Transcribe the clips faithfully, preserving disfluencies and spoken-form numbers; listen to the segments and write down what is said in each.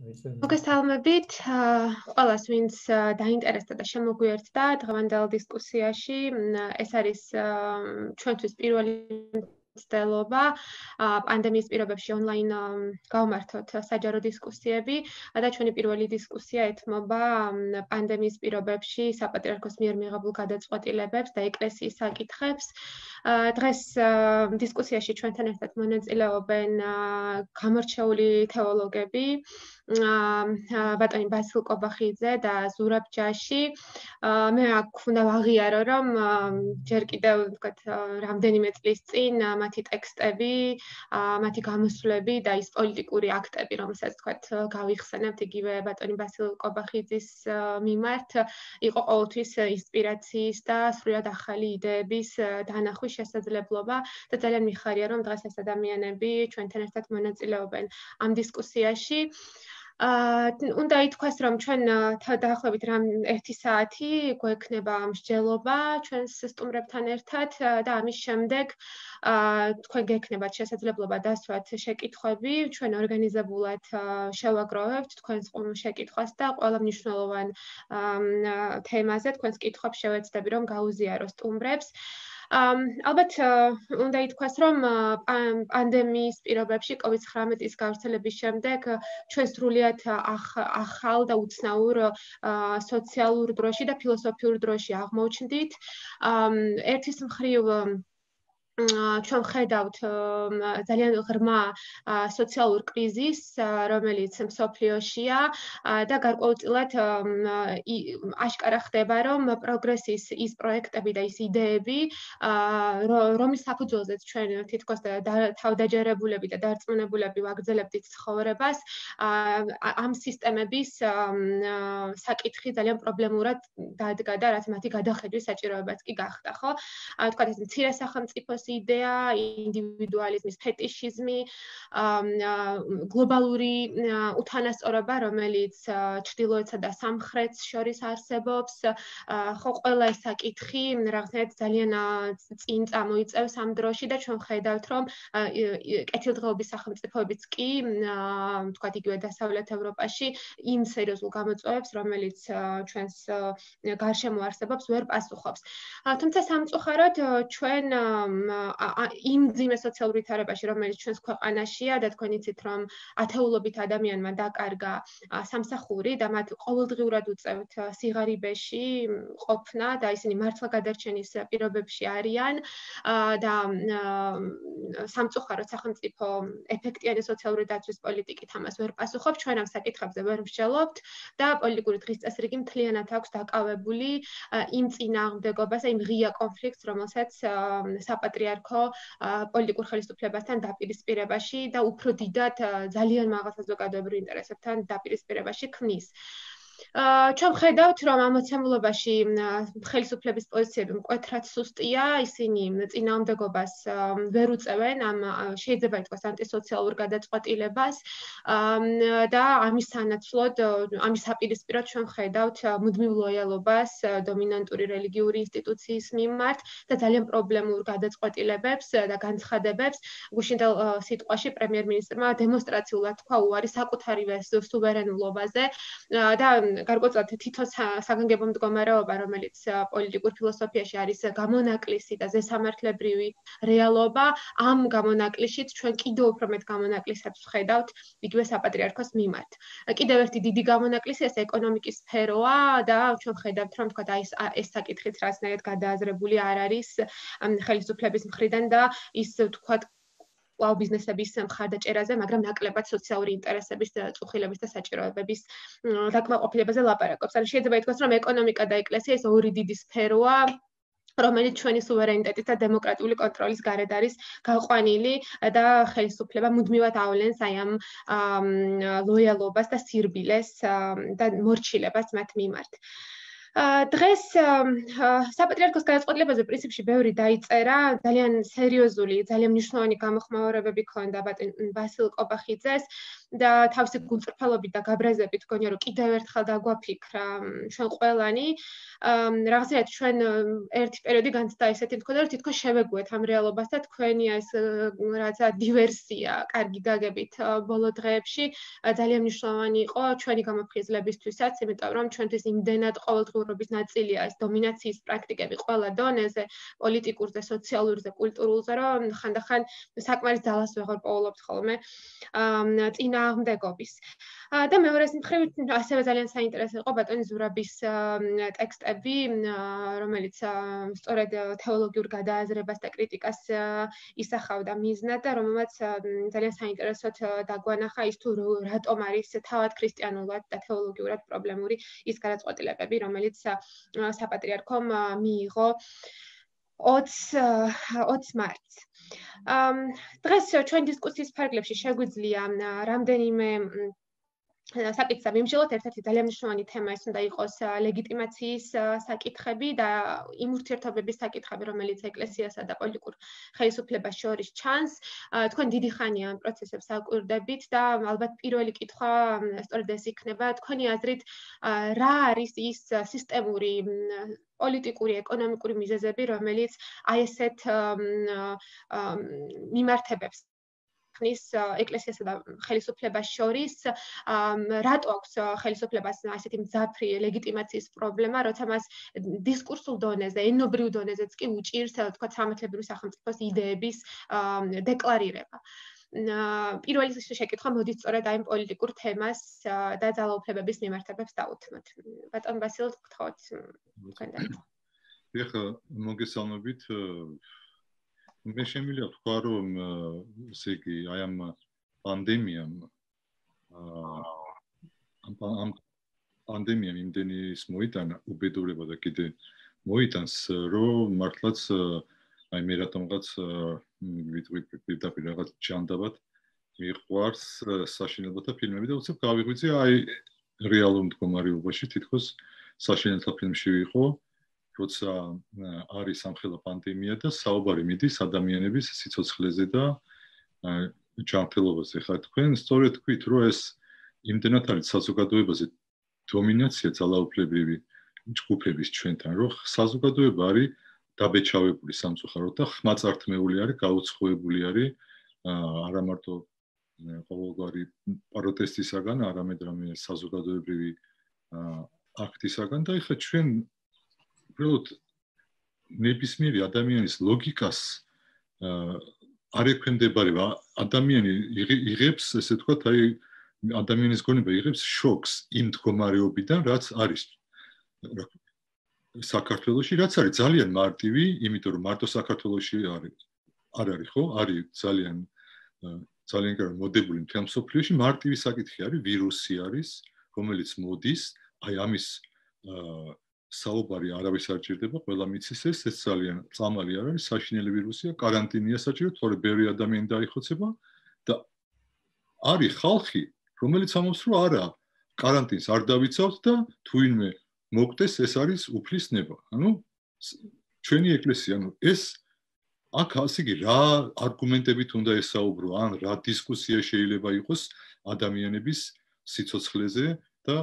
მოგესალმებით ყველას, ვინც დაინტერესდა და შემოგვიერთდა დღევანდელ დისკუსიაში. ეს არის ჩვენთვის პირველი მცდელობა პანდემიის პირობებში ონლაინ გავმართოთ საჯარო დისკუსიები და ჩვენი პირველი დისკუსია ეთმობა პანდემიის პირობებში საპატრიარქოს მიერ მიღებულ გადაწყვეტილებებს და ეკლესიის საკითხებს. დღეს დისკუსიაში ჩვენთან ერთად მონაწილეობენ გამორჩეული თეოლოგები, ბატონი ბასილ კობახიძე და ზურაბ ჯაში. მე აქ უნდა ვაღიარო, რომ ჯერ კიდევ ვთქვათ, რამდენიმე წლის წინ მათი ტექსტები, მათი გამოსვლები და ის პოლიტიკური აქტები, რომელსაც ვთქვათ, გავიხსენებთ იგივე ბატონი ბასილ კობახიძის მიმართ, იყო ყოველთვის ინსპირაციის და სრულად ახალი იდეების დანახვის შესაძლებლობა და ძალიან მიხარია, რომ დღეს ეს ადამიანები ჩვენთან ერთად მონაწილეობენ ამ დისკუსიაში. უნდა ითქვას, რომ ჩვენ დაახლოებით რამ ერთი საათი გვექნება მსჯელობა ჩვენს სტუმრებთან ერთად და ამის შემდეგ თქვენ გექნებათ შესაძლებლობა დასვათ შეკითხვები, ჩვენ ორგანიზებულად შევაგროვებთ თქვენს შეკითხვას და ყველა მნიშვნელოვან თემაზე თქვენს კითხვებს შევეცდები, რომ გაუზიარო სტუმრებს. ალბათ უნდა ითქვას, რომ პანდემიის პირობებში კოვიდ ცხრამეტის გავრცელების შემდეგ ჩვენ სრულიად ახალ და უცნაურ სოციალურ დროში და ფილოსოფიურ დროში აღმოჩნდით. ერთის მხრივ ჩვენ ვხედავთ ძალიან ღრმა სოციალურ კრიზისს, რომელიც მსოფლიოშია და გარკვეულწილად აშკარა ხდება, რომ პროგრესის ის პროექტები და ის იდეები, რომლის საფუძველზეც ჩვენ თითქოს თავდაჯერებულები და დარწმუნებულები ვაგრძელებდით ცხოვრებას, ამ სისტემების საკითხი ძალიან პრობლემურად დადგა და რაც მათი გადახედვის საჭიროებაც კი გახდა, ხო? თქვათ ეს მცირე სახელმწიფოს იდეა, ინდივიდუალიზმის ფეტიშიზმი, გლობალური უთანასწორობა, რომელიც ჩრდილოეთსა და სამხრეთს შორის არსებობს, ხო, ყველა ეს საკითხი რაღაცნაირად ძალიან წინ წამოიწევს ამ დროში და ჩვენ ვხედავთ, რომ კეთილდღეობის სახელმწიფოებიც კი, თქვათ იგივე დასავლეთ ევროპაში, იმ სერიოზულ გამოწვევებს, რომელიც ჩვენს გარშემო არსებობს, ვერ პასუხობს. თუმცა სამწუხაროდ ჩვენ იმ მძიმე სოციალურ ვითარებაში, რომელიც ჩვენს ქვეყანაშია და თქვენ იცით, რომ ათეულობით ადამიანმა დაკარგა სამსახური და მათ ყოველდღიურად უწევთ სიღარიბეში ყოფნა და ისინი მართლა გადარჩენის პირობებში არიან და სამწუხაროდ სახელმწიფო ეფექტიანი სოციალური დაცვის პოლიტიკით ამას ვერ პასუხობს, ჩვენ ამ საკითხებზე ვერ მსჯელობთ და პოლიტიკური დღის წესრიგი მთლიანად აქვს დაკავებული იმ წინააღმდეგობას, იმ ღია კონფლიქტს, რომელსაც საპატრიარქო პოლიტიკურ ხელისუფლებასთან დაპირისპირებაში და უფრო დიდად ძალიან მაღალ საზოგადოებრივ ინტერესებთან დაპირისპირებაში ქმნის. ჩვენ ვხედავთ, რომ ამოცემულობაში ხელისუფლების პოზიციები მკვეთრად სუსტია, ისინი წინააღმდეგობას ვერ უწევენ ამ შეიძლება ითქვას ანტისოციალურ გადაწყვეტილებას და ამის სანაცვლოდ, ამის საპირისპიროდ ჩვენ ვხედავთ მუდმივ ლოიალობას დომინანტური რელიგიური ინსტიტუციის მიმართ და ძალიან პრობლემურ გადაწყვეტილებებს და განცხადებებს. გუშინდელ სიტყვაში პრემიერ-მინისტრმა დემონსტრაციულად თქვა უარი საკუთარივე სუვერენულობაზე და გარკვეულწილად თითო საგანგებო მდგომარეობა, რომელიც პოლიტიკურ ფილოსოფიაში არის გამონაკლისი და ზესამართლებრივი რეალობა, ამ გამონაკლისშიც ჩვენ კიდევ უფრო მეტ გამონაკლისებს ვხედავთ იგივე საპატრიარქოს მიმართ. კიდევ ერთი დიდი გამონაკლისი ეს ეკონომიკის სფეროა და ჩვენ ვხედავთ, რომ თქვა ეს ეს საკითხიც რაღაცნაირად გადააზრებული არ არის ხელისუფლების მხრიდან და ის თქვა კვლავ ბიზნესების მხარდაჭერაზე, მაგრამ ნაკლებად სოციალური ინტერესების, წუხილების და საჭიროებების დაკმაყოფილებაზე ლაპარაკობს. ანუ შეიძლება ითქვას, რომ ეკონომიკა და ეკლესია ეს ორი დიდი სფეროა, რომელიც ჩვენი სუვერენიტეტის და დემოკრატიული კონტროლის გარეთ არის გაყვანილი და ხელისუფლება მუდმივად ავლენს აი ამ ლოიალობას და სირბილეს და მორჩილებას მათ მიმართ. დღეს საპატრიარქოს გადაწყვეტილებაზე პრინციპში ბევრი დაიწერა, ძალიან სერიოზული, ძალიან მნიშვნელოვანი გამოხმაურებები ჰქონდა ბატონ ბასილ კობახიძეს და თავისი გულწრფელობით და გაბრაზებით გონია რომ კიდევ ერთხელ დაგვაფიქრა ჩვენ ყველანი რაღაცა ჩვენ ერთი პერიოდი განცდა ესეთი მქონდა რომ თითქოს შევეგუეთ ამ რეალობას და თქვენი ეს რაღაცა დივერსია კარგი გაგებით ბოლო დღეებში ძალიან მნიშვნელოვანი იყო ჩვენი გამოფხიზლებისთვისაც, იმიტომ რომ ჩვენთვის იმდენად ყოველდღიურობის ნაწილია ეს დომინაციის პრაქტიკები ყველა დონეზე, პოლიტიკურზე, სოციალურზე, კულტურულზე, რომ ხანდახან საკმარის ძალას ვეღარ პოულობთ ხოლმე წინააღმდეგობის. და მეორეს მხრივ ასევე ძალიან საინტერესო იყო ბატონი ზურაბის ტექსტები, რომელიც სწორედ თეოლოგიურ გადააზრებას და კრიტიკას ისახავდა მიზნად და რომელმაც ძალიან საინტერესოდ დაგვანახა ის თუ რატომ არის თავად ქრისტიანულად და თეოლოგიურად პრობლემური ის გადაწყვეტილებები, რომელიც საპატრიარქომ მიიღო ოცი მარტს. დღეს ჩვენ დისკუსიის ფარგლებში შეგვიძლია რამდენიმე საკითხი მიმშილოთ, ერთ-ერთი ძალიან მნიშვნელოვანი თემა ეს უნდა იყოს ლეგიტიმაციის საკითხები და იმ ურთიერთობების საკითხები, რომელიც ეკლესიასა და პოლიტიკურ ხელისუფლებას შორის ჩანს. თქვენ დიდი ხანია ამ პროცესებს აკვირდებით და ალბათ პირველი კითხვა სწორედ ეს იქნება, თქვენი აზრით, რა არის ის სისტემური პოლიტიკური, ეკონომიკური მიზეზები, რომელიც აი ესეთ მიმართებებს ხნის ეკლესიასა და ხელისუფლებას შორის, რატო აქვს ხელისუფლებას ასეთი მძაფრი ლეგიტიმაციის პრობლემა, როცა მას დისკურსულ დონეზე, ენობრივ დონეზეც კი უჭირს, თქვა სამართლებრივი სახელმწიფოს იდეების დეკლარირება. პირველი შეკითხვა მოდის სწორედ აი პოლიტიკურ თემას და ძალაუფლებების მიმართებებს დაუთმოთ. ბატონ ბასილ, გთხოვთ თქვენ დაიწყოთ. ეხლა მოგესალმებით. მე შემიძლია ვთქვა, რომ ესე იგი აი ამ პანდემიამ ამ პანდემიამ იმდენი ის მოიტანა უბედურება და კიდე მოიტანს, რომ მართლაც აი მე რატომღაც ვიტყვი პირდაპირ რაღაც ჯანდაბად მიყვარს საშინელებათა ფილმები და უცებ გავიღვიძე აი რეალურ მდგომარეობაში თითქოს საშინელთა ფილმში ვიყო, როცა არის სამხელა პანდემია და საუბარი მიდის ადამიანების სიცოცხლეზე და ჯანმრთელობაზე. ხა თქვენ სწორედ თქვით, რომ ეს იმდენად არის საზოგადოებაზე დომინაცია ძალაუფლებრივი ჯგუფების ჩვენთან, რომ საზოგადოება არის დაბეჭავებული სამწუხაროდ და ხმაწართმეული არის, გაუცხოებული არის არა მარტო ყოველგვარი პროტესტისაგან, არამედ რამე საზოგადოებრივი აქტისაგან და ეხლა ჩვენ უბრალოდ ნებისმიერი ადამიანის ლოგიკას არ ექვემდებარება. ადამიანი იღებს, ესე ვთქვათ, აი ადამიანის გონება იღებს შოკს იმ მდგომარეობიდან, რაც არის საქართველოში, რაც არის ძალიან მარტივი, იმიტომ რომ მარტო საქართველოში არის არ არის, ხო? არის ძალიან ძალიან კარგი მოდებული მთელ მსოფლიოში, მარტივი საკითხი არის, ვირუსი არის, რომელიც მოდის, აი ამის საუბარი არავის არ ჭირდება, ყველა მიცის ეს, ეს ძალიან წამალი არ არის, საშინელი ვირუსია, კარანტინია საჭირო, თორე ბევრი ადამიანი დაიხოცება და არის ხალხი, რომელიც ამბობს, რომ არა, კარანტინს არ დავიცავთ და თუ ვინმე მოკდეს, ეს არის უფლის ნება. ანუ ჩვენი ეკლესია, ანუ ეს აქ ასე იგი რა არგუმენტებით უნდა ესაუბრო, ან რა დისკუსია შეიძლება იყოს ადამიანების სიცოცხლეზე და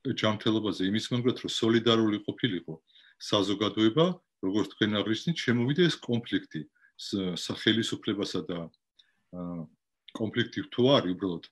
ჯანმრთელობაზე, იმის მომხრედ, რომ სოლიდარული ყოფილიყო საზოგადოება, როგორც თქვენ აღნიშნეთ, შემოვიდა ეს კონფლიქტი სახელმწიფოსა და კონფლიქტი თუ არის უბრალოდ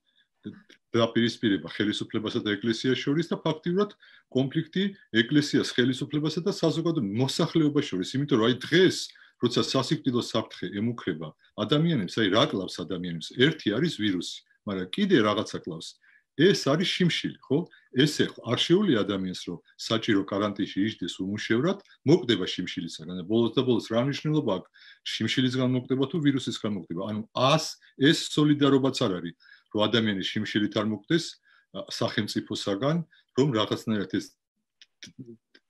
დაპირისპირება ხელისუფლებასა და ეკლესიას შორის და ფაქტიურად კონფლიქტი ეკლესიას, ხელისუფლებასა და საზოგადოების მოსახლეობას შორის, იმიტომ რომ აი დღეს, როცა სასიკვდილო საფრთხე ემუქრება ადამიანებს, აი რა კლავს ადამიანებს? ერთი არის ვირუსი, მაგრამ კიდე რაღაცა კლავს. ეს არის შიმშილი, ხო? ესე არ შეუძლია ადამიანს, რომ საჭირო კარანტინში იჯდეს უმუშევრად, მოკდება შიმშილისაგან და ბოლოს და ბოლოს რა მნიშვნელობა აქვს შიმშილისგან მოკდება თუ ვირუსისგან მოკდება? ანუ ას ეს სოლიდარობაც არ არის, რომ ადამიანი შიმშილით არ მოკდეს სახელმწიფოსაგან, რომ რაღაცნაირად ეს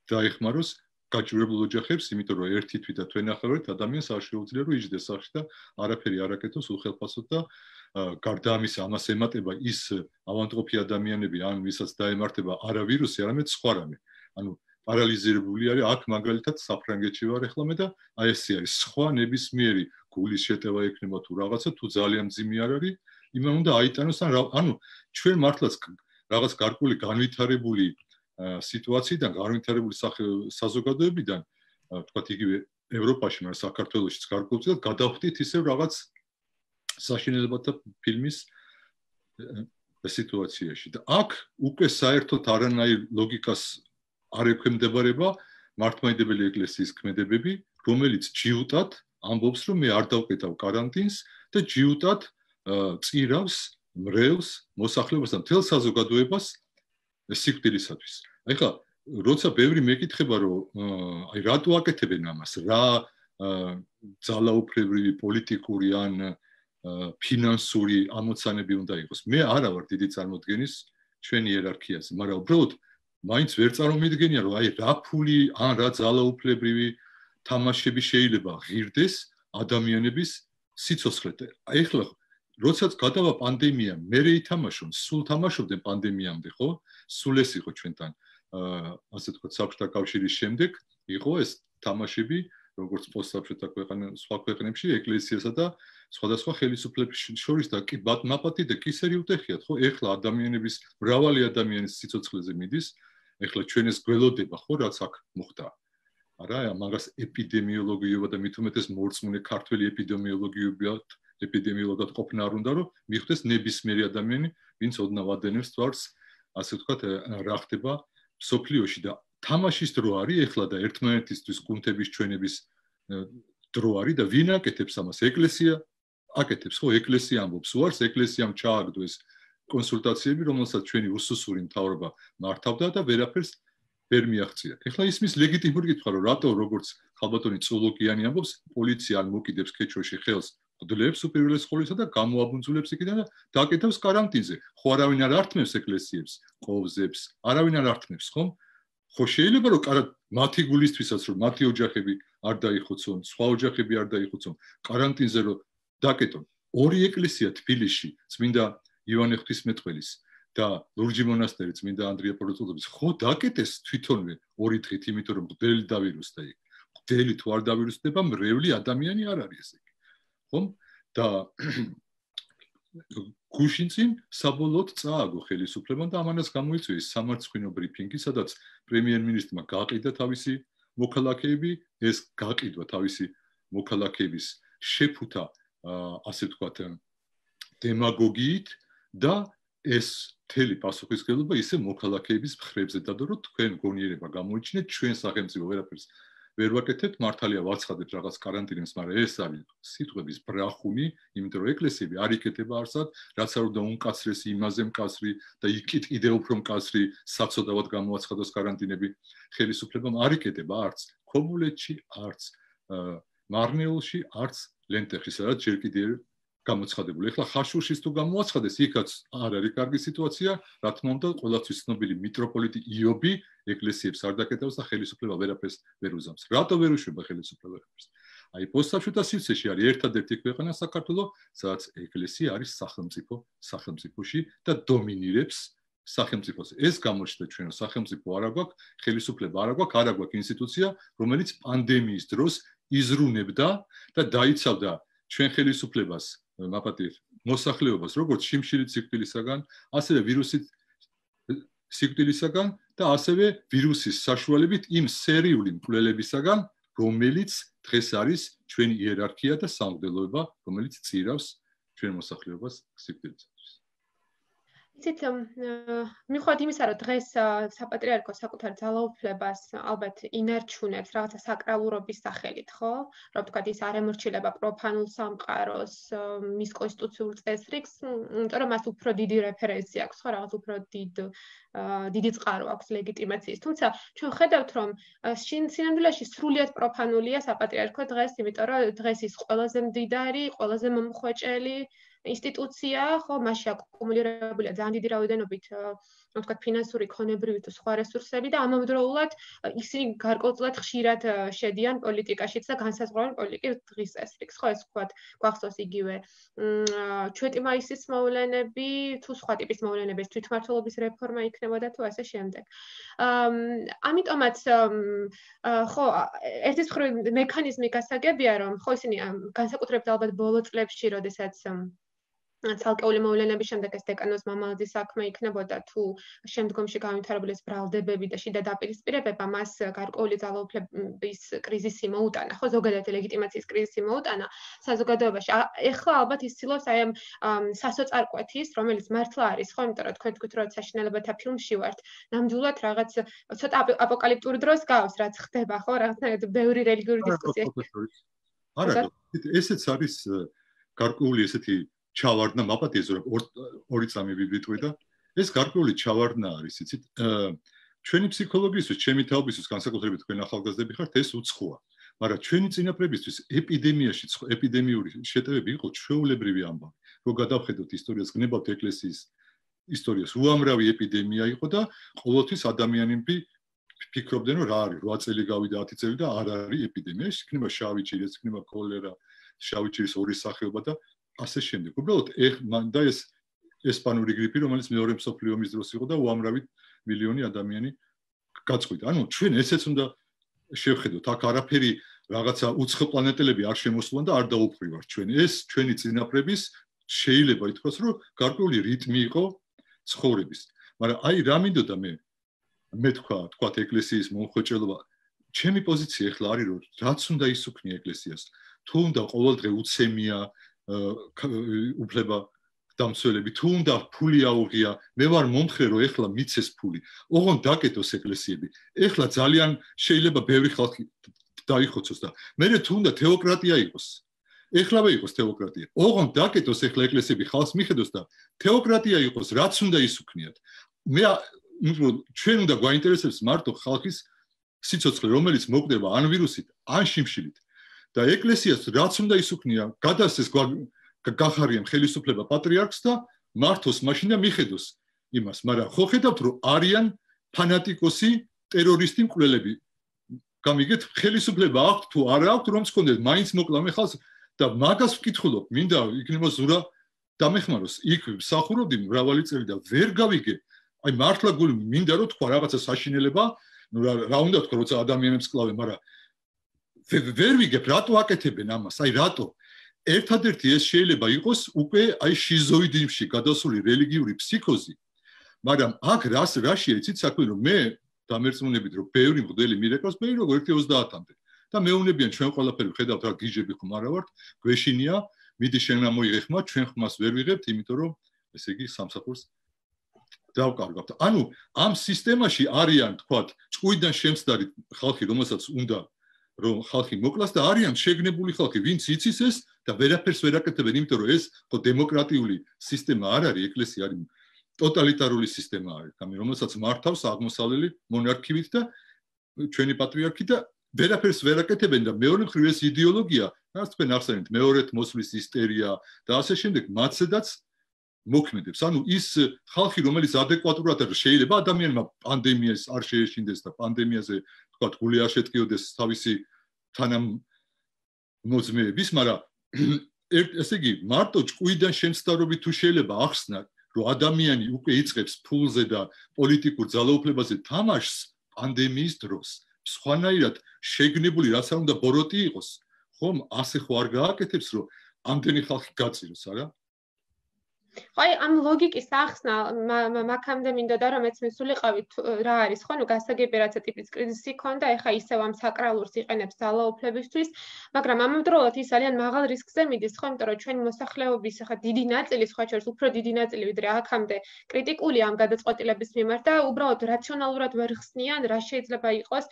დაეხმაროს გაჭირებულ ოჯახებს, იმიტომ რომ ერთი თვით და თქვენ ახალეთ ადამიანს არ შეუძლია რომ იჯდეს სახში და არაფერი არ აკეთოს უხელფასოდ და გარდა ამისა ამას ემატება ის ავადმყოფი ადამიანები, ან ვისაც დაემართება არა ვირუსი, არამედ სხვა რამე. ანუ პარალიზირებული არის აქ მაგალითად საფრანგეთში ვარ ახლა მე და აი ესე არის სხვა ნებისმიერი გულის შეტევა ექნება თუ რაღაცა თუ ძალიან მძიმე არ არის, იმან უნდა აიტანოს ან ანუ ჩვენ მართლაც რაღაც გარკვეული განვითარებული სიტუაციიდან, განვითარებული საზოგადოებიდან, თქვათ იგივე ევროპაში, მაგრამ საქართველოშიც გარკვეულწილად გადავხდით ისევ რაღაც საშინელებათა ფილმის სიტუაციაში და აქ უკვე საერთოდ არანაირ ლოგიკას არ ექვემდებარება მართლმადიდებელი ეკლესიის ქმედებები, რომელიც ჯიუტად ამბობს, რომ მე არ დავკეტავ კარანტინს და ჯიუტად წირავს მრევლს, მოსახლეობას და მთელ საზოგადოებას სიკვდილისათვის. აი ხა, როცა ბევრი მეკითხება, რომ აი რატო აკეთებენ ამას, რა ძალაუფლებრივი პოლიტიკური ან ფინანსური ამოცანები უნდა იყოს. მე არა ვარ დიდი წარმოდგენის ჩვენი იერარქიაზე, მაგრამ უბრალოდ მაინც ვერ წარმომიდგენია, რომ აი რა ფული ან რა ძალაუფლებრივი თამაშები შეიძლება ღირდეს ადამიანების სიცოცხლეთ. აი ახლა როდესაც გადავა პანდემია, მერე ითამაშონ, სულ თამაშობდნენ პანდემიამდე, ხო? სულ ეს იყო ჩვენთან, ასე ვთქვათ, საბჭოთა კავშირის შემდეგ იყო ეს თამაშები, როგორც პოსტსაბჭოთა ქვეყანებში, სხვა ქვეყნებში, ეკლესიასა და სხვადასხვა ხელისუფლების შორის და კი მაპატი და კისერი უტეხიათ, ხო? ეხლა ადამიანების, მრავალი ადამიანის სიცოცხლეზე მიდის, ეხლა ჩვენ ეს გველოდება, ხო, რაც აქ მოხდა. არა, მაგას ეპიდემიოლოგიობა და მით უმეტეს მორწმუნე ქართველი ეპიდემიოლოგიურად, ეპიდემიოლოგად ყოფნა არ უნდა, რომ მიხვდეს ნებისმიერი ადამიანი, ვინც ოდნავ ადენებს თვალს, ასე ვთქვათ, რა ხდება მსოფლიოში და თამაშის დრო არის ეხლა და ერთმანეთისთვის კუნთების ჩვენების დრო არის და ვინ აკეთებს ამას? ეკლესია აკეთებს, ხო? ეკლესია ამბობს, უარს ეკლესიამ ჩააგდო ეს კონსულტაციები, რომელსაც ჩვენი უსუსური მთავრობა მართავდა და ვერაფერს ვერ მიაღწია. ეხლა ისმის ლეგიტიმური კითხვა, რომ რატო როგორც ხალბატონი წულოკიანი ამბობს, პოლიცია არ მოკიდებს ქეჩოში ხელს, გდლებს უპირველეს ყოვლისა და გამოაბუნძულებს იქიდან და დაკეთებს კარანტინზე. ხო არავინ არ ართმევს ეკლესიებს, ყოვზებს, არავინ არ ართმევს, ხომ? ხო შეიძლება რომ კარად მათი გულისთვისაც რომ მათი ოჯახები არ დაიხოცონ, სხვა ოჯახები არ დაიხოცონ, კარანტინზე რომ დაკეტონ. ორი ეკლესია თბილისში, წმინდა ივანე ღვთისმეტყველის და ლურჯი მონასტერი წმინდა ანდრია პორტუგალის, ხო დაკეტეს თვითონვე ორი დღით, იმიტომ რომ მღვდელი დავირუსდა იქ. მღვდელი თუ არ დავირუსდება, მრევლი ადამიანი არ არის ესე. ხომ? და გუშინწინ საბოლოოდ წააგო ხელისუფლებამ და ამანაც გამოიწვია სამარცხვინო ბრიფინგი, სადაც პრემიერ-მინისტრმა გაყიდა თავისი მოქალაქეები, ეს გაყიდვა თავისი მოქალაქეების შეფუთა, ასე ვთქვათ, დემაგოგიით და ეს მთელი პასუხისმგებლობა ისე მოქალაქეების მხრებზე დადო, რომ თქვენ გონიერება გამოიჩინეთ, ჩვენ სახელმწიფო ვერაფერს ვერ ვაკეთებთ, მართალია ვაცხადებთ რაღაც კარანტინებს, მაგრამ ეს არის სიტყვების ბრახუნი, იმიტომ რომ ეკლესიები არ იკეთება არსად, რაც არ უნდა უმკაცრესი, იმაზე მკაცრი და იქით კიდევ უფრო მკაცრი საცოდავად გამოაცხადოს კარანტინები ხელისუფლებამ არ იკეთება არც ქობულეთში, არც მარნეულში, არც ლენტეხში, სადაც ჯერ კიდევ გამოცხადებული. ეხლა ხაშურშიც თუ გამოაცხადეს, იქაც არ არის კარგი სიტუაცია, რა თქმა უნდა, ყველასთვის ცნობილი მიტროპოლიტი იობი ეკლესიებს არ დაკეტავს და ხელისუფლება ვერაფერს ვერ უზამს. რატო ვერ უშვება ხელისუფლება ვერაფერს? აი პოსტსაბჭოთა სივრცეში არის ერთადერთი ქვეყანა საქართველო, სადაც ეკლესია არის სახელმწიფო სახელმწიფოში და დომინირებს სახელმწიფოს. ეს გამოჩნდა ჩვენ რომ სახელმწიფო არა გვაქვს, ხელისუფლება არა გვაქვს, არა გვაქვს ინსტიტუცია, რომელიც პანდემიის დროს იზრუნებდა და დაიცავდა ჩვენ ხელისუფლებას მაპატიეთ მოსახლეობას როგორც შიმშილით სიკვდილისაგან, ასევე ვირუსით სიკვდილისაგან და ასევე ვირუსის საშუალებით იმ სერიული მკვლელებისაგან, რომელიც დღეს არის ჩვენი იერარქია და სამღვდელოება, რომელიც წირავს ჩვენ მოსახლეობას სიკვდილისათვის. იცით, მიუხედავად იმისა, რომ დღეს საპატრიარქო საკუთარ ძალაუფლებას ალბათ ინარჩუნებს რაღაცა საკრალურობის სახელით, ხო? რომ თქვათ ის არ ემორჩილება პროფანულ სამყაროს, მის კონსტიტუციურ წესრიგს, იმიტომ რომ მას უფრო დიდი რეფერენცია აქვს, ხო, რაღაც უფრო დიდ დიდი წყარო აქვს ლეგიტიმაციის. თუმცა ჩვენ ხედავთ, რომ სინამდვილეში სრულიად პროფანულია საპატრიარქო დღეს, იმიტომ რომ დღეს ის ყველაზე მდიდარი, ყველაზე მომხვეჭელი ინსტიტუცია, ხო, მასში აკუმულირებულია ძალიან დიდი რაოდენობით, ну, თქვათ, ფინანსური, ქონებრივი თუ სხვა რესურსები და ამავდროულად ისინი გარკვეულწილად ხშირად შედიან პოლიტიკაშიც და განსაზღვრავენ პოლიტიკის დღის წესრიგს, ხო, ეს თქვათ, გვახსოვს იგივე ჩვეტი მაისის მოვლენები, თუ სხვა ტიპის მოვლენების თვითმმართველობის რეფორმა იქნებოდა თუ ასე შემდეგ. ამიტომაც ხო, ერთის მხრივ მექანიზმი გასაგებია, რომ ხო ისინი განსაკუთრებით ალბათ ბოლო წლებში, როდესაც ცალკეული მოვლენების შემდეგ ეს დეკანოს მამალაძის საქმე იქნებოდა თუ შემდგომში განვითარებული ეს ბრალდებები და შიდა დაპირისპირებება მას გარკვეული ძალაუფლების კრიზისი მოუტანა, ხო, ზოგადად ლეგიტიმაციის კრიზისი მოუტანა საზოგადოებაში. ეხლა ალბათ ის ცდილობს აი ამ სასოწარკვეთის, რომელიც მართლა არის, ხო, იმიტომ რომ თქვენ თქვით რომ საშინელებათა ფილმში ვართ, ნამდვილად რაღაც ცოტა აპოკალიფტური დროს გავს, რაც ხდება, ხო, რაღაცნაირად ბევრი რელიგიური დისკუსია. არა, ესეც არის გარკვეული ესეთი ჩავარდნა მაპატიეს რომ ორი წამი ვიბიტყვი და ეს გარკვეული ჩავარდნა არის იცით ჩვენი ფსიქოლოგიისთვის ჩემი თაობისთვის განსაკუთრებით თქვენ ახალგაზრდები ხართ ეს უცხოა მაგრამ ჩვენი წინაპრებისთვის ეპიდემიაში ეპიდემიური შეტევები იყო ჩვეულებრივი ამბავი რომ გადავხედოთ ისტორიას გნებავთ ეკლესიის ისტორიას უამრავი ეპიდემია იყო და ყოველთვის ადამიანები ფიქრობდნენ რომ რა არის რვა წელი გავიდა ათი წელი და არ არის ეპიდემია ეს იქნება შავი ჭირი ეს იქნება კოლერა შავი ჭირის ორი სახეობა და ასე შემდეგ. უბრალოდ და ეს ესპანური გრიპი, რომელიც მეორე მსოფლიო ომის დროს იყო და უამრავი მილიონი ადამიანი გაწყვიტა. ანუ ჩვენ ესეც უნდა შევხედოთ. აქ არაფერი რაღაცა უცხო პლანეტელები არ შემოსულან და არ დაუფრივართ ჩვენ. ეს ჩვენი წინაპრების შეიძლება ითქვას, რომ გარკვეული რიტმი იყო ცხოვრების. მაგრამ აი რა მინდოდა მე მე თქვა, თქვა ეკლესიის მომხოჭელობა. ჩემი პოზიცია ახლა არის, რომ რაც უნდა ისუქნია ეკლესიას. თუ უნდა ყოველდღე უცემია უფლება დამცველები თუ უნდა ფული აუღია მე ვარ მომხრე რომ ეხლა მიცეს ფული ოღონ დაკეტოს ეკლესიები ეხლა ძალიან შეიძლება ბევრი ხალხი დაიხოცოს და მე თუ უნდა თეოკრატია იყოს ეხლავე იყოს თეოკრატია ოღონ დაკეტოს ეხლა ეკლესიები ხალხს მიხედოს და თეოკრატია იყოს რაც უნდა ისუქნიათ მე ჩვენ უნდა გვაინტერესებს მარტო ხალხის სიცოცხლე რომელიც მოკვდება ან ვირუსით ან შიმშილით და ეკლესიას რაც უნდა ისუქნია გადასცეს გახარიამ ხელისუფლება პატრიარქს და მართოს მაშინ და მიხედოს იმას მაგრამ ხო ხედავთ რომ არიან ფანატიკოსი ტერორისტი მკვლელები გამიგეთ ხელისუფლება აქვს თუ არა აქვს რომ მქონდეს მაინც მოკლამე ხალხს და მაგას ვკითხულობ მინდა იქნება ზურა დამეხმაროს იქ მსახურობდი მრავალი წელი და ვერ გავიგე აი მართლა გული მინდა რომ თქვა რაღაცა საშინელება ნუ რა უნდა თქვა როცა ადამიანებს კლავენ მაგრამ ვერ ვიგებ რატო აკეთებენ ამას აი რატო ერთადერთი ეს შეიძლება იყოს უკვე აი შიზოიდიზმში გადასული რელიგიური ფსიქოზი მაგრამ აქ რას რაშია იცით საქმე რომ მე დამერწმუნებით რომ ბევრი მღვდელი მირეკავს მე როგორ ერთი ოცდაათამდე და მეუნებიან ჩვენ ყველაფერი ვხედავთ რა გიჟები ხომ არა ვართ გვეშინია მიდი შენ ამოიღე ხმა ჩვენ ხმას ვერ ვიღებთ იმიტომ რომ ესე იგი სამსახურს დავკარგავთ ანუ ამ სისტემაში არიან თქვათ ჭკუიდან შემცდარი ხალხი რომელსაც უნდა რომ ხალხი მოკლას და არიან შეგნებული ხალხი ვინც იცის ეს და ვერაფერს ვერ აკეთებენ იმიტომ რომ ეს ხო დემოკრატიული სისტემა არ არის ეკლესია არის ტოტალიტარული სისტემა არის ამი რომელსაც მართავს აღმოსავლელი მონარქივით და ჩვენი პატრიარქი და ვერაფერს ვერ აკეთებენ და მეორე მხრივ ეს იდეოლოგია რაც თქვენ ახსენეთ მეორეთ მოსვლის ისტერია და ასე შემდეგ მათსედაც მოქმედებს ანუ ის ხალხი რომელიც ადეკვატურად შეიძლება ადამიანმა პანდემიას არ შეეშინდეს და პანდემიაზე თქვათ გული არ შეტკიოდეს თავისი თანამოძმეების მაგრამ ესე იგი მარტო ჭკუიდან შემცდარობით თუ შეიძლება ახსნა რომ ადამიანი უკვე იწყებს ფულზე და პოლიტიკურ ძალაუფლებაზე თამაშს პანდემიის დროს სხვანაირად შეგნებული რაც არ უნდა ბოროტი იყოს ხომ ასე ხო არ გააკეთებს რომ ამდენი ხალხი გაწიროს არა აი ამ ლოგიკის ახსნა მაგამდე მინდოდა რომ მეც მისულიყავით რა არის ხო ნუ გასაგები რაცა ტიპის კრიზისი ქონდა ეხა ისევ ამ საკრალურს იყენებს ძალაუფლებისთვის მაგრამ ამავდროულად ის ძალიან მაღალ რისკზე მიდის ხო იმიტომ რომ ჩვენი მოსახლეობის ეხა დიდი ნაწილი სხვა შორის უფრო დიდი ნაწილი ვიდრე აქამდე კრიტიკული ამ გადაწყვეტილების მიმართ და უბრალოდ რაციონალურად ვერ ხსნიან რა შეიძლება იყოს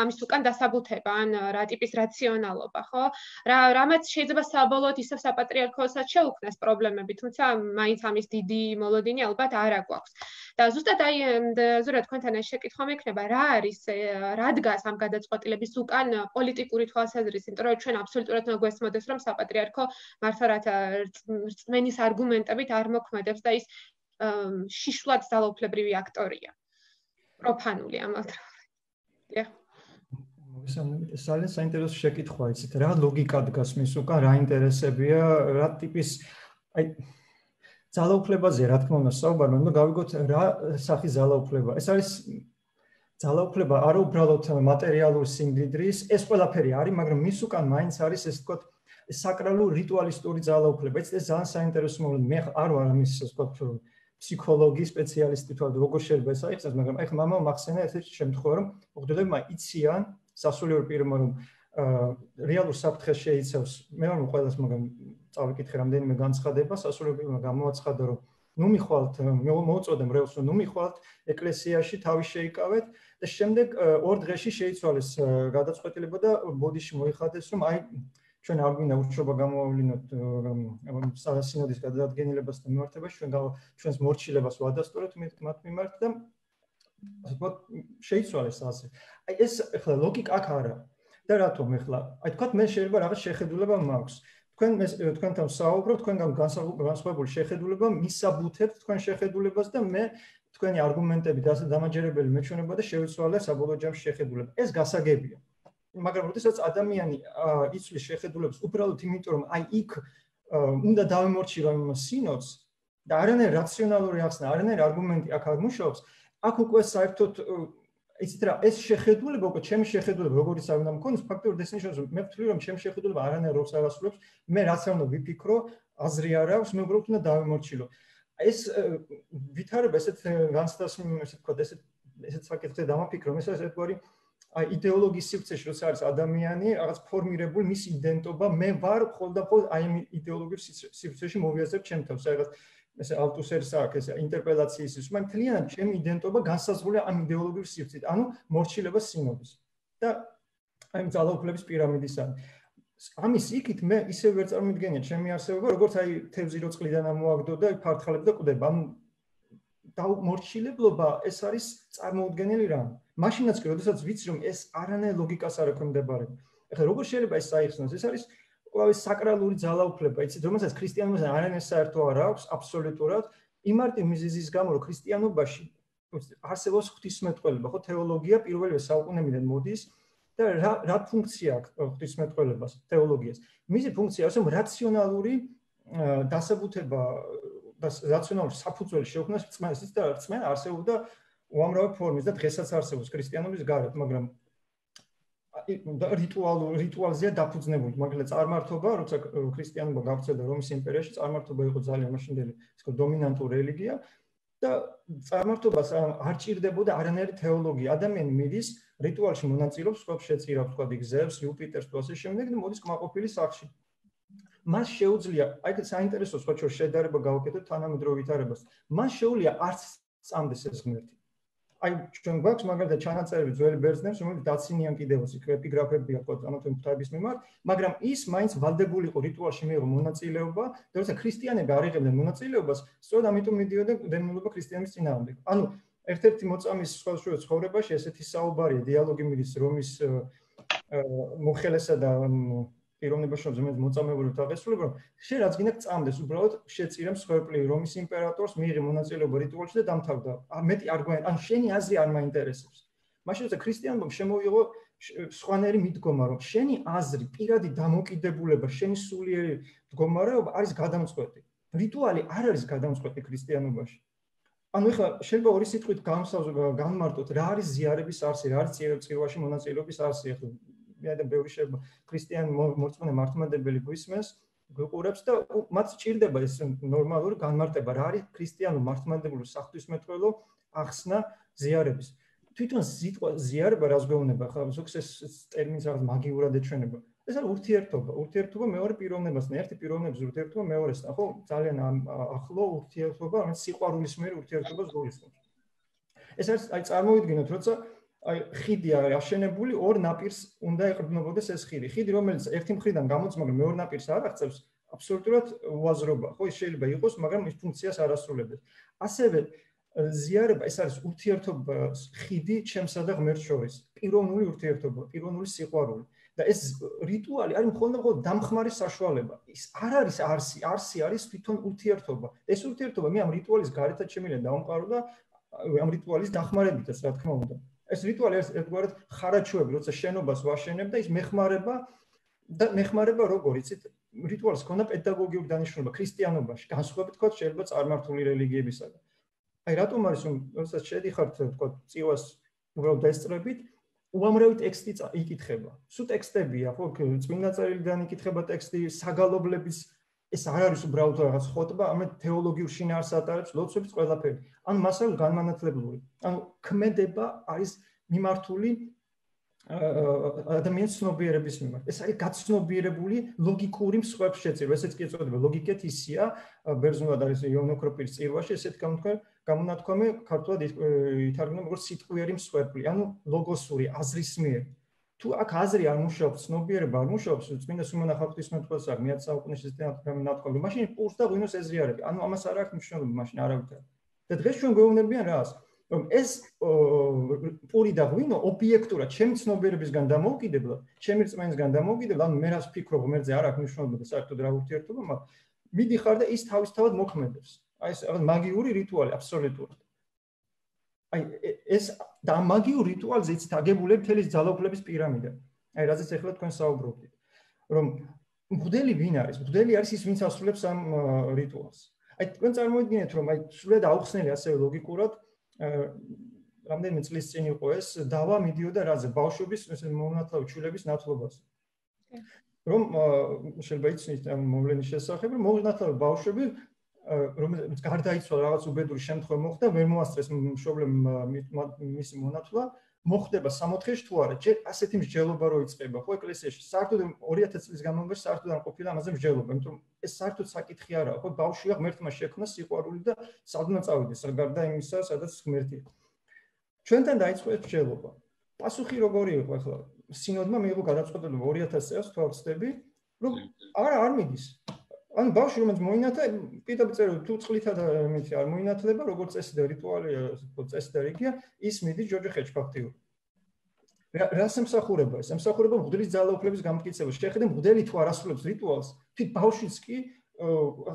ამის უკან დასაბუთება ან რა ტიპის რაციონალობა ხო რა რამაც შეიძლება საბოლოოდ ისევ საპატრიარქოსაც შეუქმნას ეს პრობლემები, თუმცა მაინც ამის დიდი მოლოდინი ალბათ არ აგვაქვს. და ზუსტად აი ზურა თქვენთან ეს შეკითხვა მექნება, რა არის, რა დგას ამ გადაწყვეტილების უკან პოლიტიკური თვალსაზრისით, იმიტომ რომ ჩვენ აბსოლუტურად უნდა გვესმოდეს, რომ საპატრიარქო მართლა რათა რწმენის არგუმენტებით არ მოქმედებს და ის შიშვლად ძალაუფლებრივი აქტორია. პროფანული ამავდროულად. ძალიან საინტერესო შეკითხვა იცით რა ლოგიკა დგას მის უკან რა ინტერესებია რა ტიპის აი ძალაუფლებაზე რა თქმა უნდა საუბარია უნდა გავიგოთ რა სახის ძალაუფლება ეს არის ძალაუფლება არა უბრალოდ მატერიალური სიმდიდრის ეს ყველაფერი არის მაგრამ მის უკან მაინც არის ეს თქო საკრალური რიტუალისტური ძალაუფლება. ეს ძალიან საინტერესო მომენტია. მე არ ვარ ამის ვთქვათ ფსიქოლოგი სპეციალისტი თქო როგორ შეიძლება ეს აიხსნას, მაგრამ ეხლა მამამ მახსენა ერთ-ერთი შემთხვევა რომ მოხდებმა იციან სასულიერო პირმა რომ რეალურ საფრთხეს შეიცავს. მე ვარ ყველას მაგრამ წავიკითხე რამდენიმე განცხადება სასულიერო პირმა გამოაცხადა რომ ნუ მიხვალთ მოუწოდე მრევლს რომ ნუ მიხვალთ ეკლესიაში თავი შეიკავეთ და შემდეგ ორ დღეში შეიცვალეს გადაწყვეტილება და ბოდიში მოიხადეს რომ აი ჩვენ არ გვინდა ურჩობა გამოავლინოთ სინოდის გადაადგენილებას და მიმართებაში ჩვენ ჩვენს მორჩილებას ვადასტურებთ მათ მიმართ და ასე ვთქვათ შეიცვალეს ასე. აი ეს ახლა ლოგიკა აქ არა და რატომ ახლა აი თქვათ მე შეიძლება რაღაც შეხედულება მაქვს. თქვენ თქვენთან საუბრობ, თქვენგან განსხვავებული შეხედულება მისაბუთებთ თქვენ შეხედულებას და მე თქვენი არგუმენტებით ასე დამაჯერებელი მეჩვენება და შევიცვალე საბოლოო ჯამში შეხედულება. ეს გასაგებია. მაგრამ როდესაც ადამიანი იცვლის შეხედულებას უბრალოდ იმიტომ რომ აი იქ უნდა დავემორჩილო იმ სინოდს და არანაირი რაციონალური ახსნა, არანაირი არგუმენტი აქ არ მუშაობს, აქ უკვე საერთოდ იცით რა ეს შეხედულება უკვე ჩემი შეხედულება როგორიც არ უნდა მქონდეს ფაქტობრივად ეს ნიშნავს რომ მე ვთვლი რომ ჩემი შეხედულება არანაირ როლს არ ასრულებს მე რაც არ უნდა ვიფიქრო აზრი არ აქვს მე უბრალოდ უნდა დავემორჩილო ეს ვითარება ესეთ განცდას ესე ვთქვათ ესეთ ესეთ საკითხზე დამაფიქრო მე ეს ერთგვარი აი იდეოლოგიის სივრცეში როცა არის ადამიანი რაღაც ფორმირებული მის იდენტობა მე ვარ ხოლმე აი იმ იდეოლოგიურ სივრცეში მოვიაზრებ ჩემ თავს რაღაც ესე ალტუსერის აქვს ეს ინტერპელაციის ის მაგრამ თლიანად ჩემი იდენტობა განსაზღვრულია ამ იდეოლოგიურ სივრცით ანუ მორჩილება სინოდის და აი ძალაუფლების პირამიდისგან ამის იქით მე ისე ვერ წარმოვიდგენია ჩემი არსებობა როგორც აი თევზი რო წყლიდან ამოაგდო და ფართხალებ და კვდება ამ მორჩილებლობა ეს არის წარმოუდგენელი რამ მაშინაც კი როდესაც ვიცი რომ ეს არანაირ ლოგიკას არ ექვემდებარება ეხლა როგორ შეიძლება ეს საიხსნოს ეს არის ყოველთვის საკრალური ძალაუფლება, იცით, რომელსაც ქრისტიანობასთან არანაირ საერთო არ აქვს, აბსოლუტურად, იმარტი მიზეზის გამო, რომ ქრისტიანობაში არსებობს ღვთისმეტყველება, ხო, თეოლოგია პირველივე საუკუნეებიდან მოდის და რა რა ფუნქცია აქვს ღვთისმეტყველებას, თეოლოგიას. მისი ფუნქცია არის, რომ რაციონალური დასაბუთება და რაციონალური საფუძველი შეუქმნას რწმენას და რწმენა არსებობდა უამრავი ფორმის და დღესაც არსებობს ქრისტიანობის გარეთ, მაგრამ რიტუალურ რიტუალზეა დაფუძნებული, მაგრამ წარმართობა, როცა ქრისტიანობა გავრცელდა რომის იმპერიაში, წარმართობა იყო ძალიან მაშინდელი, ისე დომინანტური რელიგია და წარმართობას არ ჭირდებოდა არანაირი თეოლოგია. ადამიანი მიდის რიტუალში მონაწილეობს, სხვა შეწირავ თქვა იგზებს, იუპიტერს თუ ასე შემდეგ და მოდის კმაყოფილი სახლში. მას შეუძლია, აი ეს საინტერესო სხვა შორ შედარება გავაკეთოთ თანამედროვე ვითარებას. მას შეუძლია არც წამდეს ეს ღმერთი. აი ჩვენ გვაქვს მაგალითად ჩანაწერები ძველი ბერძნებს, რომელიც დაცინიან კიდევაც იქ ეპიგრაფები აქვს ამათი ღვთაების მიმართ, მაგრამ ის მაინც ვალდებული იყო რიტუალში მიიღო მონაწილეობა და როცა ქრისტიანები არ იღებდნენ მონაწილეობას, სწორედ ამიტომ მიდიოდა დემონობა ქრისტიანების წინააღმდეგ. ანუ ერთ-ერთი მოწამის სხვადასხვა ცხოვრებაში ესეთი საუბარია, დიალოგი მიდის რომის მოხელესა და პიროვნებაში რომელიც მოწამებული თაღესულება, რომ შენ რაც გინდა წამდეს, უბრალოდ შეწირემ სხევლი რომის იმპერატორს მიიღე მონაწილეობა რიტუალში და დამთავრდა. მეტი არ გვაინ, ან შენი აზრი არ მაინტერესებს. მაშინ როცა ქრისტიანობამ შემოიღო სხვანაირი მიდგომა, რომ შენი აზრი, პირადი დამოკიდებულება, შენი სულიერი მდგომარეობა არის გადამწყვეტი. რიტუალი არ არის გადამწყვეტი ქრისტიანობაში. ანუ ეხლა შეიძლება ორი სიტყვით განმარტოთ, რა არის ზიარების არსი, რა არის წირვაში მონაწილეობის არსი, ეხლა მე და ბევრი შეიძლება ქრისტიანი მორწმუნე მართლმადებელი გვისმენს, გვიყურებს და მათ სჭირდება ეს ნორმალური განმარტება, რა არის ქრისტიანულ მართლმადებლურ საღვთისმეტყველო ახსნა ზიარების. თვითონ სიტყვა ზიარება რას გვეუბნება, ხა ზოგს ეს ტერმინს რაღაც მაგიურად ეჩვენება. ეს არის ურთიერთობა, ურთიერთობა მეორე პიროვნებასთან, ერთი პიროვნების ურთიერთობა მეორესთან, ხო? ძალიან ახლო ურთიერთობა, რომელიც სიყვარულის მიერ ურთიერთობას გულისხმობს. ეს არის აი წარმოვიდგინოთ, როცა აი ხიდი არის აშენებული, ორ ნაპირს უნდა ეყრდნობოდეს ეს ხიდი. ხიდი რომელიც ერთი მხრიდან გამოდის, მაგრამ მეორე ნაპირს არ აღწევს, აბსოლუტურად უაზრობა. ხო, ის შეიძლება იყოს, მაგრამ ის ფუნქციას არ ასრულებს. ასევე ზიარება ეს არის ურთიერთობა ხიდი ჩემსა და ღმერთს შორის. პიროვნული ურთიერთობა, პიროვნული სიყვარული. და ეს რიტუალი არის მხოლოდ მხოლოდ დამხმარე საშუალება. ის არ არის არსი, არსი არის თვითონ ურთიერთობა. ეს ურთიერთობა მე ამ რიტუალის გარეთაც შემიძლია დავამყარო და ამ რიტუალის დახმარებითაც, რა თქმა უნდა. ეს რიტუალი არის ერთგვარად ხარაჩუები, როცა შენობას ვაშენებ და ის მეხმარება და მეხმარება როგორ იცით, რიტუალს ქონდა პედაგოგიური დანიშნულება ქრისტიანობაში, განსხვავებით თქვა შეიძლება წარმართული რელიგიებისაგან. აი რატომ არის რომ როდესაც შედიხართ თქვა წივას უბრალოდ დაესწრებით, უამრავი ტექსტი იკითხება. სულ ტექსტებია, ხო, წმინდა წერილიდან იკითხება ტექსტი, საგალობლების ეს არ არის უბრალოდ რაღაც ხოტბა, ამეთ თეოლოგიურ შინაარსს ატარებს, ლოცვების ყველაფერი. ანუ მასალა განმანათლებლური. ანუ ქმედება არის მიმართული ადამიანის ცნობიერების მიმართ. ეს არის გაცნობიერებული ლოგიკური მსხვერპლ შეწირვა, ესეც კი ეწოდება ლოგიკეთ ისია, ბერძნულად არის იონოქროპირის წირვაში, ესეთ გამონათქვამი ქართულად ითარგმნა როგორც სიტყვიერი მსხვერპლი, ანუ ლოგოსური, აზრისმიერი. თუ აქ აზრი არ მუშაობს, ცნობიერება არ მუშაობს, წმინდა სულმან ახალღვთისმეტყველს არ მეათე საუკუნეში ნათქვამი, მაშინ პურს და ღვინოს ეზრიარები. ანუ ამას არ აქვს მნიშვნელობა, მაშინ არავითარ. და დღეს ჩვენ გვეუბნებიან რას? რომ ეს პური და ღვინო ობიექტურად ჩემი ცნობიერებისგან დამოუკიდებლად, ჩემი რწმენისგან დამოუკიდებლად, ანუ მე რას ვფიქრობ, მერზე არ აქვს მნიშვნელობა და საერთოდ რა ურთიერთობა მაქვს, მიდიხარ და ის თავისთავად მოქმედებს. აი ეს რაღაც მაგიური რიტუალი აბსოლუტურად. აი ეს და მაგიურ რიტუალზე იცით აგებულია მთელი ძალაუფლების პირამიდა. აი რაზეც ახლა თქვენ საუბრობთ. რომ მღვდელი ვინ არის? მღვდელი არის ის, ვინც ასრულებს ამ რიტუალს. აი თქვენ წარმოიდგინეთ, რომ აი სულად აუხსნელი ასევე ლოგიკურად რამდენიმე წლის წინ იყო ეს დავა მიდიოდა რაზე? ბავშვების მონათლავი ჩულების ნათლობაზე. რომ შეიძლება იცნით ამ მოვლენის შესახებ, რომ მონათლავი ბავშვები რომელიც გარდაიცვალა რაღაც უბედური შემთხვევა მოხდა, ვერ მოასწრეს მშობლემ მისი მონათლა, მოხდება სამოთხეში თუ არა, ჯერ ასეთი მსჯელობა რო იწყება, ხო ეკლესიაში. საერთოდ ორი ათი წლის განმავლობაში საერთოდ არ ყოფილა ამაზე მსჯელობა, იმიტომ რომ ეს საერთოდ საკითხი არაა, ხო ბავშვია ღმერთმა შექმნა სიყვარული და სადღაც წავიდეს, გარდა იმისა, სადაც ღმერთია. ჩვენთან დაიწყო ეს მსჯელობა. პასუხი როგორი იყო ახლა? სინოდმა მიიღო გადაწყვეტილება ორი ათასი წელს თვალწდები, რომ არა არ მიდის. ანუ ბავშვი რომელიც მოინათლა, პირდაპირ წერილ თუ წყლითა და მითი არ მოინათლება, როგორც წესი და რიტუალია, წესი და რიგია, ის მიდის ჯოჯე ხეჭფაქტიურად. რას ემსახურება ეს? ემსახურება მღვდლის ძალაუფლების გამტკიცება. შეხედე მღვდელი თუ არ ასრულებს რიტუალს, თვით ბავშვიც კი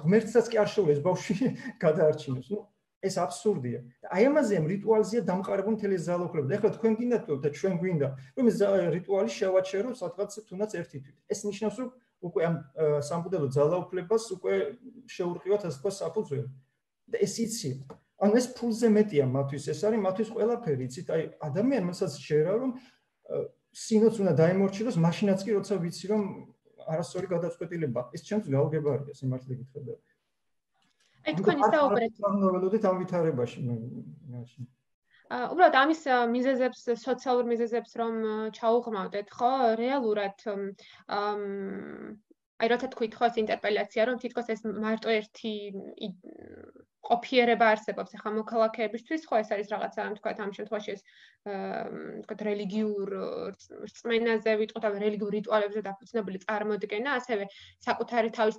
ღმერთსაც კი არ შეუძლია ეს ბავშვი გადაარჩინოს. ნუ ეს აბსურდია. და აი ამაზე ამ რიტუალზეა დამყარებული მთელი ძალაუფლება. და ახლა თქვენ გინდათ და ჩვენ გვინდა, რომ ეს რიტუალი შევაჩეროთ სადღაც თუნდაც ერთი თვით. ეს ნიშნავს, რომ უკვე ამ სამბუდელო ძალაუფლებას უკვე შეურყევათ ასე თქვა საფუძველი. და ეს იცი. ანუ ეს ფულზე მეტია მათთვის, ეს არის მათთვის ყველაფერი, იცით? აი ადამიანსაც შეერა რომ სინოდს უნდა დაემორჩილოს, მაშინაც კი როცა ვიცი რომ არასწორი გადაწყვეტილება. ეს ჩემთვის გაუგებარია სიმართლე გითხრა. აი თქვენი საუბრეთ. ნოველოდით ამ ვითარებაში მაშინ. უბრალოდ ამის მიზეზებს, სოციალურ მიზეზებს რომ ჩაუღრმავდეთ, ხო? რეალურად აი როცა თქვით ხო ეს ინტერპელაცია, რომ თითქოს ეს მარტო ერთი ყოფიერება არსებობს ახლა მოქალაქეებისთვის, ხო ეს არის რაღაცა, თქვათ ამ შემთხვევაში ეს თქვათ რელიგიურ რწმენაზე ვიტყოთ, ან რელიგიურ რიტუალებზე დაფუძნებული წარმოდგენა, ასევე საკუთარი თავის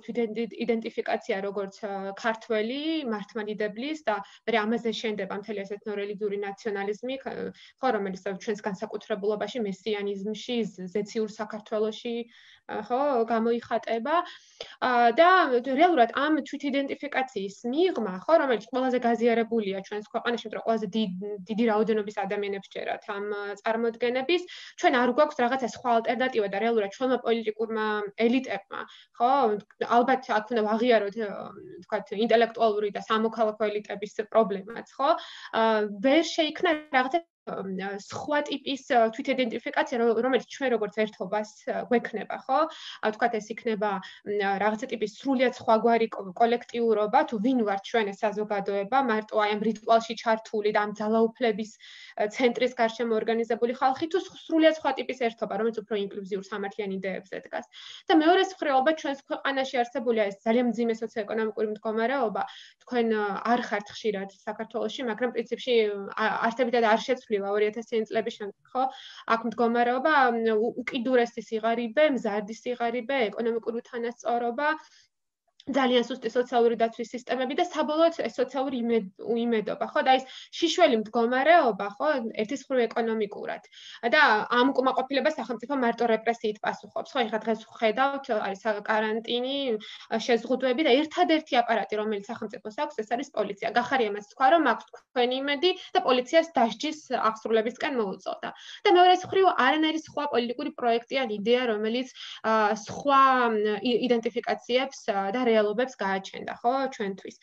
იდენტიფიკაცია როგორც ქართველი, მართლმადიდებლის და მე ამაზე შენდება მთელი ეს ეთნორელიგიური ნაციონალიზმი, ხო რომელიც ჩვენს განსაკუთრებულობაში მესიანიზმში, ზეციურ საქართველოში ხო გამოიხატება და რეალურად ამ თვითიდენტიფიკაციის მიღმა, ხო რომელიც ყველაზე გაზიარებულია ჩვენს ქვეყანაში, მეტყვი ყველაზე დიდი რაოდენობის ადამიანებს ჯერათ ამ წარმოდგენების, ჩვენ არ გვაქვს რაღაცა სხვა ალტერნატივა და რეალურად ჩვენმა პოლიტიკურმა ელიტებმა, ხო, ალბათ აქ უნდა ვაღიაროთ, თქვათ, ინტელექტუალური და სამოქალაქო ელიტების პრობლემაც, ხო? ვერ შეიქმნა რაღაცა სხვა ტიპის თვითიდენტიფიკაცია, რომელიც ჩვენ როგორც ერთობას გვექნება, ხო? თქვათ ეს იქნება რაღაცა ტიპის სრულიად სხვაგვარი კოლექტიურობა, თუ ვინ ვართ ჩვენ ეს საზოგადოება, მარტო აი ამ რიტუალში ჩართული და ამ ძალაუფლების ცენტრის გარშემო ორგანიზებული ხალხი, თუ სრულიად სხვა ტიპის ერთობა, რომელიც უფრო ინკლუზიურ სამართლიან იდეებზე დგას. და მეორე მხრივ ალბათ ჩვენს ქვეყანაში არსებულია ეს ძალიან მძიმე სოციოეკონომიკური მდგომარეობა, თქვენ არ ხართ ხშირად საქართველოში, მაგრამ პრინციპში არსებითად არ შეცვლილა ორი ათასიანი წლების შემდეგ, ხო? აქ მდგომარეობა უკიდურესი სიღარიბე, მზარდი სიღარიბე, ეკონომიკური უთანასწორობა, ძალიან სუსტი სოციალური დაცვის სისტემები და საბოლოოდ სოციალური უიმედობა, ხო? და ის შიშველი მდგომარეობა, ხო, ერთის მხრივ ეკონომიკურად. და ამ უკმაყოფილებას სახელმწიფო მარტო რეპრესიით პასუხობს, ხო? ეხლა დღეს ვხედავთ, არის კარანტინი, შეზღუდვები და ერთადერთი აპარატი, რომელიც სახელმწიფოს აქვს, ეს არის პოლიცია. გახარია მას თქვა, რომ აქვს თქვენი იმედი და პოლიციას დასჯის აღსრულებისკენ მოუწოდა. და მეორე მხრივ არანაირი სხვა პოლიტიკური პროექტი ან იდეა, რომელიც სხვა იდენტიფიკაციებს და რეალობებს გააჩენდა, ხო, ჩვენთვის.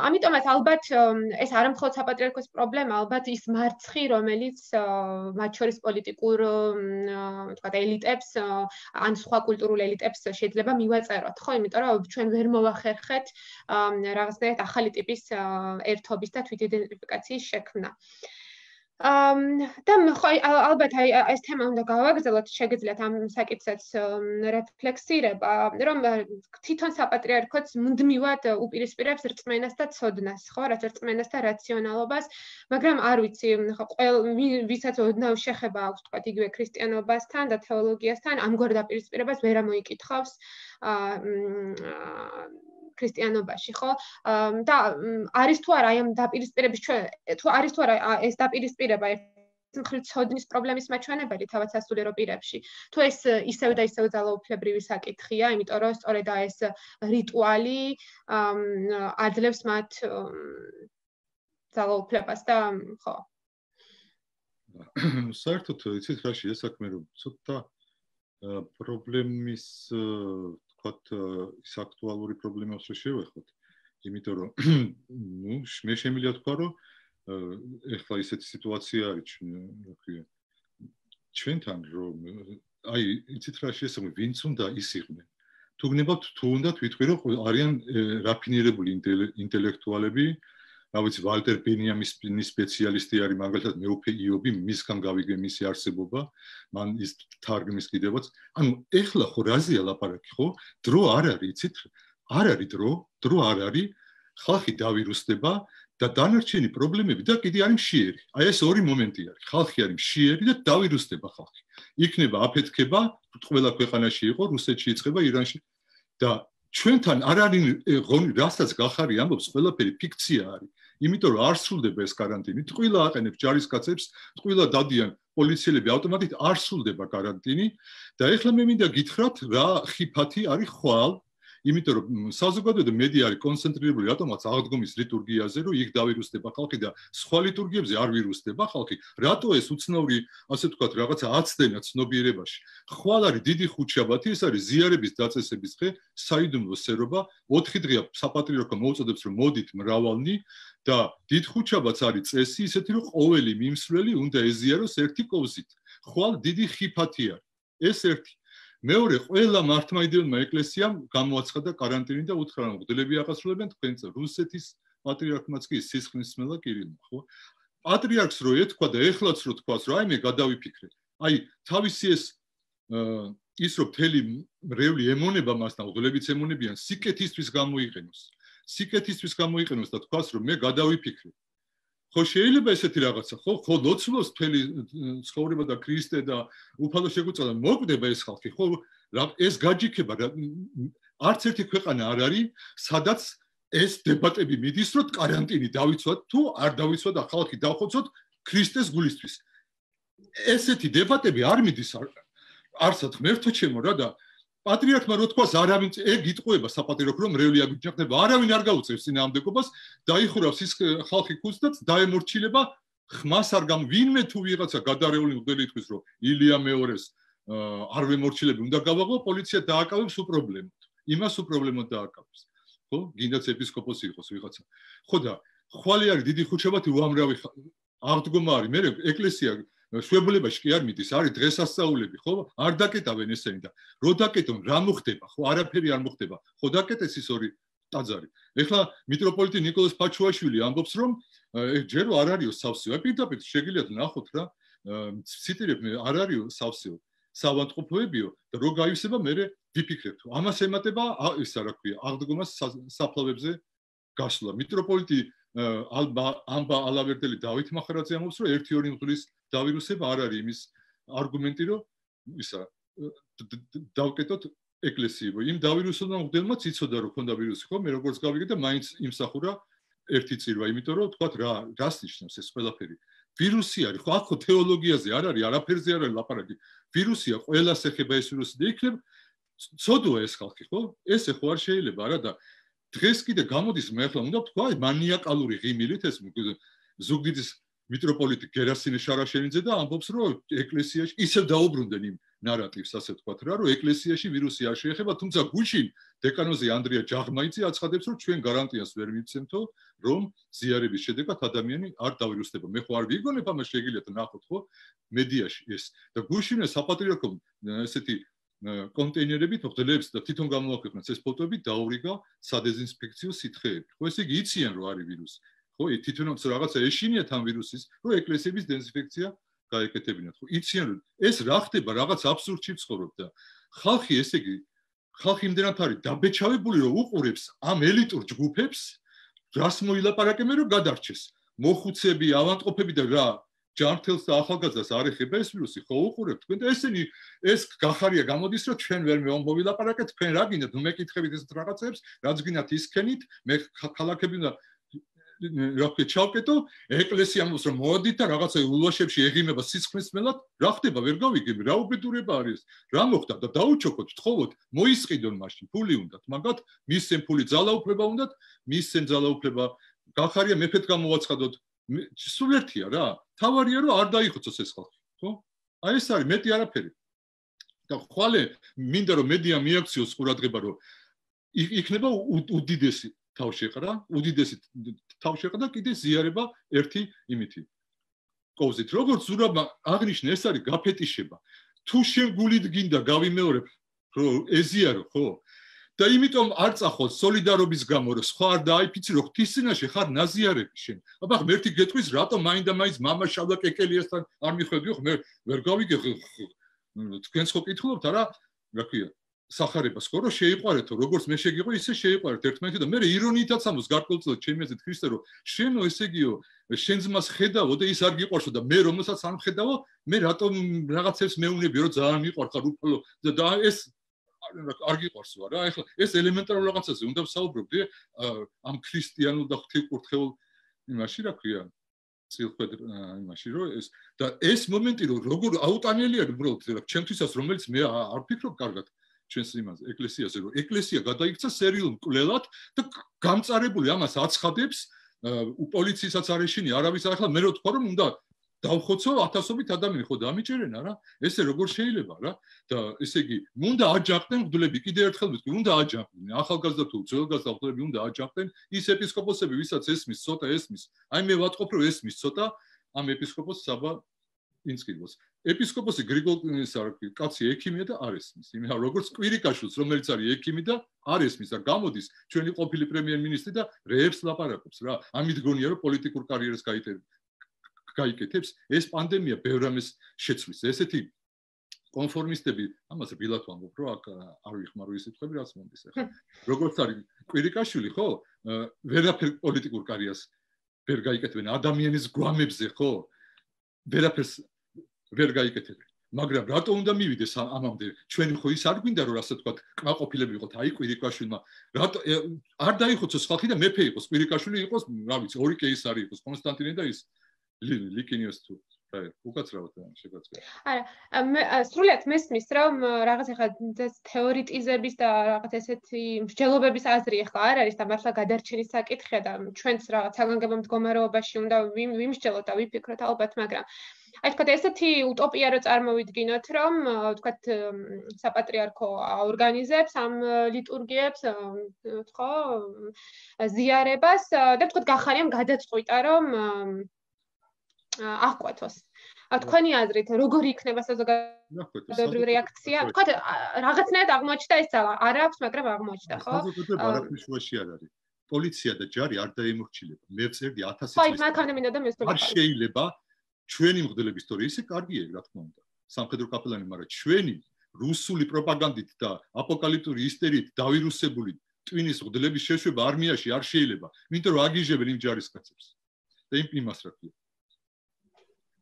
ამიტომაც ალბათ ეს არ მხოლოდ საპატრიარქოს პრობლემა, ალბათ ის მარცხი, რომელიც მათ შორის პოლიტიკურ თქვათ ელიტებს ან სხვა კულტურულ ელიტებს შეიძლება მივაწეროთ, ხო, იმიტომ რომ ჩვენ ვერ მოვახერხეთ რაღაცნაირად ახალი ტიპის ერთობის და თვითიდენტიფიკაციის შექმნა. და ხო ალბათ აი ეს თემა უნდა გავაგრძელოთ, შეგეძლიათ ამ საკითხებს რეფლექსირება, რომ თვითონ საპატრიარქოც მუდმივად უპირისპირებს რწმენას და ცოდნას, ხო, რაც რწმენას და რაციონალობას, მაგრამ არ ვიცი, ხო, ვისაც ოდნავ შეხება აქვს, თქვათ, იგივე ქრისტიანობასთან და თეოლოგიასთან, ამგვარ დაპირისპირებას ვერ ამოიკითხავს ქრისტიანობაში, ხო? და არის თუ არა აი ამ დაპირისპირების ჩვენ თუ არის თუ არა ეს დაპირისპირება მხრივ ცოდნის პრობლემის მაჩვენებელი თავად სასულიერო პირებში. თუ ეს ისევ და ისევ ძალაუფლებრივი საკითხია, იმიტომ რომ სწორედ ეს რიტუალი აძლევს მათ ძალაუფლებას და ხო. საერთოდ იცით რა შეიძლება საქმე რომ ცოტა პრობლემის ვთქვათ ის აქტუალური პრობლემებს რო შევეხოთ, იმიტომ რომ ნუ მე შემიძლია თქვა რომ ეხლა ისეთი სიტუაცია არის რა ქვია ჩვენთან რომ აი იცით რა შეიძლება ვინც უნდა ის იყვნენ თუ გნებავთ თუ უნდა თვითონ რომ არიან რაფინირებული ინტელექტუალები რა ვიცი ვალტერ ბენიამინის სპეციალისტი არის მაგალითად მეუფე იობი მისგან გავიგე მისი არსებობა მან ის თარგმნის კიდევაც ანუ ეხლა ხო რაზეა ლაპარაკი ხო დრო არ არის იცით არ არის დრო დრო არ არის ხალხი დავირუსდება და დანარჩენი პრობლემები და კიდე არის მშიერი აი ეს ორი მომენტი არის ხალხი არის მშიერი და დავირუსდება ხალხი იქნება აფეთქება ყველა ქვეყანაში იყო რუსეთში იწყება ირანში და ჩვენთან არ არის რასაც გახარი ამბობს ყველაფერი ფიქცია არის იმიტომ რომ არ სრულდება ეს каранტინი ტყუილა აყენებს ჯარისკაცებს ტყუილა დადიან პოლიციელები ავტომატით არ სრულდება каранტინი და ეხლა მე მინდა გითხრათ რა ხიფათი არის ხვალ იმიტომ რომ საზოგადოება და მედია არის კონცენტრირებული რატომაც აღდგომის ლიტურგიაზე რომ იქ დავირუსდება ხალხი და სხვა ლიტურგიებზე არ ვირუსდება ხალხი რატო ეს უცნაური ასე ვთქვათ რაღაცა აცდენა ცნობიერებაში ხვალ არის დიდი ხუთშაბათი ეს არის ზიარების დაწესების დღე საიდუმლო სერობა ოთხი დღეა საპატრიარქო მოუწოდებს რომ მოდით მრავალნი და დიდ ხუთშაბათს არის წესი ისეთი რომ ყოველი მიმსვლელი უნდა ეზიაროს ერთი კოვზით ხვალ დიდი ხიფათი არის ეს ერთი მეორე ყველა მართლმადიდებელმა ეკლესიამ გამოაცხადა каранტინი და უთხრა რომ მღვდლები აღასრულებენ თქვენს რუსეთის პატრიარქმაც კი სისხლისმელა კირილმა ხო პატრიარქს რო ეთქვა და ეხლაც რო თქვას რომ აი მე გადავიფიქრე აი თავისი ეს ის რომ მთელი მრევლი ემონება მას და მღვდლებიც ემონებიან სიკეთისთვის გამოიყენოს სიკეთისთვის გამოიყენოს და თქვას რომ მე გადავიფიქრე ხო შეიძლება ესეთი რაღაცა ხო ხო ლოცულობს მთელი ცხოვრება და ქრისტე და უფალო შეგვიწოდა მოკვდება ეს ხალხი ხო ეს გაჯიქება არც ერთი ქვეყანა არ არის სადაც ეს დებატები მიდის რომ каранტინი დავიცვათ თუ არ დავიცვათ და ხალხი დავხოცოთ ქრისტეს გულისთვის ესეთი დებატები არ მიდის არსად ღმერთო ჩემო რა და პატრიარქმა რო თქვას არავინ ეგ იტყუება საპატრიარქო რომ მრევლი აგიჯახდება არავინ არ გაუწევს წინააღმდეგობას დაიხურავს ის ხალხი ქუდს და დაემორჩილება ხმას არ გამ ვინმე თუ ვიღაცა გადარეული მღვდელი იტყვის რომ ილია მეორეს არ ვემორჩილები უნდა გავაღო პოლიცია დააკავებს უპრობლემოდ იმას უპრობლემოდ დააკავებს ხო გინდაც ეპისკოპოსი იყოს ვიღაცა ხო და ხვალე არის დიდი ხუთშაბათი უამრავი აღდგომა არის მე ეკლესია შვებულებაში კი არ მიდის არის დღესასწაულები ხო არ დაკეტავენ ესენი და რო დაკეტონ რა მოხდება ხო არაფერი არ მოხდება ხო დაკეტეს ის ორი ტაძარი ეხლა მიტროპოლიტი ნიკოლოზ ფაჩუაშვილი ამბობს რომ ჯერ არ არისო სავსეო პირდაპირ შეგიძლიათ ნახოთ რა ციტირებ მე არ არისო სავსეო სავანტყოფოებიო და რო გაივსება მე ვიფიქრებთ ამას ემატება ისა რა ქვია აღდგომას საფლავებზე გასვლა მიტროპოლიტი ალბა ამბა ალავერდელი დავით მახარაძე ამბობს რომ ერთი ორი მღვდლის დავირუსება არ არის იმის არგუმენტი რომ ისა დავკეტოთ ეკლესიებო იმ დავირუსებმა მღვდელმაც იცოდა რომ ქონდა ვირუსი ხო მე როგორც გავიგე და მაინც იმსახურა ერთი წირვა იმიტომ რომ თქვათ რა რას ნიშნავს ეს ყველაფერი ვირუსი არის ხო აქ ხო თეოლოგიაზე არ არის არაფერზე არ არის ლაპარაკი ვირუსია ყველას ეხება ეს ვირუსი და იქნებ ცოდვა ეს ხალხი ხო ესე ხო არ შეიძლება არა და დღეს კიდე გამოდის მე ახლა უნდა თქვა მანიაკალური ღიმილით ეს ზუგდიდის მიტროპოლიტი გერასიმე შარაშენიძე და ამბობს რომ ეკლესიაში ისევ დაუბრუნდნენ იმ ნარატივს ასე ვთქვათ რა რომ ეკლესიაში ვირუსი არ შეეხება თუმცა გუშინ დეკანოზი ანდრია ჯაღმაიცი აცხადებს, რომ ჩვენ გარანტიას ვერ მიცემთო, რომ ზიარების შედეგად ადამიანი არ დავირუსდება. მე ხო არ ვიგონებ ამას, შეგიძლიათ ნახოთ ხო მედიაში ეს. და გუშინე საპატრიარქომ ესეთი კონტეინერებით მღვდლებს და თვითონ გამოაქვეყნეს ეს ფოტოები დაურიგა სადეზინფექციო სითხეები. ხო ესე იგი იციან რომ არის ვირუსი. ხო თვითონაც რაღაცა ეშინიათ ამ ვირუსის, რომ ეკლესიების დეზინფექცია გაეკეთებინათ. ხო იციან რომ ეს რა ხდება, რაღაც აბსურდში ცხოვრობ და ხალხი ესე იგი ხალხი იმდენად არის დაბეჭავებული რომ უყურებს ამ ელიტურ ჯგუფებს, რას მოილაპარაკებენ რომ გადარჩეს. მოხუცები, ავადმყოფები და რა ჯანმრთელს და ახალგაზრდას არ ეხება ეს ვირუსი, ხო უყურებთ თქვენ და ესენი ეს გახარია გამოდის რომ ჩვენ ვერ მოვილაპარაკეთ, თქვენ რა გინდათ, მეკითხებით ეს რაღაცებს, რაც გინდათ ისქენით, მე ქალაქები და რა ქვია ჩავკეტო, ეკლესია მოსს რომ მოდით და რაღაცა ულვაშებში ეღიმება სისხლისმელად, რა ხდება, ვერ გავიგებ, რა უბედურება არის, რა მოხდა და დაუჩოქოთ, თხოვოთ, მოისყიდონ მაშინ, ფული უნდათ, მაგათ მისცენ ფული ძალაუფლება უნდათ, მისცენ ძალაუფლება, გახარია მეფეთ გამოვაცხადოთ, სულ ერთია რა, თავარია რომ არ დაიხოცოს ეს ხალხი, ხო? აი ეს არის მეტი არაფერი. და ხვალე მინდა რომ მედია მიაქციოს ყურადღება, რომ იქნება უდიდესი თავშეყრა, უდიდესი თავშეყრა და კიდე ზიარება ერთი იმითი. კოვზით, როგორც ზურაბმა აღნიშნა, ეს არის გაფეტიშება. თუ შენ გულით გინდა გავიმეორებ, რომ ეზიარო, ხო? და იმიტომ არ წახვალ სოლიდარობის გამო, რომ სხვა არ დააიფიცი, რომ ღვთისწინაშე ხარ ნაზიარები შენ. აბა ხმ ერთი გეტყვის, რატომ მაინდა-მაინც მამა შავდა კეკელიასთან არ მიხვედი, ხო მე ვერ გავიგე თქვენს ხო კითხულობთ არა, რა ქვია, სახარებას ხო რომ შეიყვარეთო, როგორც მე შეგიყო, ისე შეიყვარეთ ერთმანეთი და მე ირონიითაც ამოს გარკვეულწილად ჩემი აზრით ქრისტე რომ შენო ესე იგიო, შენ ძმას ხედავო და ის არ გიყვარსო და მე რომელსაც არ მხედავო, მე რატომ რაღაცებს მეუნები რომ ძალიან მიყვარხარ უფალო და ეს არ გიყვარსო არა, ეხლა ეს ელემენტარულ რაღაცაზე უნდა ვსაუბრობდი ამ ქრისტიანულ და ღვთისკურთხეულ იმაში რა ქვია წილხვედ იმაში რომ ეს და ეს მომენტი რომ როგორ აუტანელია უბრალოდ ჩემთვისაც რომელიც მე არ ვფიქრობ კარგად ჩვენს იმაზე ეკლესიაზე რომ ეკლესია გადაიქცა სერიულ მკვლელად და გამწარებული ამას აცხადებს პოლიცияსაც არ ეშინია არავის ახლა მე რო თქვა რომ უნდა დავხოცო ათასობით ადამიანი ხო დამიჭერენ არა ესე როგორ შეიძლება რა და ესე იგი უნდა აჯანყდნენ მღვდლები კიდე ერთხელ ვიტყვი უნდა აჯანყდნენ ახალგაზრდა თუ ძველგაზრდა მღვდლები უნდა აჯანყდნენ ის ეპისკოპოსები ვისაც ესმის ცოტა ესმის აი მე ვატყობ რომ ესმის ცოტა ამ ეპისკოპოს საბა ინსკიდოს ეპისკოპოსი გრიგოლის კაცი ექიმია და არ ესმის იმენა როგორც კვირიკაშვილს რომელიც არის ექიმი და არ ესმის და გამოდის ჩვენი ყოფილი პრემიერ-მინისტრი და რეებს ლაპარაკობს რა ამით გონია რომ პოლიტიკურ კარიერას გაიტარებს გაიკეთებს ეს პანდემია ბევრ ამას შეცვლის ესეთი კონფორმისტები ამას რბილად ვამბობ რომ აქ არ ვიხმარო ის სიტყვები რაც მომდის ახლა როგორც არის კვირიკაშვილი ხო ვერაფერ პოლიტიკურ კარიერას ვერ გაიკეთებენ ადამიანის გვამებზე ხო ვერაფერს ვერ გაიკეთებენ მაგრამ რატო უნდა მივიდეს ამამდე ჩვენი ხო ის არ გვინდა რომ ასე თქვა კმაყოფილები იყოთ აი კვირიკაშვილმა რატო არ დაიხოცოს ხალხი და მეფე იყოს კვირიკაშვილი იყოს რა ვიცი ორი კეისარი იყოს კონსტანტინე და ის ლიკინიოს თუ აი უკაცრავად შეგაწყდა არა მე სრულიად მესმის რომ რაღაც ახლა თეორიტიზების და რაღაც ესეთი მსჯელობების აზრი ახლა არ არის და მართლა გადარჩენის საკითხია და ჩვენც რაღაც საგანგებო მდგომარეობაში უნდა ვიმსჯელოთ და ვიფიქროთ ალბათ მაგრამ აი თქვა ესეთი უტოპია რო წარმოვიდგინოთ რომ თქვა საპატრიარქო ორგანიზებს ამ ლიტურგიებს ხო ზიარებას და თქვა გახარიამ გადაწყვიტა რომ აღკვეთოს. თქვენი აზრით, როგორი იქნება საზოგადოებრივი რეაქცია? თქვა რაღაცნაირად აღმოჩნდა ეს ძალა. არ აქვს, მაგრამ აღმოჩნდა, ხო? საზოგადოება არაფრის შუაში არ არის. პოლიცია და ჯარი არ დაემორჩილება. მე ვწერდი ათასი წლის. ხო, მაგამდე მინდა და მესწრაფო. არ შეიძლება ჩვენი მღვდლების თორე ისე კარგია, რა თქმა უნდა. სამხედრო კაპელანი, მაგრამ ჩვენი რუსული პროპაგანდით და აპოკალიფტური ისტერიით დავირუსებული ტვინის მღვდლების შეშვება არმიაში არ შეიძლება. იმიტომ რომ აგიჟებენ იმ ჯარისკაცებს. და იმ იმას რა ქვია.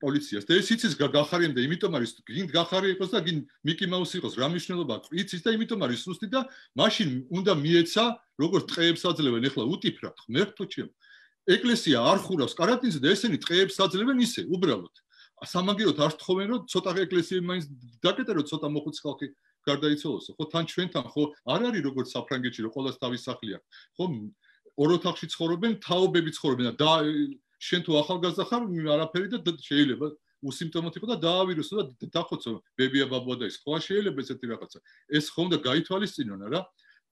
პოლიციას და ეს იცის გახარიამ და იმიტომ არის გინდ გახარი იყოს და გინდ მიკი მაუსი იყოს რა მნიშვნელობა აქვს იცის და იმიტომ არის სუსტი და მაშინ უნდა მიეცა როგორც ტყეებს აძლევენ ეხლა უტიფრად ღმერთო ჩემ ეკლესია არ ხურავს კარანტინზე და ესენი ტყეებს აძლევენ ისე უბრალოდ სამაგიეროდ არ თხოვენ რომ ცოტა ეკლესიები მაინც დაკეტა რომ ცოტა მოხუც ხალხი გარდაიცვალოსო ხო თან ჩვენთან ხო არ არის როგორც საფრანგეთში რომ ყოველს თავის სახლი აქვს ხო ორ ოთახში ცხოვრობენ თაობები ცხოვრობენ და შენ თუ ახალგაზრდა ხარ არაფერი და შეიძლება უსიმპტომოდ იყო და დაავიროსო და დახოცო ბებია ბაბუა და ის ხო შეიძლება ესეთი რაღაცა ეს ხო უნდა გაითვალისწინონ რა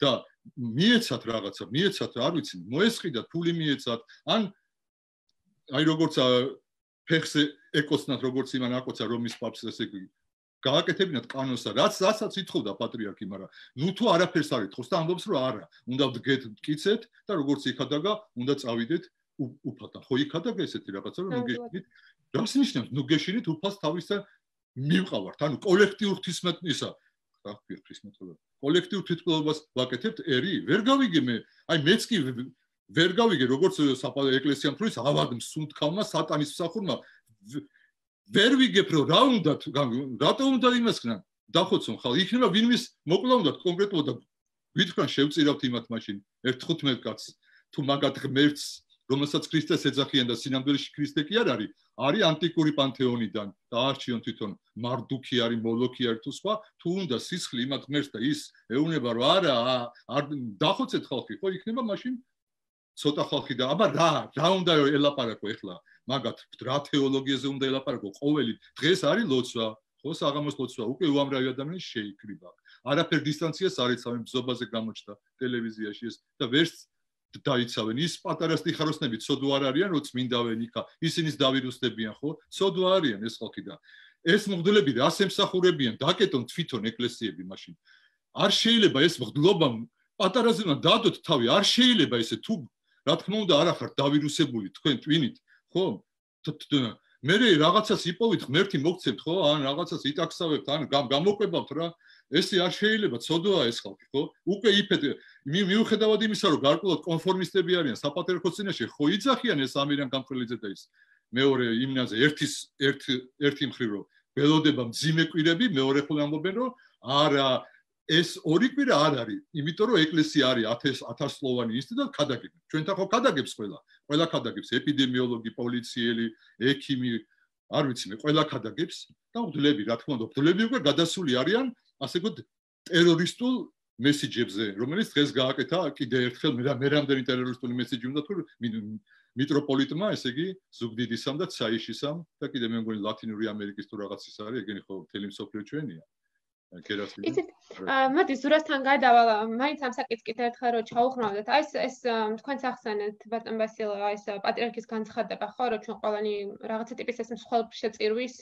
და მიეცათ რაღაცა, მიეცათ, არ ვიცი, მოესყიდათ, ფული მიეცათ, ან აი როგორც ფეხზე ეკოცნათ, როგორც იმან აკოცა რომის პაპს, ესე იგი გააკეთებინათ კანონსა, რაც რასაც ითხოვდა პატრიარქი, მაგრამ ნუ თუ არაფერს არ ითხოვს და ამბობს, რომ არა, უნდა ვდგეთ, მტკიცეთ და როგორც იქადაგა, უნდა წავიდეთ უფალთან. ხო იქადაგა ესეთი რაღაცა, რომ ნუ გეშინით, რას ნიშნავს, ნუ გეშინით უფალს თავისთან მივყავართ, ანუ კოლექტიურ ღვთისმეტყველებისა, რა ქვია ღვთისმეტყველება, კოლექტიურ თვითმკვლელობას ვაკეთებთ ერი, ვერ გავიგე მე, აი მეც კი ვერ გავიგე, როგორც ეკლესიამ თulis ავად მსუნთქავმა სატანის მსახურმა ვერ ვიგებ რომ რა უნდა რატო უნდა იმას ხნან დახოცონ ხალ იქნება ვინმის მოკლა უნდა კონკრეტულად და ვითხრან შევწირავთ იმათ მაშინ ერთხუთმეტ კაცს თუ მაგათ ღმერთს რომელსაც ქრისტეს ეძახიან და სინამდვილეში ქრისტე კი არ არის არის ანტიკური პანთეონიდან და არჩიონ თვითონ მარდუქი არის მოლოქი არის თუ სხვა თუ უნდა სისხლი იმათ ღმერთს და ის ეუნება რომ არა არ დახოცეთ ხალხი ხო იქნება მაშინ ცოტა ხალხი და აბა რა რა უნდა ელაპარაკო ეხლა მაგათ რა თეოლოგიაზე უნდა ელაპარაკო ყოველი დღეს არის ლოცვა ხო საღამოს ლოცვა უკვე უამრავი ადამიანი შეიკრიბა არაფერ დისტანციას არ იცავენ ბზობაზე გამოჩნდა ტელევიზიაში ეს და ვერც დაიცავენ ის პატარა სტიხაროსნები ცოდვა არ არიან რომ წმინდავენ იქა ისინიც დავირუსდებიან ხო ცოდვა არიან ეს ხალხი და ეს მღვდლები და ასე მსახურებიან დაკეტონ თვითონ ეკლესიები მაშინ არ შეიძლება ეს მღვდლობა პატარაზე უნდა დადოთ თავი არ შეიძლება ესე თუ რა თქმა უნდა არ ახართ დავირუსებული თქვენ twinით ხო მე რაღაცას იპოვით ღმერთი მოგცემთ ხო ან რაღაცას იტაქსავებთ ან გამოყვებავთ რა ესე არ შეიძლება ცოდვაა ეს ხალხი ხო უკვე იფეთ მიუხედავად იმისა რომ გარკვეულად კონფორმისტები არიან საპატრიარქოს წინაშე ხო იძახიან ეს ამირან გამყრელიძე და ის მეორე იმნაზე ერთის ერთ ერთი მხრივ რომ ველოდება მძიმე კვირები მეორე ხოლმე ამბობენ რომ არა ეს ორი კვირა არ არის იმიტომ რომ ეკლესია არის ათასწლოვანი ინსტიტუტი და ქადაგებს ჩვენთან ხო ქადაგებს ყველა ყველა ქადაგებს ეპიდემიოლოგი პოლიციელი ექიმი არ ვიცი მე ყველა ქადაგებს და მღვდლები რა თქმა უნდა მღვდლები უკვე გადასული არიან ასე ვთქვათ ტერორისტულ მესიჯებზე რომელიც დღეს გააკეთა კიდე ერთხელ მე მე რამდენი ტერორისტული მესიჯი უნდა თუ მიტროპოლიტმა ესე იგი ზუგდიდისამ და ცაიშისამ და კიდე მე მგონი ლათინური ამერიკის თუ რაღაც ის არის ეგენი ხო მთელი მსოფლიო ჩვენია იცით მოდი ზურასთან გადავალ მაინც ამ საკითხს კიდე ერთხელ რომ ჩაუხმავდეთ აი ეს ეს თქვენც ახსენეთ ბატონ ბასილო აი ეს პატრიარქის განცხადება ხო რომ ჩვენ ყველანი რაღაცა ტიპის ეს მსხვერპლშეწირვის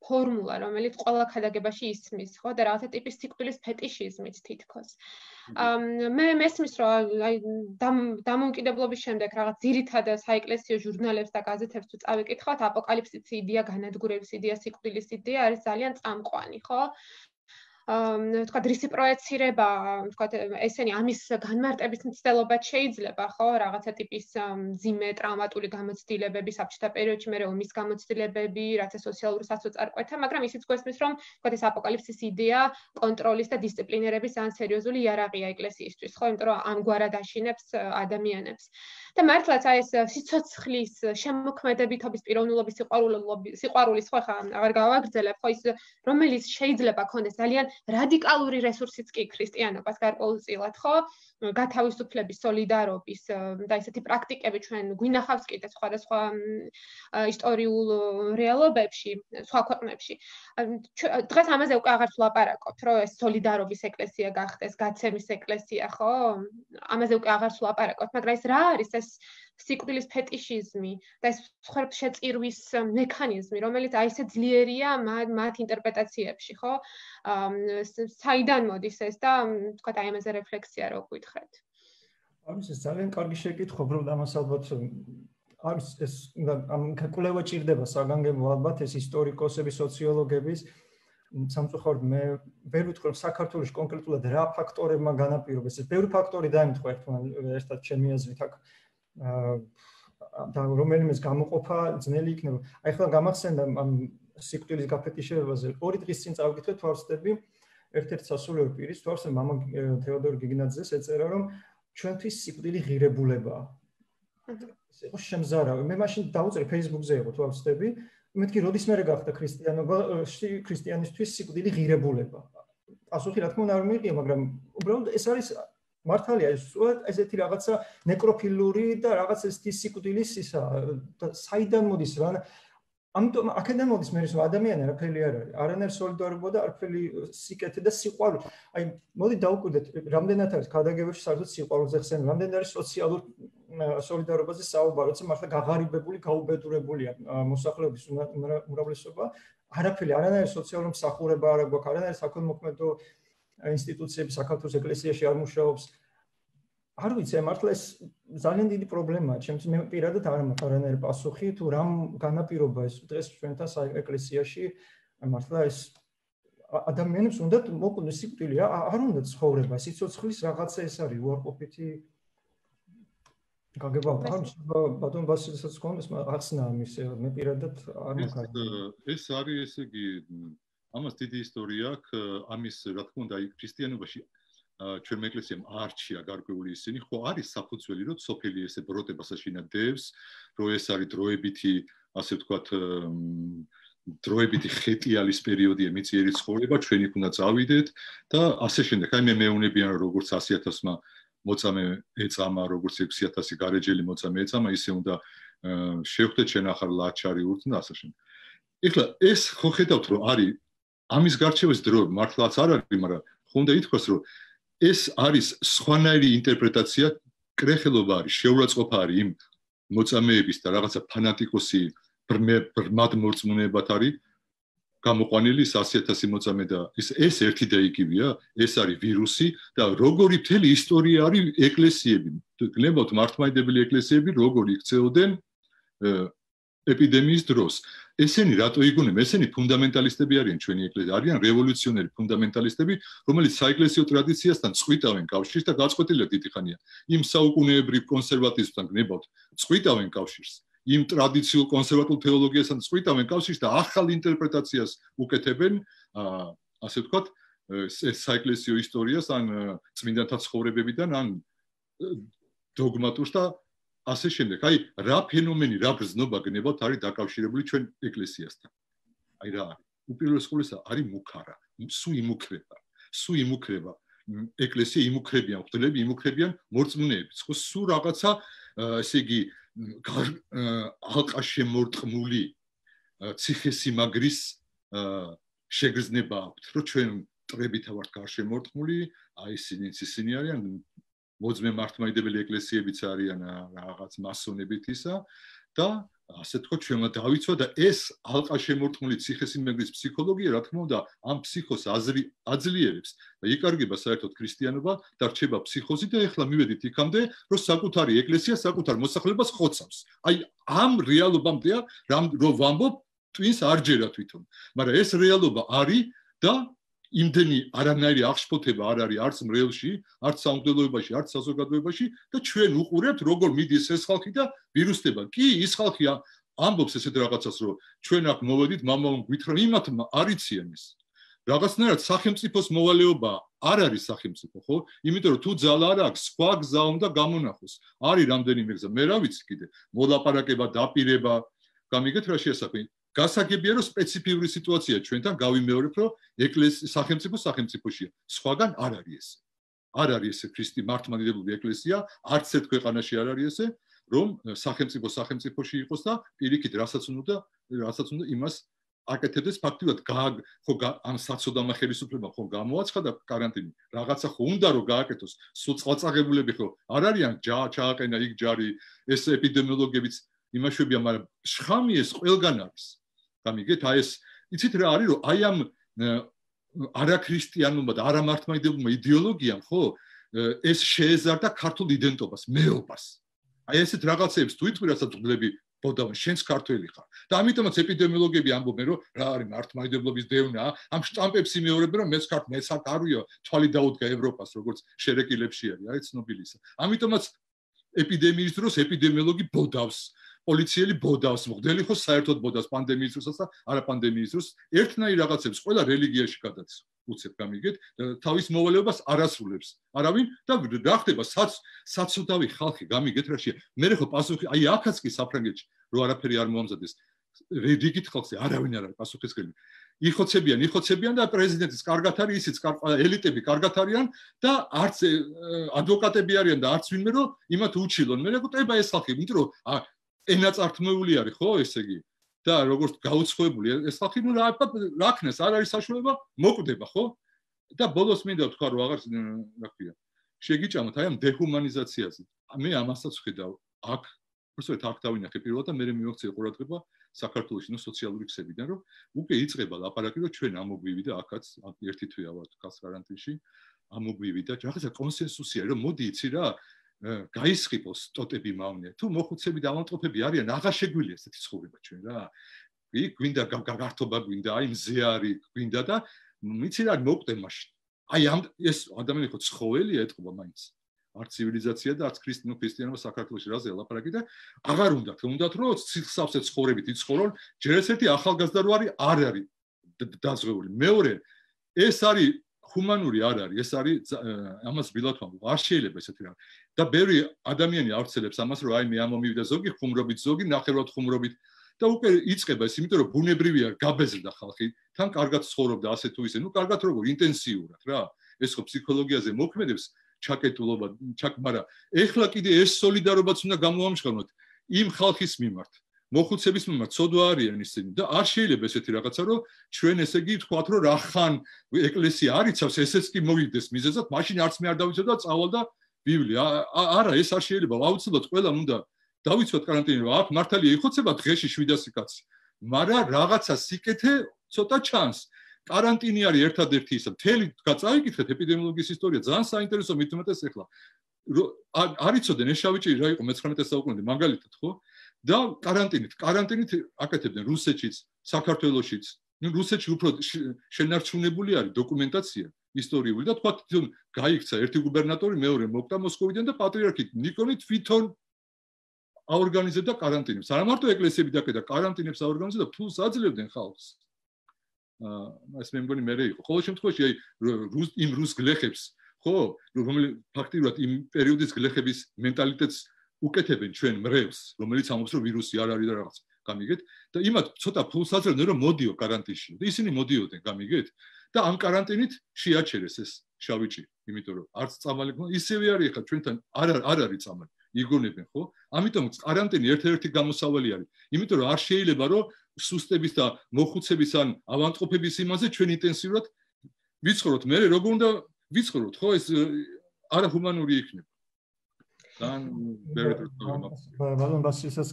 ფორმულა რომელიც ყველა ქადაგებაში ისმის ხო და რაღაცა ტიპის სიკვდილის ფეტიშიზმით თითქოს მე მესმის რომ აი დამოუკიდებლობის შემდეგ რაღაც ძირითად საეკლესიო ჟურნალებს და გაზეთებს თუ წავიკითხავთ აპოკალიფსის იდეა განადგურების იდეა სიკვდილის იდეა არის ძალიან წამყვანი ხო თქვა რისი პროექცირება თქვა ესენი ამის განმარტების მცდელობად შეიძლება ხო რაღაცა ტიპის მძიმე ტრაუმატული გამოცდილებები საბჭოთა პერიოდში მე ომის გამოცდილებები რაც სოციალური საწარმოებთა მაგრამ ისიც გვესმის რომ თქვა ეს აპოკალიფსის იდეა კონტროლის და დისციპლინირების ძალიან სერიოზული იარაღია ეკლესიისთვის ხო იმიტომ რომ ამგვარად აშინებს ადამიანებს და მართლაც აი ეს სიცოცხლის შემოქმედებითობის პიროვნულობის სიყვარულობის სიყვარულის ხო ხა აღარ გავაგრძელებ ხო ის რომელიც შეიძლება ქონდეს ძალიან რადიკალური რესურსიც კი ქრისტიანობას გარკვეულწილად ხო გათავისუფლების სოლიდარობის და ესეთი პრაქტიკები ჩვენ გვინახავს კიდე სხვადასხვა ისტორიულ რეალობებში სხვა ქვეყნებში დღეს ამაზე უკვე აღარც ვლაპარაკობთ რომ ეს სოლიდარობის ეკლესია გახდეს გაცემის ეკლესია ხო ამაზე უკვე აღარც ვლაპარაკობთ მაგრამ ეს რა არის ეს სიკვდილის ფეტიშიზმი და ეს მსხვერპლშეწირვის მექანიზმი რომელიც აი ესე ძლიერია მათ ინტერპრეტაციებში ხო საიდან მოდის ეს და თქვა აი ამაზე რეფლექსია რო გვითხრეთ არის ეს ძალიან კარგი შეკითხვა უბრალოდ ამას ალბათ არის ეს ამ კვლევა ჭირდება საგანგებო ალბათ ეს ისტორიკოსები სოციოლოგების სამწუხაროდ მე ვერ ვიტყვი რომ საქართველოს კონკრეტულად რა ფაქტორებმა განაპირობეს ეს ბევრი ფაქტორი დაემთხვა ერთად ჩემი აზრით აქ და რომელიმეს გამოყოფა ძნელი იქნება. აი ხლა გამახსენდა ამ სიკვდილის გაფეტიშებაზე ორი დღის წინ წავიკითხე თვალსწრები ერთ-ერთ სასულიერო პირის თვალსწრები მამა თეოდორ გიგნაძეს ეწერა რომ ჩვენთვის სიკვდილი ღირებულებაა. ეს იყო შემზარავი. მე მაშინ დავუწერე Facebook-ზე იყო თვალსწრები მეთქი როდის მე გახდა ქრისტიანობაში ქრისტიანისთვის სიკვდილი ღირებულება. პასუხი რა თქმა უნდა არ მიიღია მაგრამ უბრალოდ ეს არის მართალია ეს ესეთი რაღაცა ნეკროფილური და რაღაც ესეთი სიკვდილის ისა და საიდან მოდის რა ამიტომ აქედან მოდის მე რომ ადამიანი არაფერი არ არის. არანაირ სოლიდარობა და არაფერი სიკეთე და სიყვარული. აი, მოდი დავუკვირდეთ, რამდენად არის ქადაგებაში საერთოდ სიყვარულზე ხსენ, რამდენად არის სოციალურ სოლიდარობაზე საუბარი, როცა მართლა გაღარიბებული, გაუბედურებულია მოსახლეობის უმრავლესობა, არაფერი, არანაირი სოციალური მსახურება არ აქვს, არანაირი საქველმოქმედო ინსტიტუციები საქართველოს ეკლესიაში არ მუშაობს. არ ვიცი, მართლა ეს ძალიან დიდი პრობლემაა. ჩემთვის მე პირადად არ მაქვს არანაირი პასუხი თუ რამ განაპირობა ეს დღეს ჩვენთან ეკლესიაში, მართლა ეს ადამიანებს უნდა მოკვდოს სიკვდილი, არ უნდა ცხოვრება, სიცოცხლის რაღაცა ეს არის უარყოფითი გაგება. არ ვიცი, ბატონ ბასილესაც გქონდეს ახსნა ამის, მე პირადად არ მაქვს. ეს არის ესე იგი ამას დიდი ისტორია აქვს, ამის რა თქმა უნდა ქრისტიანობაში ჩვენ ეკლესიამ არჩია გარკვეული ისინი, ხო არის საფუძველი, რომ სოფელი ესე ბროტებას აშინადებს, რომ ეს არის დროებითი, ასე ვთქვათ, დროებითი ხეტიალის პერიოდია მიწიერი ცხოვრება, ჩვენი უნდა წავიდეთ და ასე შემდეგ. აი მე მეუნებიან როგორც ასი ათასმა მოწამე ეწამა, როგორც ექვსი ათასი გარეჯელი მოწამე ეწამა, ისე უნდა შევხვდეთ ჩვენ ახალ ლაჩარი ურთ და ასე შემდეგ. ეხლა ეს ხო ხედავთ, რომ არის ამის გარჩევის დრო მართლაც არ არის, მაგრამ ხო უნდა ითქვას, რომ ეს არის სხვანაირი ინტერპრეტაცია, კრეხელობა არის, შეურაცხყოფა არის იმ მოწამეების და რაღაცა ფანატიკოსი ბრმად მორწმუნეებად არის გამოყვანილი ასი ათასი მოწამე და ეს ეს ერთი და იგივეა, ეს არის ვირუსი და როგორი მთელი ისტორია არის ეკლესიები, გნებავთ მართლმადიდებელი ეკლესიები, როგორი იქცეოდნენ ეპიდემიის დროს. ესენი რატო იგონებენ? ესენი ფუნდამენტალისტები არიან ჩვენი ეკლესია, არიან რევოლუციონერი ფუნდამენტალისტები, რომელიც საეკლესიო ტრადიციასთან წყვიტავენ კავშირს და გაწყვეტილია დიდი ხანია. იმ საუკუნეებრივ კონსერვატიზმთან გნებავთ, წყვიტავენ კავშირს. იმ ტრადიციულ კონსერვატულ თეოლოგიასთან წყვიტავენ კავშირს და ახალ ინტერპრეტაციას უკეთებენ, ასე ვთქვათ, საეკლესიო ისტორიას ან წმინდანთა ცხოვრებებიდან ან დოგმატურს და ასე შემდეგ. აი, რა ფენომენი, რა ბრძნობა გნებავთ არის დაკავშირებული ჩვენ ეკლესიასთან. აი რა არის? უპირველეს ყოვლისა არის მუქარა, სუ იმუქრება, სუ იმუქრება. ეკლესია იმუქრებიან, ღვთლები იმუქრებიან მორწმუნეებს. ხო, სუ რაღაცა, ესე იგი, ალყა შემორტყმული ციხესიმაგრის შეგრძნება აქვთ, რომ ჩვენ მტრებითა ვართ გარშემორტყმული, აი ისინიც ისინი არიან მოძმე მართლმადიდებელი ეკლესიებიც არიან რაღაც მასონებით ისა და ასე თქო ჩვენმა დავიცვა და ეს ალყა შემორტყმული ციხესიმაგრის ფსიქოლოგია რა თქმა უნდა ამ ფსიქოს აზრი აძლიერებს და იკარგება საერთოდ ქრისტიანობა და რჩება ფსიქოზი და ეხლა მივედით იქამდე რომ საკუთარი ეკლესია საკუთარ მოსახლეობას ხოცავს. აი ამ რეალობამდეა რომ ვამბობ twins არ ჯერა თვითონ, მაგრამ ეს რეალობა არის და იმდენი არანაირი აღშფოთება არ არის არც მრევლში, არც სამღვდელოებაში, არც საზოგადოებაში და ჩვენ უყურებთ როგორ მიდის ეს ხალხი და ვირუსდება. კი, ის ხალხი ამბობს ესეთ რაღაცას, რომ ჩვენ აქ მოვედით, მამაო გვითხრა, იმათ არიციან ის. რაღაცნაირად სახელმწიფოს მოვალეობა არ არის სახელმწიფო, ხო? იმიტომ რომ თუ ძალა არ აქვს, სხვა გზა უნდა გამონახოს. არის რამდენიმე გზა, მე რა ვიცი კიდე, მოლაპარაკება, დაპირება, გამიგეთ რა შეასახე. გასაგებია რომ სპეციფიური სიტუაცია ჩვენთან გავიმეორებ რომ ეკლესია სახელმწიფო სახელმწიფოშია სხვაგან არ არის ეს არ არის ეს ქრისტი მართლმადიდებელი ეკლესია არც ერთ ქვეყანაში არ არის ესე რომ სახელმწიფო სახელმწიფოში იყოს და პირიქით რასაც უნდა რასაც უნდა იმას აკეთებდეს ფაქტიურად ხო ამ საწოდამა ხელისუფლება ხო გამოაცხადა კარანტინი რაღაცა ხო უნდა რომ გააკეთოს სულ წყალწაღებულები ხო არ არიან ჩააყენა იქ ჯარი ეს ეპიდემიოლოგებიც იმაშვებია მაგრამ შხამი ეს ყველგან არის გამიგეთ აი ეს იცით რა არის რომ აი ამ არაქრისტიანულმა და არამართლმადიდებელმა იდეოლოგიამ ხო ეს შეეზარდა ქართულ იდენტობას მეობას აი ესეთ რაღაცებს თუ იტყვი რასაც გლები ბოდავენ შენს ქართველი ხარ და ამიტომაც ეპიდემიოლოგები ამბობენ რომ რა არის მართლმადიდებლობის დევნა ამ შტამპებს იმეორებენ რომ მეც ქართ მეც აქ არვიო თვალი დაუდგა ევროპას როგორც შერეკილებში არის არის ცნობილისა ამიტომაც ეპიდემიის დროს ეპიდემიოლოგი ბოდავს პოლიციელი ბოდავს, მღვდელი ხო საერთოდ ბოდავს პანდემიის დროსაც და არა პანდემიის დროს. ერთნაირ რაღაცებს ყველა რელიგიაში გადაც უცებ გამიგეთ და თავის მოვალეობას არასრულებს. არავინ და რა ხდება საცოდავი ხალხი გამიგეთ რაშია. მე ხო პასუხი აი აქაც კი საფრანგეთში რო არაფერი არ მოამზადეს. რეგიტ ხალხზე არავინ არ არის პასუხისმგებელი. იხოცებიან, იხოცებიან და პრეზიდენტის კარგად არის, ისიც ელიტები კარგად არიან და არც ადვოკატები არიან და არც ვინმე რომ იმათ უჩილონ. მე მეგობრებო ეს ხალხი, იმიტომ რომ ენაწართმეული არის ხო ესე იგი და როგორც გაუცხოებული ეს ხალხი ნუ რა რა ქნეს არ არის საშუალება მოკვდება ხო და ბოლოს მინდა ვთქვა რომ აღარ რა ქვია შეგიჭამოთ აი ამ დეჰუმანიზაციაზე მე ამასაც ვხედავ აქ უბრალოდ აქ დავინახე პირველად და მე მივაქცია ყურადღება საქართველოს ნუ სოციალური ქსებიდან რომ უკვე იწყება ლაპარაკი რომ ჩვენ ამოგვივი და აქაც ერთი თვეა ვართ ხალხ კარანტინში ამოგვივი და რაღაცა კონსენსუსია რომ მოდი იცი რა გაისხიპოს ტოტები მავნე თუ მოხუცები და ავანტყოფები არიან აღარ შეგვიძლია ესეთი ცხოვრება ჩვენ რა იქ გვინდა გართობა გვინდა აი მზე არის გვინდა და მიცი რა მოკვდე მაშინ აი ამ ეს ადამიანი ხო ცხოველია ეთყობა მაინც არ ცივილიზაცია და არც ქრისტიანო ქრისტიანობა საქართველოში რაზე ლაპარაკი და აღარ უნდათ უნდათ რომ სიცხსავსე ცხოვრებით იცხოვრონ ჯერ ესეთი ახალგაზრდა რო არის არ არის დაზღვეული მეორე ეს არის ჰუმანური არ არის ეს არის ამას ვილათვამ არ შეიძლება ესეთი რა და ბევრი ადამიანი ავრცელებს ამას რომ აი მე ამომივიდა ზოგი ხუმრობით ზოგი ნახევრად ხუმრობით და უკვე იწყება ეს იმიტომ რომ ბუნებრივია გაბეზრდა ხალხი თან კარგად ცხოვრობდა ასე თუ ისე ნუ კარგად როგორ ინტენსიურად რა ეს ხო ფსიქოლოგიაზე მოქმედებს ჩაკეტულობა ჩაკ მაგრამ ეხლა კიდე ეს სოლიდარობაც უნდა გამოამჟღავნოთ იმ ხალხის მიმართ მოხუცების მიმართ ცოდვა არიან ისინი და არ შეიძლება ესეთი რაღაცა რომ ჩვენ ესე იგი ვთქვათ რომ რახან ეკლესია არიცავს ესეც კი მოვიდეს მიზეზად მაშინ არც მე არ დავიცვა და წავალ და ბიბლია არა ეს არ შეიძლება აუცილებლად ყველამ უნდა დავიცვათ კარანტინი რომ აქ მართალია იხოცება დღეში შვიდასი კაცი მაგრამ რაღაცა სიკეთე ცოტა ჩანს карантине არის ერთადერთი ისა მთელი გაწაიკითხეთ ეპიდემიოლოგიის ისტორია ძალიან საინტერესო მით უმეტეს ახლა არიცოდენ ეს შავი ჭირი რა იყო მეცხრამეტე საუკუნემდე მაგალითად ხო და карантинით карантинით აკეთებდნენ რუსეთშიც საქართველოშიც ნუ რუსეთში უფრო შენარჩუნებული არის დოკუმენტაცია ისტორიული და თქვა თვითონ გაიქცა ერთი გუბერნატორი მეორე მოკვდა მოსკოვიდან და პატრიარქი ნიკონი თვითონ აორგანიზებდა карантинებს არა მარტო ეკლესიები დაკედა карантинებს აორგანიზებდა ფულს აძლევდნენ ხალხს აა ეს მე მგონი მე იყო ყოველ შემთხვევაში აი რუს იმ რუს გლეხებს ხო რომელიც ფაქტიურად იმ პერიოდის გლეხების მენტალიტეტს უკეთებენ ჩვენ მრევს რომელიც ამბობს რომ ვირუსი არ არის და რაღაც გამიგეთ და იმათ ცოტა ფულს აძლევდნენ რომ მოდიო карантинში და ისინი მოდიოდნენ გამიგეთ და ამ карантинით შეაჩერეს ეს შავი ჭირი იმიტომ რომ არც წამალი ისევე არის ხა ჩვენთან არ არ არის წამალი იგონებენ ხო ამიტომ карантინი ერთ-ერთი გამოსავალი არის იმიტომ რომ არ შეიძლება რომ სუსტების და მოხუცების ან ავანტყოფების იმაზე ჩვენ ინტენსიურად ვიცხოვროთ მე როგორ უნდა ვიცხოვროთ ხო ეს არაჰუმანური იქნება თან ბალონ ბასისას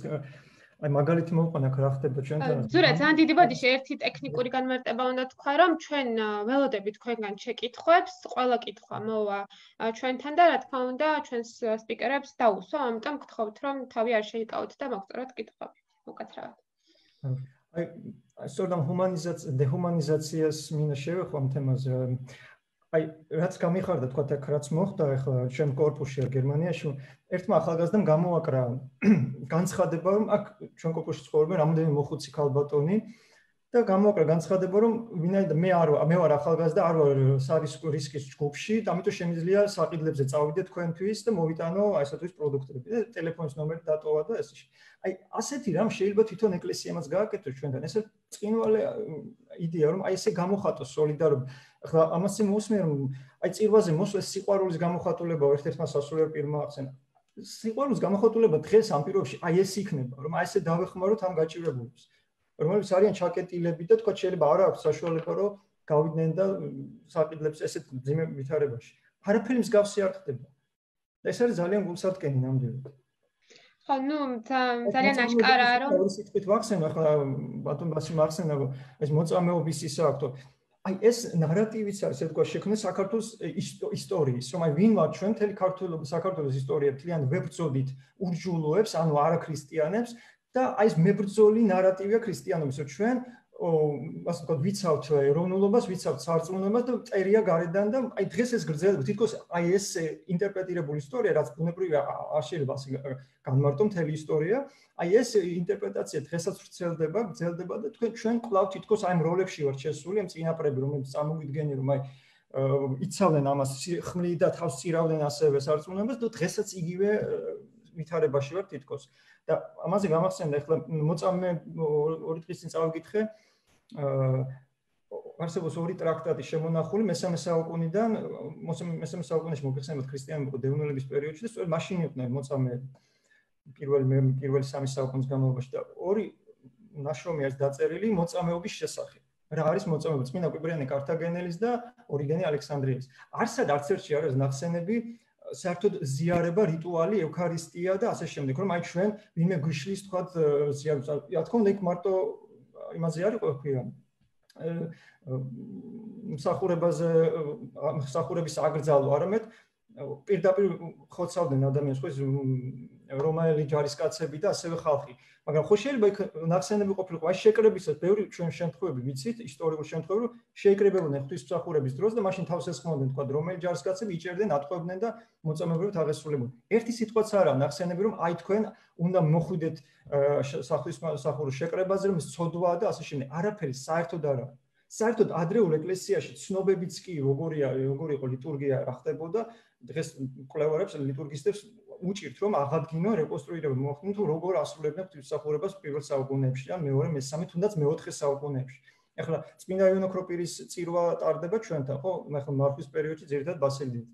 აი მაგალითი მოვყვანა რა ხდება ჩვენთან ზურა ძალიან დიდი ბოდიში ერთი ტექნიკური განმარტება უნდა თქვა რომ ჩვენ ველოდებით თქვენგან შეკითხვებს ყველა კითხვა მოვა ჩვენთან და რა თქმა უნდა ჩვენს სპიკერებს დაუსვა ამიტომ გთხოვთ რომ თავი არ შეიკავოთ და მოგწეროთ კითხვები უკაცრავად აი სწორედ ჰუმანიზაცია დეჰუმანიზაციას მინდა შევეხო ამ თემაზე აი რაც გამიხარდა თქვა აქ რაც მოხდა ახლა ჩვენ კორპუსში გერმანიაში ერთმა ახალგაზრდამ გამოვაკრა განცხადება რომ აქ ჩვენ კორპუსში ცხოვრობენ რამოდენიმე მოხუცი ქალბატონი და გამოვაკრა განცხადება რომ ვინაიდან მე არ მე ვარ ახალგაზრდა არ ვარ სარისკო რისკის ჯგუფში და ამიტომ შემიძლია საყიდლებზე წავიდე თქვენთვის და მოვიტანო აი ესათვის პროდუქტები და ტელეფონის ნომერი დატოვა და ესე აი ასეთი რამ შეიძლება თვითონ ეკლესიამაც გააკეთოს ჩვენთან ესე წინვალე იდეა რომ აი ესე გამოხატოს სოლიდარობა ახლა ამას მოსმენ რომ აი წირვაზე მოსვლის სიყვარულის გამოხატულება ერთ-ერთმა სასულიერო პირმა ახსენა სიყვარულის გამოხატულება დღეს ამ პირობებში აი ეს იქნება რომ აი ესე დავეხმაროთ ამ გაჭირებულებს რომელიც არიან ჩაკეტილები და თქვა შეიძლება არ აქვს საშუალება რომ გავიდნენ და საყიდლებს ესეთ ძიმე ვითარებაში არაფერი მსგავსი არ ხდება და ეს არის ძალიან გულსარტკენი ნამდვილად ხო ნუ ძალიან აშკარაა რომ ორი სიტყვით ვახსენე ახლა ბატონ ბასი მახსენა რომ ეს მოწამეობის ისა აქვს აი ეს ნარატივიც არის ეთქვა შექმნეს საქართველოს ისტორიის რომ აი ვინ ვარ ჩვენ მთელი ქართულობის საქართველოს ისტორია თლიან ვებრძოდით ურჯულოებს ანუ არაქრისტიანებს და აი ეს მებრძოლი ნარატივია ქრისტიანობის რომ ჩვენ ასე ვთქვათ ვიცავთ ეროვნულობას ვიცავთ სარწმუნოებას და წერია გარედან და აი დღეს ეს გრძელდება თითქოს აი ეს ინტერპრეტირებული ისტორია რაც ბუნებრივია არ შეიძლება ასე განმარტო მთელი ისტორია აი ეს ინტერპრეტაცია დღესაც ვრცელდება გრძელდება და თქვენ ჩვენ კვლავ თითქოს აი როლებში ვართ შესული ამ წინაპრები რომელიც წამოვიდგნენ რომ აი იცავდნენ ამას ხმლი და თავს წირავდნენ ასევე სარწმუნოებას და დღესაც იგივე ვითარებაში ვართ თითქოს და ამაზე გამახსენდა ახლა მოწამე ორი დღის წინ წავიკითხე აა არსებობს ორი ტრაქტატი შემონახული მესამე საუკუნიდან მესამე საუკუნეში მოგეხსენებათ ქრისტიანობა დევნილების პერიოდში და სწორედ მაშინ იყვნენ მოწამე პირველი პირველი სამი საუკუნის განმავლობაში და ორი ნაშრომი არის დაწერილი მოწამეობის შესახებ. რა არის მოწამეობა? წმინდა კვირიანე კართაგენელის და ორიგენე ალექსანდრიელის. არცად არც ერთში არ არის ნახსენები საერთოდ ზიარება, რიტუალი, ევქარისტია და ასე შემდეგ, რომ აი ჩვენ ვინმე გვიშლის თქვათ ზიარებს. რა თქმა უნდა, იქ მარტო იმაზე არ იყო ქვია. მსახურებაზე, მსახურების აკრძალვა, არამედ პირდაპირ ხოცავდნენ ადამიანს, ხო, რომაელი ჯარისკაცები და ასევე ხალხი. მაგრამ ხო შეიძლება იქ ნახსენები ყოფილიყო, აი შეკრებისას ბევრი ჩვენ შემთხვევები ვიცით, ისტორიულ შემთხვევები, რომ შეიკრებებოდნენ ღვთისმსახურების დროს და მაშინ თავს ესხმოდნენ, თქვა, რომელი ჯარისკაცები იჭერდნენ, ატყვევდნენ და მოწამეობრივად აღესრულებოდნენ. ერთი სიტყვაც არაა ნახსენები, რომ აი თქვენ უნდა მოხვიდეთ ღვთისმსახურის შეკრებაზე, რომ სცოდვაა და ასე შემდეგ. არაფერი საერთოდ არა. საერთოდ ადრეულ ეკლესიაში ცნობებიც კი როგორია, როგორი იყო ლიტურგია, რა ხდებოდა, დღეს მკვლევარებს, ლიტურგისტებს უჭირთ, რომ აღადგინონ, რეკონსტრუირებონ, მოახდინონ, თუ როგორ ასრულებდნენ ღვთისმსახურებას პირველ საუკუნეებში, ან მეორე, მესამე, თუნდაც მეოთხე საუკუნეებში. ეხლა წმინდა იოანე ოქროპირის წირვა ტარდება ჩვენთან, ხო? ეხლა მართვის პერიოდში ძირითადად ბასილდით.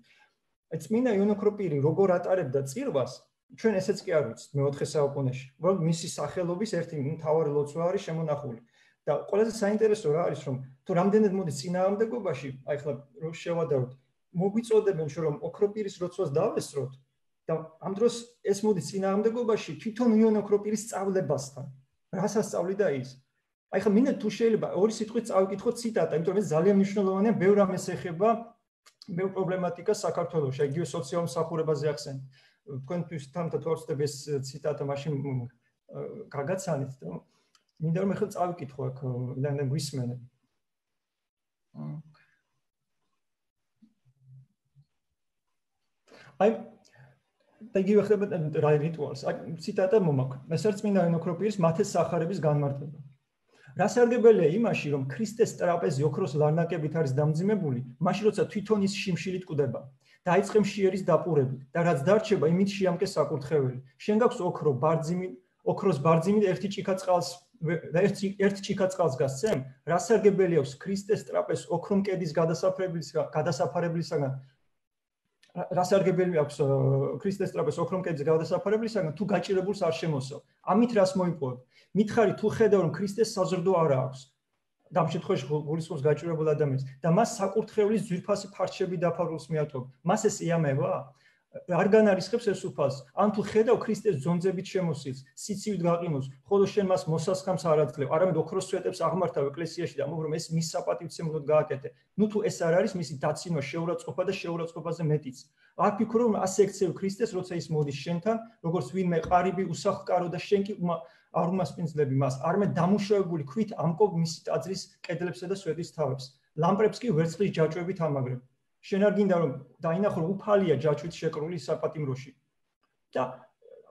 აი წმინდა იოანე ოქროპირი როგორ ატარებდა წირვას, ჩვენ ესეც კი არ ვიცით მეოთხე საუკუნეში. უბრალოდ მისი სახელობის ერთი მთავარი ლოცვა არის შემონახული. და ყველაზე საინტერესო რა არის, რომ თუ რამდენად მოდის წინააღმდეგობაში, აი ახლა რო შევადაროთ, მოგვიწოდებენ რომ ოქროპირის ლოცვას დავესწროთ და ამ დროს ეს მოდის წინააღმდეგობაში თვითონ იოანე ოქროპირის სწავლებასთან. რას ასწავლიდა ის? აი ახლა მინდა თუ შეიძლება ორი სიტყვით წავიკითხოთ ციტატა, იმიტომ რომ ეს ძალიან მნიშვნელოვანია, ბევრ რამეს ეხება, ბევრ პრობლემატიკას საქართველოში, იგივე სოციალურ მსახურებაზე ახსენეთ. თქვენთვის თამთა თორცდებ ეს ციტატა მაშინ გაგაცანით და მინდა რომ ახლა წავიკითხო აქ და გვისმენთ. აი და იგივე ხდება რა რიტუალს. აი ციტატა მომაქვს. ეს არის წმინდა იოანე ოქროპირის მათეს სახარების განმარტება. რა სარგებელია იმაში, რომ ქრისტეს ტრაპეზი ოქროს ლარნაკებით არის დამძიმებული, მაშინ როცა თვითონ ის შიმშილით კვდება. დაიწყე მშიერის დაპურებით და რაც დარჩება, იმით შეამკე საკურთხეველი. შენ გაქვს ოქრო, ბარძიმი, ოქროს ბარძიმი და ერთი ჭიქა წყალს და ერთი ერთ ჭიქა წყალს გასცემ? რა სარგებელი აქვს ქრისტეს ტრაპეზს ოქრო მკედის გადასაფარებლისგან, გადასაფარებლისგან? რა სარგებელი აქვს ქრისტეს ტრაპეზს ოქრო მკედის გადასაფარებლისგან, თუ გაჭირებულს არ შემოსავ? ამით რას მოიპოვებ? მითხარი თუ ხედავ რომ ქრისტეს საზრდო არ აქვს. და ამ შემთხვევაში გულისხმობს გაჭირებულ ადამიანს და მას საკურთხევლის ძვირფასი ფარჩები დაფარულს მიატოვებ. მას ეს იამება? არ განარისხებს ეს უფალს. ან თუ ხედავ ქრისტეს ძონძებით შემოსილს, სიცივით გაყინოს, ხოლო შენ მას მოსასხამს არ აძლევ, არამედ ოქროს სვეტებს აღმართავ ეკლესიაში და ამბობ რომ ეს მის საპატივცემლოდ გააკეთე. ნუ თუ ეს არ არის მისი დაცინვა, შეურაცხყოფა და შეურაცხყოფაზე მეტიც. არ ფიქრო რომ ასე ექცევ ქრისტეს, როცა ის მოდის შენთან, როგორც ვინმე ყარიბი უსახლკარო და შენ კი არ უმასპინძლები მას, არამედ დამუშავებული ქვით ამკობ მისი ტაძრის კედლებსა და სვეტის თავებს. ლამპრებს კი ვერცხლის ჯაჭვებით ამაგრებ. შენ არ გინდა რომ დაინახო რომ უფალია ჯაჭვით შეკრული საპატიმროში. და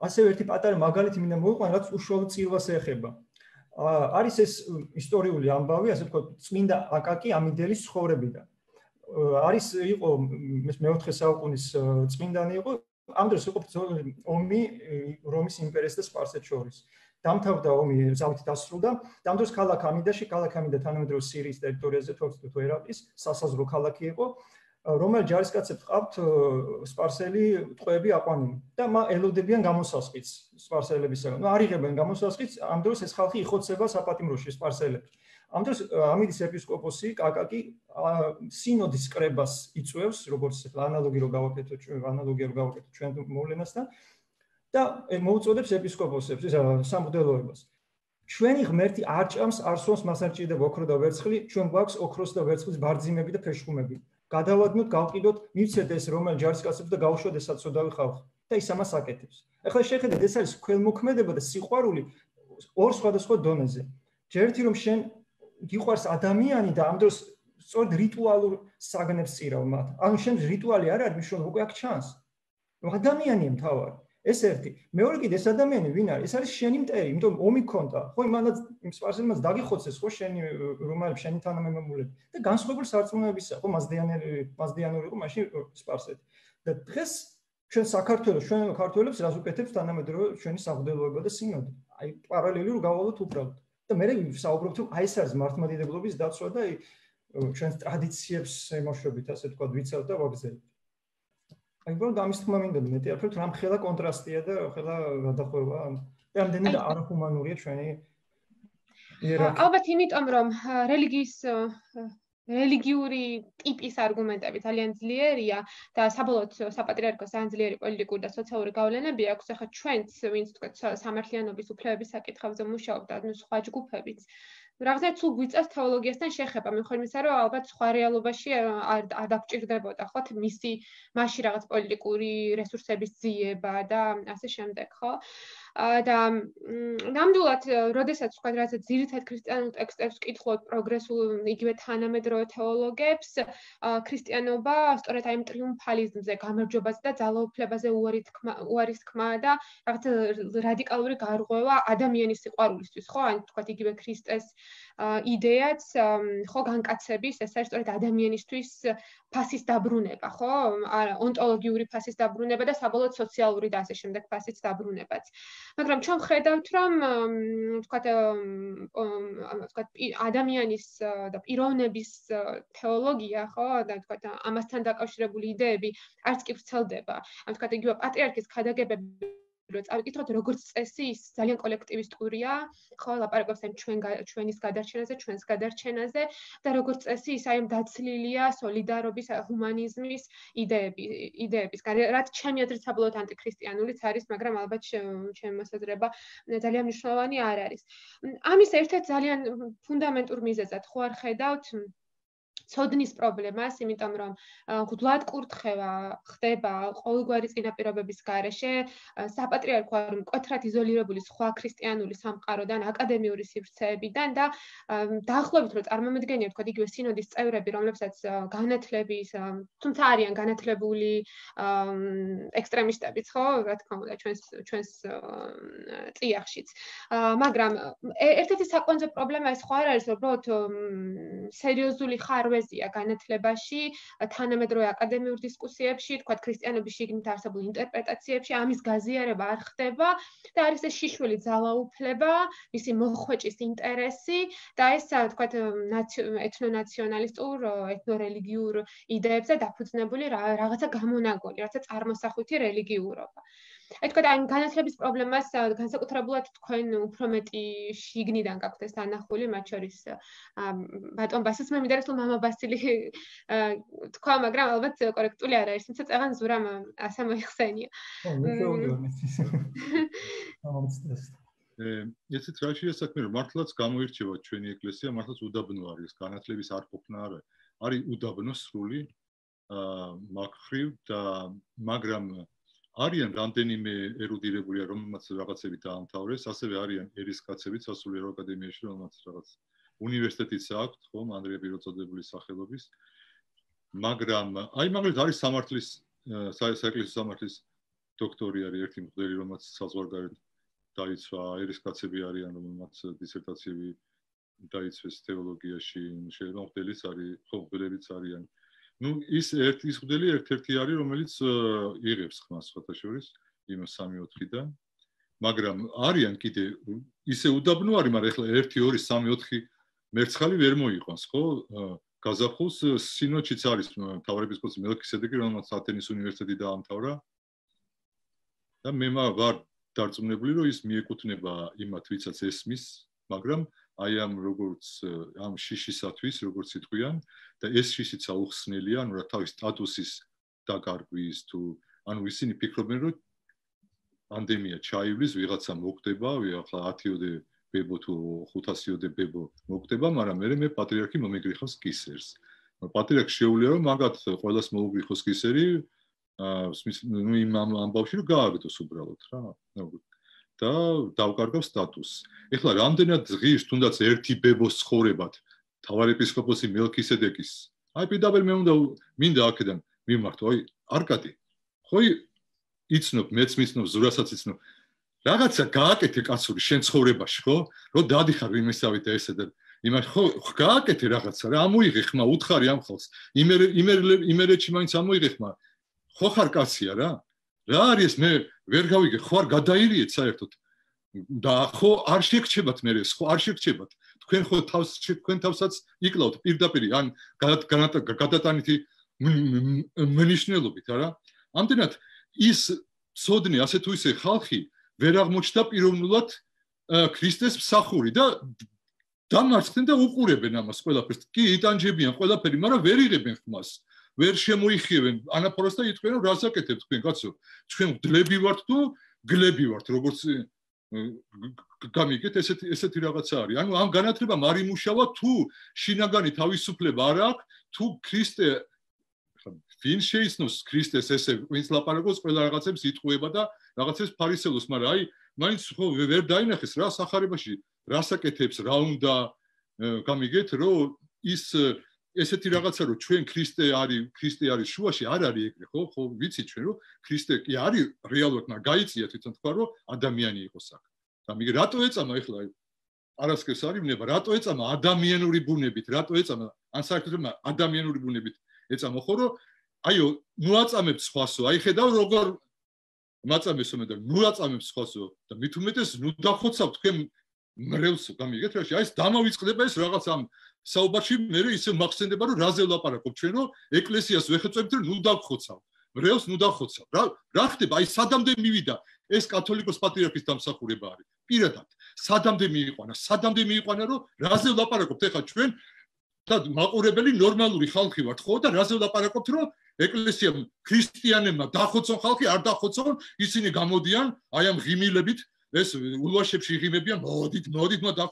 ასევე ერთი პატარა მაგალითი მინდა მოვიყვანო, რაც უშუალოდ წირვას ეხება. არის ეს ისტორიული ამბავი, ასე ვთქვათ, წმინდა აკაკი ამიდელის ცხოვრებიდან. არის იყო ეს მეოთხე საუკუნის წმინდანი იყო, ამ დროს იყო ომი რომის იმპერიას და სპარსეთს შორის. დამთავრდა ომი ზავით დასრულდა და ამ დროს ქალაქ ამიდაში, ქალაქ ამიდა თანამედროვე სირიის ტერიტორიაზე თორცდ ერაყის სასაზღვრო ქალაქი იყო, რომელ ჯარისკაცებს ყავთ სპარსელი ტყვეები აყვანილი და ელოდებიან გამოსასყიდს სპარსელებისგან. ნუ არ იღებენ გამოსასყიდს, ამ დროს ეს ხალხი იხოცება საპატიმროში სპარსელებს. ამ დროს ამიდის ეპისკოპოსი აკაკი სინოდის კრებას იწვევს, როგორც ანალოგი რო გავაკეთოთ, ანალოგია რო გავაკეთოთ ჩვენ მოვლენასთან. და მოუწოდებს ეპისკოპოსებს ის სამღვდელოებას. ჩვენი ღმერთი არ ჭამს, არ სვამს, მას არ ჭირდება ოქრო და ვერცხლი, ჩვენ გვაქვს ოქროს და ვერცხლის ბარძიმები და ფეშხუმები. გადავადნოთ, გავყიდოთ, მივცეთ ეს რომელ ჯარისკაცებს და გავუშვათ ეს საცოდავი ხალხი. და ის ამას აკეთებს. ახლა შეხედეთ, ეს არის ქველმოქმედება და სიყვარული ორ სხვადასხვა დონეზე. ჯერთი რომ შენ გიყვარს ადამიანი და ამ დროს სწორედ რიტუალურ საგნებს წირავ მათ. ანუ შენ რიტუალი არ არის, მიშონ უკვე აქ ჩანს. ადამიანია მთავარი. ეს ერთი. მეორე კიდე ეს ადამიანი ვინ არის? ეს არის შენი მტერი, იმიტომ ომი ქონდა. ხო იმანაც იმ სპარსელებს დაგიხოცეს, ხო შენი რომაელებს შენი თანამემამულები და განსხვავებული სარწმუნოებისა, ხო მასდიანელი, მასდიანური იყო მაშინ სპარსეთი. და დღეს ჩვენ საქართველოს, ჩვენ ქართველებს რას უკეთებს თანამედროვე ჩვენი სამღვდელოება და სინოდი. აი პარალელი რო გავალოთ უბრალოდ. და მე ვსაუბრობთ, რომ აი ეს არის მართლმადიდებლობის დაცვა და ჩვენს ტრადიციებს ემოშვებით, ასე თქვა, ვიცავ და ვაგრძელებთ. აი ბოლო ამის თქმა მინდა მეტი არ ვფიქრობ, რამ ხელა კონტრასტია და ხელა გადახვევა. რამდენი არახუმანურია ჩვენი ალბათ იმიტომ რომ რელიგიის რელიგიური ტიპის არგუმენტები ძალიან ძლიერია და საბოლოოდ საპატრიარქოს ძალიან ძლიერი პოლიტიკური და სოციალური გავლენები აქვს. ახლა ჩვენც ვინც თქვათ სამართლიანობის უფლებების საკითხებზე მუშაობთ და სხვა ჯგუფებიც რაღაცა თუ გვიწევს თეოლოგიასთან შეხება, მიუხედავად იმისა, რომ ალბათ სხვა რეალობაში არ დაგჭირდებოდა ხო მისი მასში რაღაც პოლიტიკური რესურსების ძიება და ასე შემდეგ, ხო? და ნამდვილად, როდესაც თქვა რაღაცა ძირითად ქრისტიანულ ტექსტებს ვკითხულობ პროგრესულ იგივე თანამედროვე თეოლოგებს, ქრისტიანობა სწორედ აი ამ ტრიუმფალიზმზე, გამარჯვებაზე და ძალაუფლებაზე უარის თქმა და რაღაცა რადიკალური გარღვევა ადამიანის სიყვარულისთვის, ხო? ან თქვა იგივე ქრისტეს იდეაც, ხო, განკაცების, ეს არის სწორედ ადამიანისთვის ფასის დაბრუნება, ხო? ონტოლოგიური ფასის დაბრუნება და საბოლოოდ სოციალური და ასე შემდეგ ფასის დაბრუნებაც. მაგრამ ჩვენ ხედავთ, რომ თქვათ, თქვათ ადამიანის და პიროვნების თეოლოგია, ხო, და თქვათ ამასთან დაკავშირებული იდეები არც კი ვრცელდება. ან თქვათ იგივე პატრიარქის ქადაგებები რო წავიკითხოთ, როგორც წესი, ის ძალიან კოლექტივისტურია, ხო, ლაპარაკობს ამ ჩვენ ჩვენის გადარჩენაზე, ჩვენს გადარჩენაზე და როგორც წესი, ის აი ამ დაცლილია სოლიდარობის, ჰუმანიზმის იდეები, იდეებისგან, რაც ჩემი აზრით საბოლოოდ ანტიქრისტიანულიც არის, მაგრამ ალბათ ჩემი მოსაზრება ძალიან მნიშვნელოვანი არ არის. ამის ერთ-ერთ ძალიან ფუნდამენტურ მიზეზად ხო არ ხედავთ ცოდნის პრობლემას, იმიტომ რომ გულად კურთხევა ხდება ყოველგვარი წინაპირობების გარეშე, საპატრიარქო არ მკვეთრად იზოლირებული სხვა ქრისტიანული სამყაროდან, აკადემიური სივრცეებიდან და დაახლოებით რომ წარმომედგენია თქვა იგივე სინოდის წევრები, რომლებსაც განათლების, თუმცა არიან განათლებული ექსტრემისტებიც, ხო, რა თქმა უნდა, ჩვენს ჩვენს წიაღშიც. მაგრამ ერთ-ერთი საკვანძო პრობლემა ეს ხო არ არის, რომ უბრალოდ სერიოზული ხარვეზია განათლებაში, თანამედროვე აკადემიურ დისკუსიებში, თქვათ ქრისტიანობის შიგნით არსებულ ინტერპრეტაციებში ამის გაზიარება არ ხდება და არის ეს შიშველი ძალაუფლება, მისი მოხვეჭის ინტერესი და ეს თქვათ ეთნონაციონალისტურ, ეთნორელიგიურ იდეებზე დაფუძნებული რაღაცა გამონაგონი, რაღაცა წარმოსახვითი რელიგიურობა. აი თქვა ამ განათლების პრობლემას განსაკუთრებულად თქვენ უფრო მეტი შიგნიდან გაქვთ ეს დანახული, მათ შორის ბატონ ბასილს მე მინდა რომ მამა ბასილი თქვა, მაგრამ ალბათ კორექტული არ არის, თუმცა წაღან ზურამ ასე მოიხსენია. ესეც რა შეასაქმე რომ მართლაც გამოირჩევა ჩვენი ეკლესია, მართლაც უდაბნო არის, განათლების არ ყოფნა არა. არის უდაბნო სრული მაგხრივ და მაგრამ არიან რამდენიმე ერუდირებულია, რომელმაც რაღაცები დაამთავრეს, ასევე არიან ერისკაცებიც სასულიერო აკადემიაში, რომელმაც რაღაც უნივერსიტეტიც აქვს, ხომ, ანდრია პიროწოდებული სახელობის. მაგრამ აი მაგალითად არის სამართლის საეკლესიო სამართლის დოქტორი არის ერთი მღვდელი, რომელმაც საზღვარგარეთ დაიცვა, ერისკაცები არიან, რომელმაც დისერტაციები დაიცვეს თეოლოგიაში, შეიძლება მღვდელიც არის, ხო, მღვდელებიც არიან. ну ის ერთი ის მღვდელი ერთ-ერთი არის რომელიც იღებს ხმას სხვათა შორის იმ სამი ოთხიდან მაგრამ არიან კიდე ისე უდაბნო არის მაგრამ ეხლა ერთი ორი სამი ოთხი მერცხალი ვერ მოიყვანს ხო გაზაფხულს სინოდშიც არის მთავარეპისკოპოსი მელქისედეკი რომელმაც ათენის უნივერსიტეტი დაამთავრა და მე ვარ დარწმუნებული რომ ის მიეკუთვნება იმათ ვისაც ესმის მაგრამ აი ამ როგორც ამ შიშისათვის როგორც იტყვიან და ეს შიშიცა უხსნელია ანუ რა თავის სტატუსის დაკარგვის თუ ანუ ისინი ფიქრობენ რომ პანდემია ჩაივლის ვიღაცა მოკვდება ახლა ათიოდე ბებო თუ ხუთასიოდე ბებო მოკვდება მაგრამ მე მე პატრიარქი მომეგრიხავს კისერს პატრიარქს შეუძლია რომ მაგათ ყველას მოუგრიხოს კისერი ну იმ ამბავში რომ გააგდოს უბრალოდ რა და დავკარგავს სტატუსს. ეხლა რამდენად ღირს თუნდაც ერთი ბებოს ცხოვრებად მთავარეპისკოპოსი მელქისედეკის. აი პირდაპირ მე უნდა მინდა აქედან მიმართო, აი არკადი. ხო იცნობ, მეც მიცნობ, ზურასაც იცნობ. რაღაცა გააკეთე კაცური შენ ცხოვრებაში, ხო? რომ დადიხარ იმისავით და ესე და იმას ხო გააკეთე რაღაცა რა, ამოიღე ხმა, უთხარი ამ ხალხს. იმერე იმერეთში მაინც ამოიღე ხმა. ხო ხარ კაცია რა? რა არის მე ვერ გავიგე ხო არ გადაირიეთ საერთოდ და ხო არ შეგრჩებათ მე ხო არ შეგრჩებათ თქვენ ხო თავს თქვენ თავსაც იკლავთ პირდაპირ ან გადატანითი მენიშნელობით არა ამდენად ის სოდნი ასე თუ ისე ხალხი ვერ აღმოჩნდა პიროვნულად ქრისტეს მსახური და დამარცხდნენ და უყურებენ ამას ყველაფერს. კი, იტანჯებიან ყველაფერი, მაგრამ ვერ იღებენ ხმას. ვერ შემოიხიებენ ანაფორას და იტყვიან, რომ რას აკეთებ თქვენ, კაცო? ჩვენ გლები ვართ თუ გლები ვართ, როგორც გამიგეთ, ესეთი ესეთი რაღაცა არის. ანუ ამ განათლებამ არ იმუშავა თუ შინაგანი თავისუფლება არ აქვს, თუ ქრისტე ვინ შეიცნობს ქრისტეს ესე ვინც ლაპარაკობს ყველა რაღაცებს იტყუება და რაღაცებს ფარისევლოს, მაგრამ აი მაინც ხო ვერ დაინახეს რა სახარებაში რას აკეთებს, რა უნდა გამიგეთ, რომ ის ესეთი რაღაცა რომ ჩვენ ქრისტე არის, ქრისტე არის შუაში, არ არის ეგრე, ხო? ხო ვიცით ჩვენ რომ ქრისტე კი არის რეალურად, მაგრამ გაიწია თვითონ თქვა რომ ადამიანი იყოს აქ. გამიგე, რატო ეწამა ეხლა არასკევს არის ნება, რატო ეწამა ადამიანური ბუნებით, რატო ეწამა ან საერთოდ ადამიანური ბუნებით ეწამა, ხო რომ აიო, ნუ აწამებ სხვასო, აი ხედავ როგორ მაწამესო მე და ნუ აწამებ სხვასო და მით უმეტეს ნუ დახოცავ თქვენ მრევლს, გამიგეთ რაში, აი ეს დამავიწყდება ეს რაღაც ამ საუბარში, მე ისე მახსენდება რომ რაზე ვლაპარაკობ ჩვენ რომ ეკლესიას ვეხეწვებთ რომ ნუ დახოცავ, მრევლს ნუ დახოცავ. რა რა ხდება? აი სადამდე მივიდა ეს კათოლიკოს პატრიარქის დამსახურება არის. პირადად, სადამდე მიიყვანა, სადამდე მიიყვანა რომ რაზე ვლაპარაკობთ ეხლა ჩვენ და მაყურებელი ნორმალური ხალხი ვართ ხო და რაზე ვლაპარაკობთ რომ ეკლესიამ ქრისტიანებმა დახოცონ ხალხი, არ დახოცონ, ისინი გამოდიან აი ამ ღიმილებით, ეს ულვაშებში ღიმებიან, მოდით, მოდით, და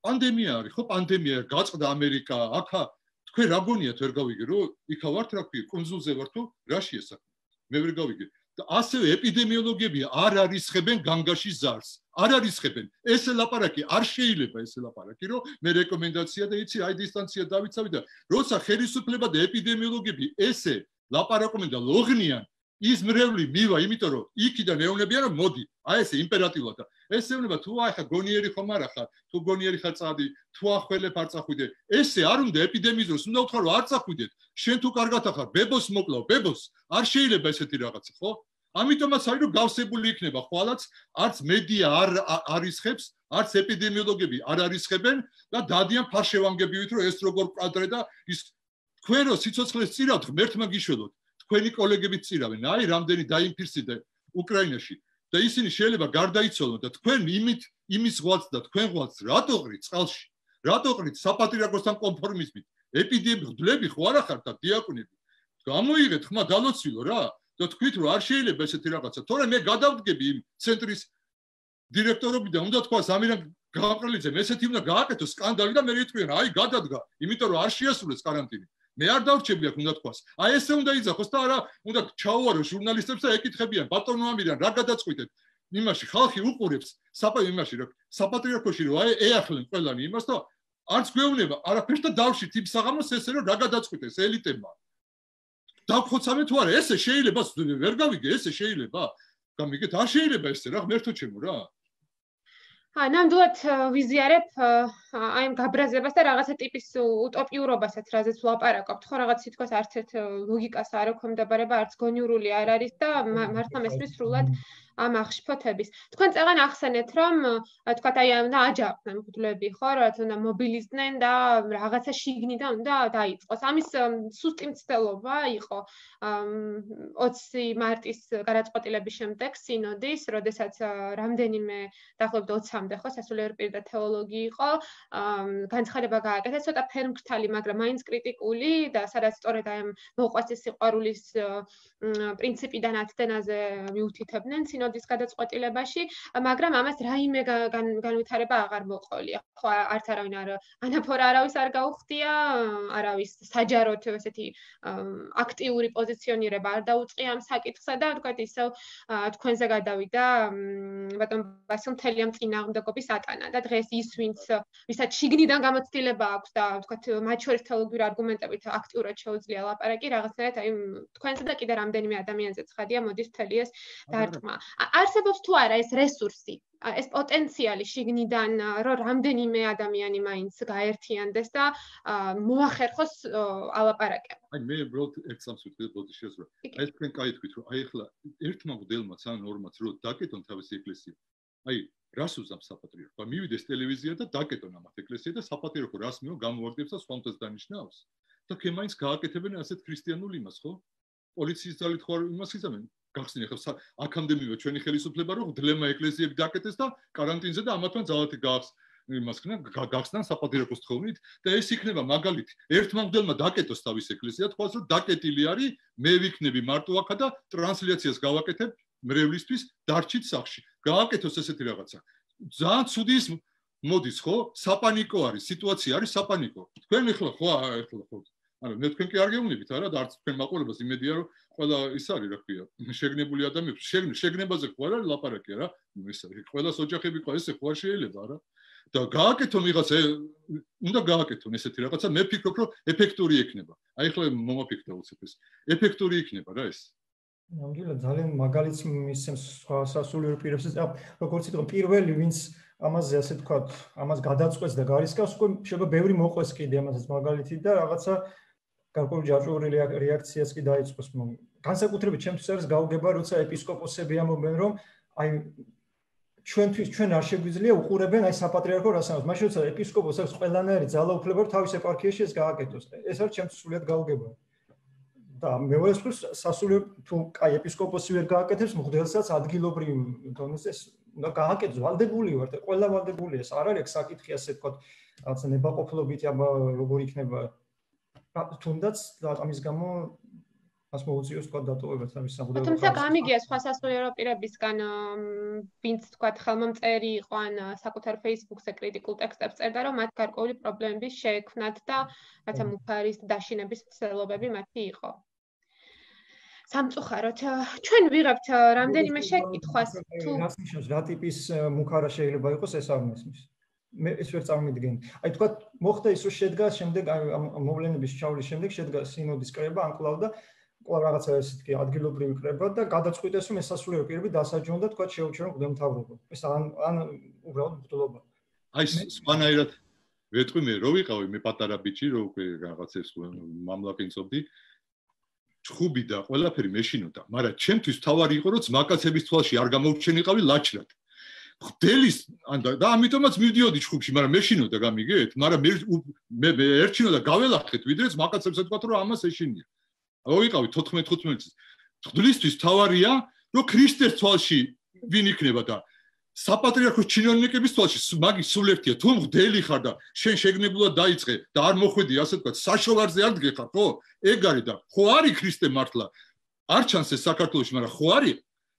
პანდემია არის, ხო, პანდემია გაწყდა ამერიკა, აქა თქვენ რა გონიათ ვერ გავიგე, რომ იქა ვართ რა ქვია, კონსულზე ვართ თუ რაშია საქმე? მე ვერ გავიგე. და ასევე ეპიდემიოლოგები არ არისხებენ განგაში ზარს. არ არისხებენ. ესე ლაპარაკი არ შეიძლება ესე ლაპარაკი, რომ მე რეკომენდაცია და იცი, აი დისტანცია დავიცავი და როცა ხელისუფლება და ეპიდემიოლოგები ესე ლაპარაკობენ და ლოღნიან, ის მრევლი მივა, იმიტომ რომ იქიდან ეუბნებიან რომ მოდი, აი ესე იმპერატიულად და ეს ეუბნება თუ აი ხა გონიერი ხომ არა ხარ, თუ გონიერი ხარ წადი, თუ ახველებ არ წახვიდე. ესე არ უნდა ეპიდემიის დროს უნდა უთხრა რომ არ წახვიდეთ. შენ თუ კარგად ახარ, ბებოს მოკლავ, ბებოს. არ შეიძლება ესეთი რაღაცა, ხო? ამიტომაც არის რომ გავსებული იქნება ხვალაც, არც მედია არ არისხებს, არც ეპიდემიოლოგები არ არისხებენ და დადიან ფარშევანგებივით რომ ეს როგორ კვადრე და ის თქვენ რო სიცოცხლეს წირავთ, ღმერთმა გიშველოთ. თქვენი კოლეგები წირავენ, აი რამდენი დაინფიცირდა უკრაინაში და ისინი შეიძლება გარდაიცვალონ და თქვენ იმით იმის ღვაწ და თქვენ ღვაწ რატო ყრით წყალში? რატო ყრით საპატრიარქოსთან კონფორმიზმით? ეპიდემიოლოგები ხო არა ხართ და დიაკვნები. გამოიღეთ ხმა დალოცვილო რა და თქვით რომ არ შეიძლება ესეთი რაღაცა. თორე მე გადავდგები იმ ცენტრის დირექტორობიდან, უნდა თქვას ამირან გაყრელიძემ ესეთი უნდა გააკეთოს სკანდალი და მე იტყვიან, აი გადადგა, იმიტომ რომ არ შეასრულეს каранტინი. მე არ დავრჩები აქ უნდა თქვას. აი ესე უნდა იძახოს და არა უნდა ჩაუვარო ჟურნალისტებს და ეკითხებიან ბატონო ამირან რა გადაწყვიტეთ? იმაში ხალხი უყურებს საპა იმაში რა საპატრიარქოში რომ აი ეახლენ ყველანი იმას და არც გვეუბნება არაფერს და დავშით იმ საღამოს ესე რომ რა გადაწყვიტეს ელიტებმა. დავხოცავე თუ არა ესე შეიძლება ვერ გავიგე ესე შეიძლება? გამიგეთ არ შეიძლება ესე რა ღმერთო ჩემო რა. ა ნამდვილად ვიზიარებ აი ამ გაბრაზებას და რაღაცა ტიპის უტოპიურობასაც, რაზეც ვლაპარაკობთ, ხო რაღაც თითქოს არც ერთ ლოგიკას არ ექვემდებარება, არც გონიურული არ არის და მართლა მესმის სრულად ამ აღშფოთების. თქვენ წეგან ახსენეთ, რომ თქვათ აი უნდა აჯანყდნენ მღვდლები, ხო, რაც უნდა მობილიზდნენ და რაღაცა შიგნიდან უნდა დაიწყოს. ამის სუსტი მცდელობა იყო ოცი მარტის გადაწყვეტილების შემდეგ სინოდის, როდესაც რამდენიმე დაახლოებით ოცამდე ხო სასულიერო პირი და თეოლოგი იყო, განცხადება გააკეთა, ცოტა ფერმკრთალი, მაგრამ მაინც კრიტიკული და სადაც სწორედ აი ამ მოყვასის სიყვარულის პრინციპიდან ათდენაზე მიუთითებდნენ სინოდის გადაწყვეტილებაში, მაგრამ ამას რაიმე განვითარება აღარ მოყოლია. ხო, არც არავინ არ ანაფორა არავის არ გაუხდია, არავის საჯაროდ ესეთი აქტიური პოზიციონირება არ დაუწყია ამ საკითხსა და თქვათ ისევ თქვენზე გადავიდა ბატონ ბასილ მთელი ამ წინააღმდეგობის ატანა და დღეს ის ვინც ვისაც შიგნიდან გამოცდილება აქვს და თქვათ მათ შორის თეოლოგიური არგუმენტებით აქტიურად შეუძლია ლაპარაკი რაღაცნაირად აი თქვენზე და კიდე რამდენიმე ადამიანზე ცხადია მოდის მთელი ეს დარტყმა. არსებობს თუ არა ეს რესურსი, ეს პოტენციალი შიგნიდან, რომ რამდენიმე ადამიანი მაინც გაერთიანდეს და მოახერხოს ალაპარაკება. აი მე უბრალოდ ერთ სამს ვიტყვი პოზიციას რომ აი ეს თქვენ კაი თქვით რომ აი ახლა ერთმა მგდელმაც ანორმაც რომ დაკეტონ თავისი ეკლესია. აი რას უზამს საპატრიარქო? მივიდეს ტელევიზია და დაკეტონ ამათ ეკლესია და საპატრიარქო რას მიო გამოვარდებს და სხვამთას დანიშნავს. და თქვენ მაინც გააკეთებენ ასეთ ქრისტიანულ იმას, ხო? პოლიციის ძალით ხო იმას იზამენ. გახსნი ახლა აქამდე მივა ჩვენი ხელისუფლება რომ გდლებმა ეკლესიები დაკეტეს და каранტინზე და ამათმა ძალათი გაახს იმას ქნა გახსნან საპატრიარქოს თხოვნით და ეს იქნება მაგალითი ერთმანგელმა დაკეტოს თავის ეკლესია თქვას რომ დაკეტილი არის მე ვიქნები მარტო აქა და ტრანსლაციას გავაკეთებ მრევლისთვის დარჩით სახში გააკეთოს ესეთი რაღაცა ძალიან ცუდი ის მოდის ხო საპანიკო არის სიტუაცია არის საპანიკო თქვენ ახლა ხო ახლა ხო ანუ მე თქვენ კი არ გეუბნებით არა და არც თქვენ მაყურებელს იმედია რომ ყველა ის არის რა ქვია შეგნებული ადამიანები შეგნებაზე ხო არა ლაპარაკი არა ეს ყველას ოჯახები ყო ესე ხო არ შეიძლება არა და გააკეთონ ვიღაცა უნდა გააკეთონ ესეთი რაღაცა მე ფიქრობ რომ ეფექტური იქნება აი ახლა მომაფიქრდა უცებ ეს ეფექტური იქნება რა ეს ნამდვილად ძალიან მაგალითს მისცემს სასულიერო პირებს როგორც იტყვა პირველი ვინც ამაზე ასე თქვა ამას გადაწყვეტს და გარისკავს უკვე შეიძლება ბევრი მოყვეს კიდე ამასაც მაგალითი და რაღაცა გარკვეული ჯაჭვური რეაქციაც კი დაიწყოს განსაკუთრებით ჩემთვის არის გაუგება როცა ეპისკოპოსები ამბობენ რომ აი ჩვენთვის ჩვენ არ შეგვიძლია უყურებენ აი საპატრიარქო რასამაც მაშინ როცა ეპისკოპოსს აქვს ყველანაირი ძალაუფლება რომ თავის ეპარქიაში ეს გააკეთოს ეს არის ჩემთვის სულად გაუგება და მეორე მხრივ სასულიერო თუ აი ეპისკოპოსი ვერ გააკეთებს მღვდელსაც ადგილობრივ დონეზე უნდა გააკეთოს ვალდებული ვარ და ყველა ვალდებულია ეს არ არის საკითხი ასე თქვა რაღაცა ნებაყოფლობით აბა როგორ იქნება თუნდაც ამის გამო ას მოუწიოს თქვა დატოვებას ამის სამღვდელო თუმცა გამიგია სხვა სასულიერო პირებისგან ვინც თქვა ხელმომწერი იყო ან საკუთარ Facebook-ზე კრიტიკულ ტექსტებს წერდა რომ მათ გარკვეული პრობლემები შეექმნათ და რაცა მუქარის დაშინების მცდელობები მათი იყო სამწუხაროდ ჩვენ ვიღებთ რამდენიმე შეკითხვას თუ რას ნიშნავს რა ტიპის მუქარა შეიძლება იყოს ეს არ მესმის მე ეს ვერ წარმოვიდგენ აი თქვა მოხდა ის რომ შედგა შემდეგ მოვლენების ჩავლის შემდეგ შედგა სინოდის კრება ანკლავ და ყველა რაღაცა ესეთი ადგილობრივი კრება და გადაწყვიტეს რომ ეს სასულიერო პირები დასაჯონ და თქვა შეუჩერონ მღვდელმთავრობა ეს ან ან უბრალოდ მღვდლობა აი სვანაირად ვეტყვი მე რო ვიყავი მე პატარა ბიჭი რო უკვე რაღაცებს მამლაკინწობდი ჩხუბი და ყველაფერი მეშინოდა მაგრამ ჩემთვის თავარი იყო რომ ძმაკაცების თვალში არ გამოვჩენიყავი ლაჩრად ხდელის და ამიტომაც მივდიოდი ჩხუბში მაგრამ მეშინოდა გამიგეთ მაგრამ მე მე ერჩინოდა გაველახეთ ვიდრე ძმაკაცებს ეთქვათ რომ ამას ეშინია ვიყავი თოთხმეტ ხუთმეტ წელს ხდლისთვის თავარია რომ ქრისტეს თვალში ვინ იქნება და საპატრიარქოს ჩინოვნიკების თვალში მაგის სულ ერთია თუ მღვდელი ხარ და შენ შეგნებულად დაიწყე და არ მოხვედი ასე ვთქვათ საშოვარზე არ დგეხარ ხო ეგ არის და ხო არის ქრისტე მართლა არ ჩანს ეს საქართველოში მაგრამ ხო არის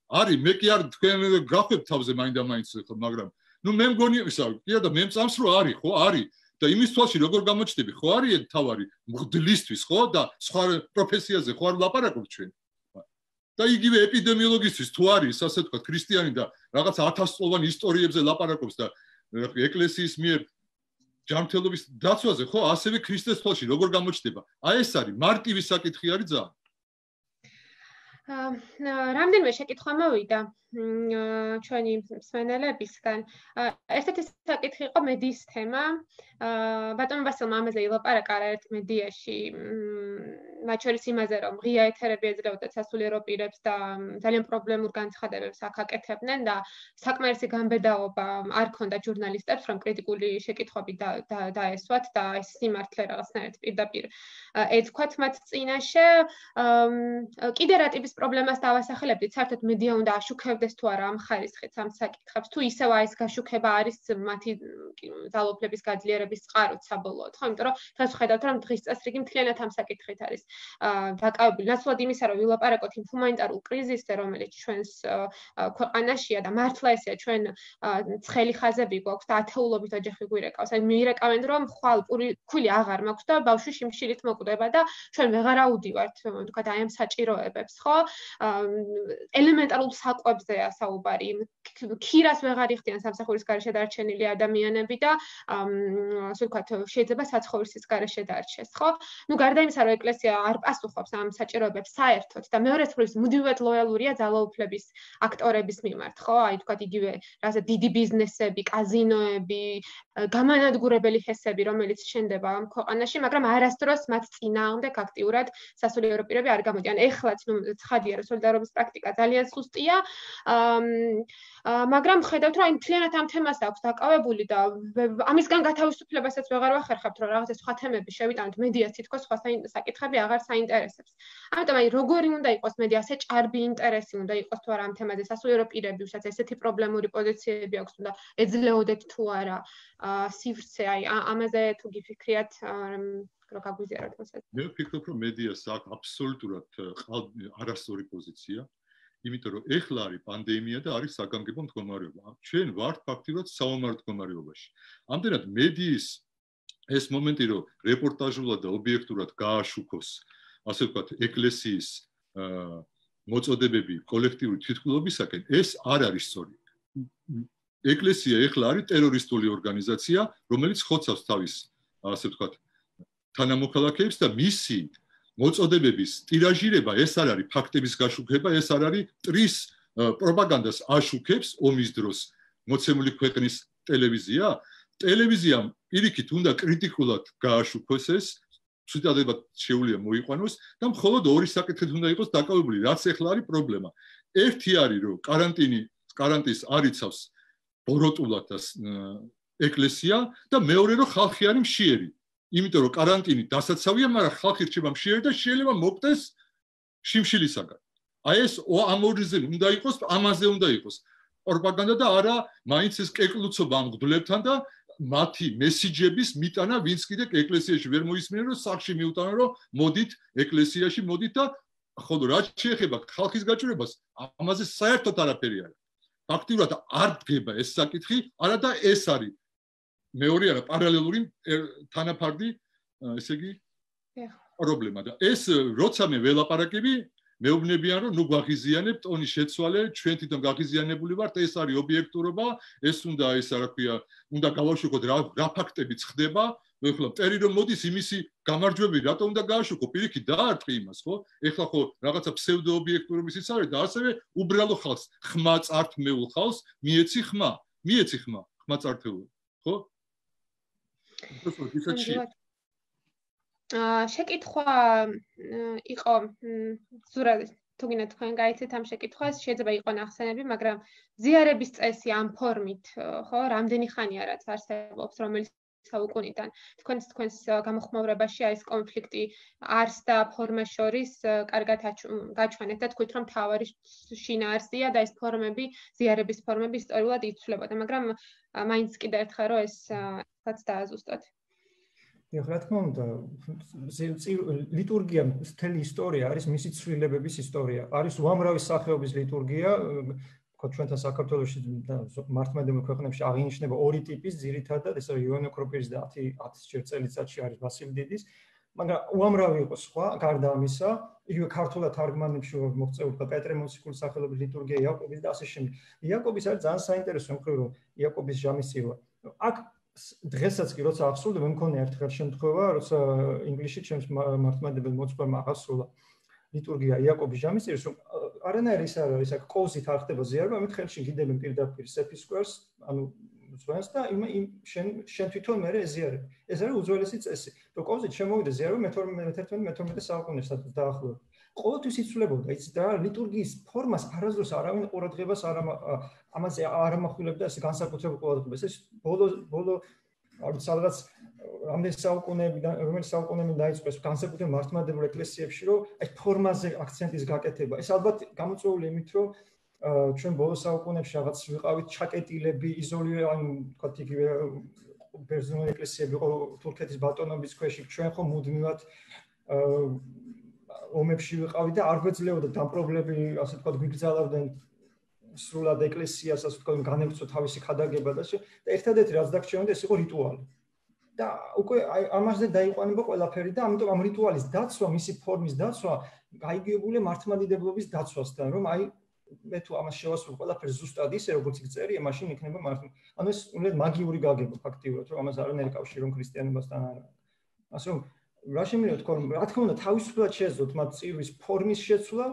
არის მე კი არ თქვენ გახებ თავზე მაინდა-მაინც მაგრამ ნუ მე მგონი ისა კი და მე მწამს რომ არის ხო არის და იმის თვალში როგორ გამოჩნდები ხო არის თავარი მღვდლისთვის ხო და სხვა პროფესიაზე ხო არ ლაპარაკობთ ჩვენ და იგივე ეპიდემიოლოგისთვის თუ არის ასე ვთქვათ ქრისტიანი და რაღაც ათასწლოვან ისტორიებზე ლაპარაკობს და ეკლესიის მიერ ჯანმრთელობის დაცვაზე ხო ასევე ქრისტეს თვალში როგორ გამოჩნდება აი ეს არის მარტივი საკითხი არის ძალიან რამდენიმე შეკითხვა მოვიდა ჩვენი მსმენელებისგან ერთ-ერთი საკითხი იყო მედიის თემა ბატონ ვასილმა ამაზე ილაპარაკა არაერთ მედიაში მათ შორის იმაზე რომ ღია ეთერები ეძრეოდათ სასულიერო პირებს და ძალიან პრობლემურ განცხადებებს აქ აკეთებდნენ და საკმარისი გამბედაობა არ ქონდა ჟურნალისტებს რომ კრიტიკული შეკითხვები დაესვათ და ეს სიმართლე რაღაცნაირად პირდაპირ ეთქვათ მათ წინაშე კიდე რა ტიპის პრობლემას დავასახელებდით საერთოდ მედია უნდა აშუქებდეს თუ არა ამ ხარისხით ამ საკითხებს თუ ისევ ეს გაშუქება არის მათი ძალაუფლების გაძლიერების წყაროც საბოლოოდ ხო იმიტომ რომ დღეს ვხედავთ რომ დღის წესრიგი მთლიანად ამ საკითხით არის დაკავებული ნაცვლად იმისა რომ ვილაპარაკოთ იმ ჰუმანიტარულ კრიზისზე რომელიც ჩვენს ქვეყანაშია და მართლა ესეა ჩვენ ცხელი ხაზები გვაქვს და ათეულობით ოჯახი გვირეკავს აი მიირეკავენ რომ ხვალ ფული აღარ მაქვს და ბავშვი შიმშილით მოკვდება და ჩვენ ვეღარ აუდივართ თქვათ აი ამ საჭიროებებს ხო ელემენტარულ საკვებზეა საუბარი ქირას ვეღარ იხდიან სამსახურის გარეშე დარჩენილი ადამიანები და ასე ვთქვათ შეიძლება საცხოვრისის გარეშე დარჩეს ხო ნუ გარდა იმისა რომ ეკლესია არ პასუხობს ამ საჭიროებებს საერთოდ და მეორე მხრივ მუდმივად ლოიალურია ძალაუფლების აქტორების მიმართ ხო აი თქვათ იგივე რაღაცა დიდი ბიზნესები კაზინოები გამანადგურებელი ჰესები რომელიც შენდება ამ ქვეყანაში მაგრამ არასდროს მათ წინააღმდეგ აქტიურად სასულიერო პირები არ გამოდიან ეხლაც ნუ ცხადია რომ სოლიდარობის პრაქტიკა ძალიან სუსტია მაგრამ ხედავთ რომ აი მთლიანად ამ თემას აქვს დაკავებული და ამისგან გათავისუფლებასაც ვეღარ ვახერხებთ რომ რაღაცა სხვა თემები შევიტანოთ მედიას თითქოს სხვა საკითხები აღარ არ საინტერესებს. ამიტომ აი როგორი უნდა იყოს მედია, ასე ჭარბი ინტერესი უნდა იყოს თუ არა ამ თემაზე, სასულიერო პირები, ვისაც ესეთი პრობლემური პოზიციები აქვს, უნდა ეძლეოდეთ თუ არა სივრცე, აი ამაზე თუ გიფიქრიათ რო გაგვიზიაროთ მოსად. მე ვფიქრობ, რომ მედიას აქვს აბსოლუტურად არასწორი პოზიცია, იმიტომ რომ ეხლა არის პანდემია და არის საგანგებო მდგომარეობა. ჩვენ ვართ ფაქტიურად საომარ მდგომარეობაში. ამდენად მედიის ეს მომენტი, რომ რეპორტაჟულად და ობიექტურად გააშუქოს, ასე ვთქვათ, ეკლესიის მოწოდებები კოლექტიური თვითმკვლელობისაკენ, ეს არ არის სწორი. ეკლესია ეხლა არის ტერორისტული ორგანიზაცია, რომელიც ხოცავს თავის, ასე ვთქვათ, თანამოქალაქეებს და მისი მოწოდებების ტირაჟირება ეს არ არის ფაქტების გაშუქება, ეს არ არის ტრის პროპაგანდას აშუქებს ომის დროს მოცემული ქვეყნის ტელევიზია. ტელევიზიამ პირიქით უნდა კრიტიკულად გააშუქოს ეს, ცუდად შეუძლია მოიყვანოს და მხოლოდ ორი საკითხით უნდა იყოს დაკავებული, რაც ეხლა არის პრობლემა. ერთი არის, რომ каранტინი, каранტინს არიცავს ბოროტულად ეკლესია და მეორე რომ ხალხი არის მშიერი. იმიტომ რომ каранტინი დასაცავია, მაგრამ ხალხი რჩება მშიერი და შეიძლება მოკდეს შიმშილისაგან. აი ეს ამ ორზე უნდა იყოს, ამაზე უნდა იყოს პროპაგანდა და არა მაინც ეს კეკლუცობა ამ მღვდლებთან და მათი მესიჯების მიტანა, ვინც კიდე ეკლესიაში ვერ მოისმინე, რომ სახში მიუტანა, რომ მოდით ეკლესიაში, მოდით და ხოლო რაც შეეხება ხალხის გაჭირებას, ამაზე საერთოდ არაფერი არ. ფაქტიურად არ დგება ეს საკითხი, არა და ეს არის მეორე არა პარალელური თანაფარდი, ესე იგი, პრობლემა და ეს როცა მე ველაპარაკები, მეუბნებიან რომ ნუ გვაღიზიანებთ ტონის შეცვალე, ჩვენ თვითონ გაღიზიანებული ვართ, ეს არის ობიექტურობა, ეს უნდა ეს რა ქვია, უნდა გავაშუქოთ რა რა ფაქტებიც ხდება, ეხლა მტერი რომ მოდის იმისი გამარჯვები, რატო უნდა გააშუქო, პირიქით დაარტყი იმას, ხო? ეხლა ხო რაღაცა ფსევდო ობიექტურობისიც არის და ასევე უბრალო ხალხს, ხმა წართმეულ ხალხს მიეცი ხმა, მიეცი ხმა, ხმა წართმეულ, ხო? შეკითხვა იყო ზურაბ თუ გინდა თქვენ გაიცეთ ამ შეკითხვას, შეიძლება იყო ნახსენები, მაგრამ ზიარების წესი ამ ფორმით, ხო, რამდენი ხანია რაც არსებობს, რომელიც საუკუნიდან თქვენს თქვენს გამოხმაურებაში არის კონფლიქტი არს და ფორმას შორის კარგად გაჩვენეთ და თქვით რომ თავარი შინაარსია და ეს ფორმები, ზიარების ფორმები ისტორიულად იცვლებოდა, მაგრამ მაინც კიდევ ერთხელ რომ ეს რაც დააზუსტოთ. Ja, რა თქმა უნდა, ლიტურგია მთელი ისტორია არის მისი ცვლილებების ისტორია. არის უამრავი სახეობის ლიტურგია, თქო ჩვენთან საქართველოში და მართლმადიდებლურ ქვეყნებში აღინიშნება ორი ტიპის, ძირითადად, ეს არის იოანე ოქროპირის და ათი ჯერ წელიწადში არის ვასილ დიდის, მაგრამ უამრავი იყო სხვა, გარდა ამისა, იგივე ქართულად თარგმანებში მოღწეულია პეტრე მოციქულის სახელობის ლიტურგია, იაკობის და ასე შემდეგ. იაკობის არის ძალიან საინტერესო მხრივ, რომ იაკობის ჟამისცირვა. აქ დღესაც კი როცა აღსრულდა, მე მქონია ერთხელ შემთხვევა, როცა ინგლისში ჩემს მართლმადიდებელ მოწვევმა აღსრულა ლიტურგია იაკობის ჟამისცირვის, რომ არანაირი ის არ არის, აქ კოვზით არ ხდება ზიარება, ამით ხელში გიდებენ პირდაპირ სეფისკვერს, ანუ ძვენს და იმ შენ შენ თვითონ მე ეზიარებ. ეს არის უძველესი წესი. რომ კოვზით შემოვიდა ზიარება მეთერთმეტე მეთორმეტე საუკუნეში დაახლოებით. ყოველთვის იცვლებოდა, იცით რა, ლიტურგიის ფორმას არასდროს არავინ ყურადღებას არ ამაზე არ ამახვილებდა ეს განსაკუთრებულ ყურადღებას. ეს ბოლო ბოლო არის სადღაც რამდენი საუკუნეებიდან, რომელიც საუკუნეებიდან დაიწყო ეს განსაკუთრებულ მართლმადიდებლურ ეკლესიებში, რომ აი ფორმაზე აქცენტის გაკეთება. ეს ალბათ გამოწვეული იმით, რომ ჩვენ ბოლო საუკუნეებში რაღაც ვიყავით ჩაკეტილები, იზოლირე, ანუ თქვათ იგივე ბერძნული ეკლესიები იყო თურქეთის ბატონობის ქვეშ, ჩვენ ხო მუდმივად ომებში ვიყავით და არ გვეძლეოდა დამპრობლები, ასე ვთქვათ, გვიგზავნდნენ სრულად ეკლესიას, ასე ვთქვათ, განევრცო თავისი ქადაგება და და ერთადერთი რაც დაგჭირდა ეს იყო რიტუალი. და უკვე აი ამაზე დაიყვანება ყველაფერი და ამიტომ ამ რიტუალის დაცვა, მისი ფორმის დაცვა გაიგებულია მართლმადიდებლობის დაცვასთან, რომ აი მე თუ ამას შევასრულებ ყველაფერს ზუსტად ისე როგორც იქ წერია, მაშინ იქნება მართლ. ანუ ეს უნდათ მაგიური გაგება ფაქტიურად, რომ ამას არანაირი კავშირი რომ ქრისტიანობასთან არ აქვს. ასე რომ რა შემიძლია თქვა, რა თქმა უნდა, თავისუფლად შეეძლოთ მათ წირვის ფორმის შეცვლა,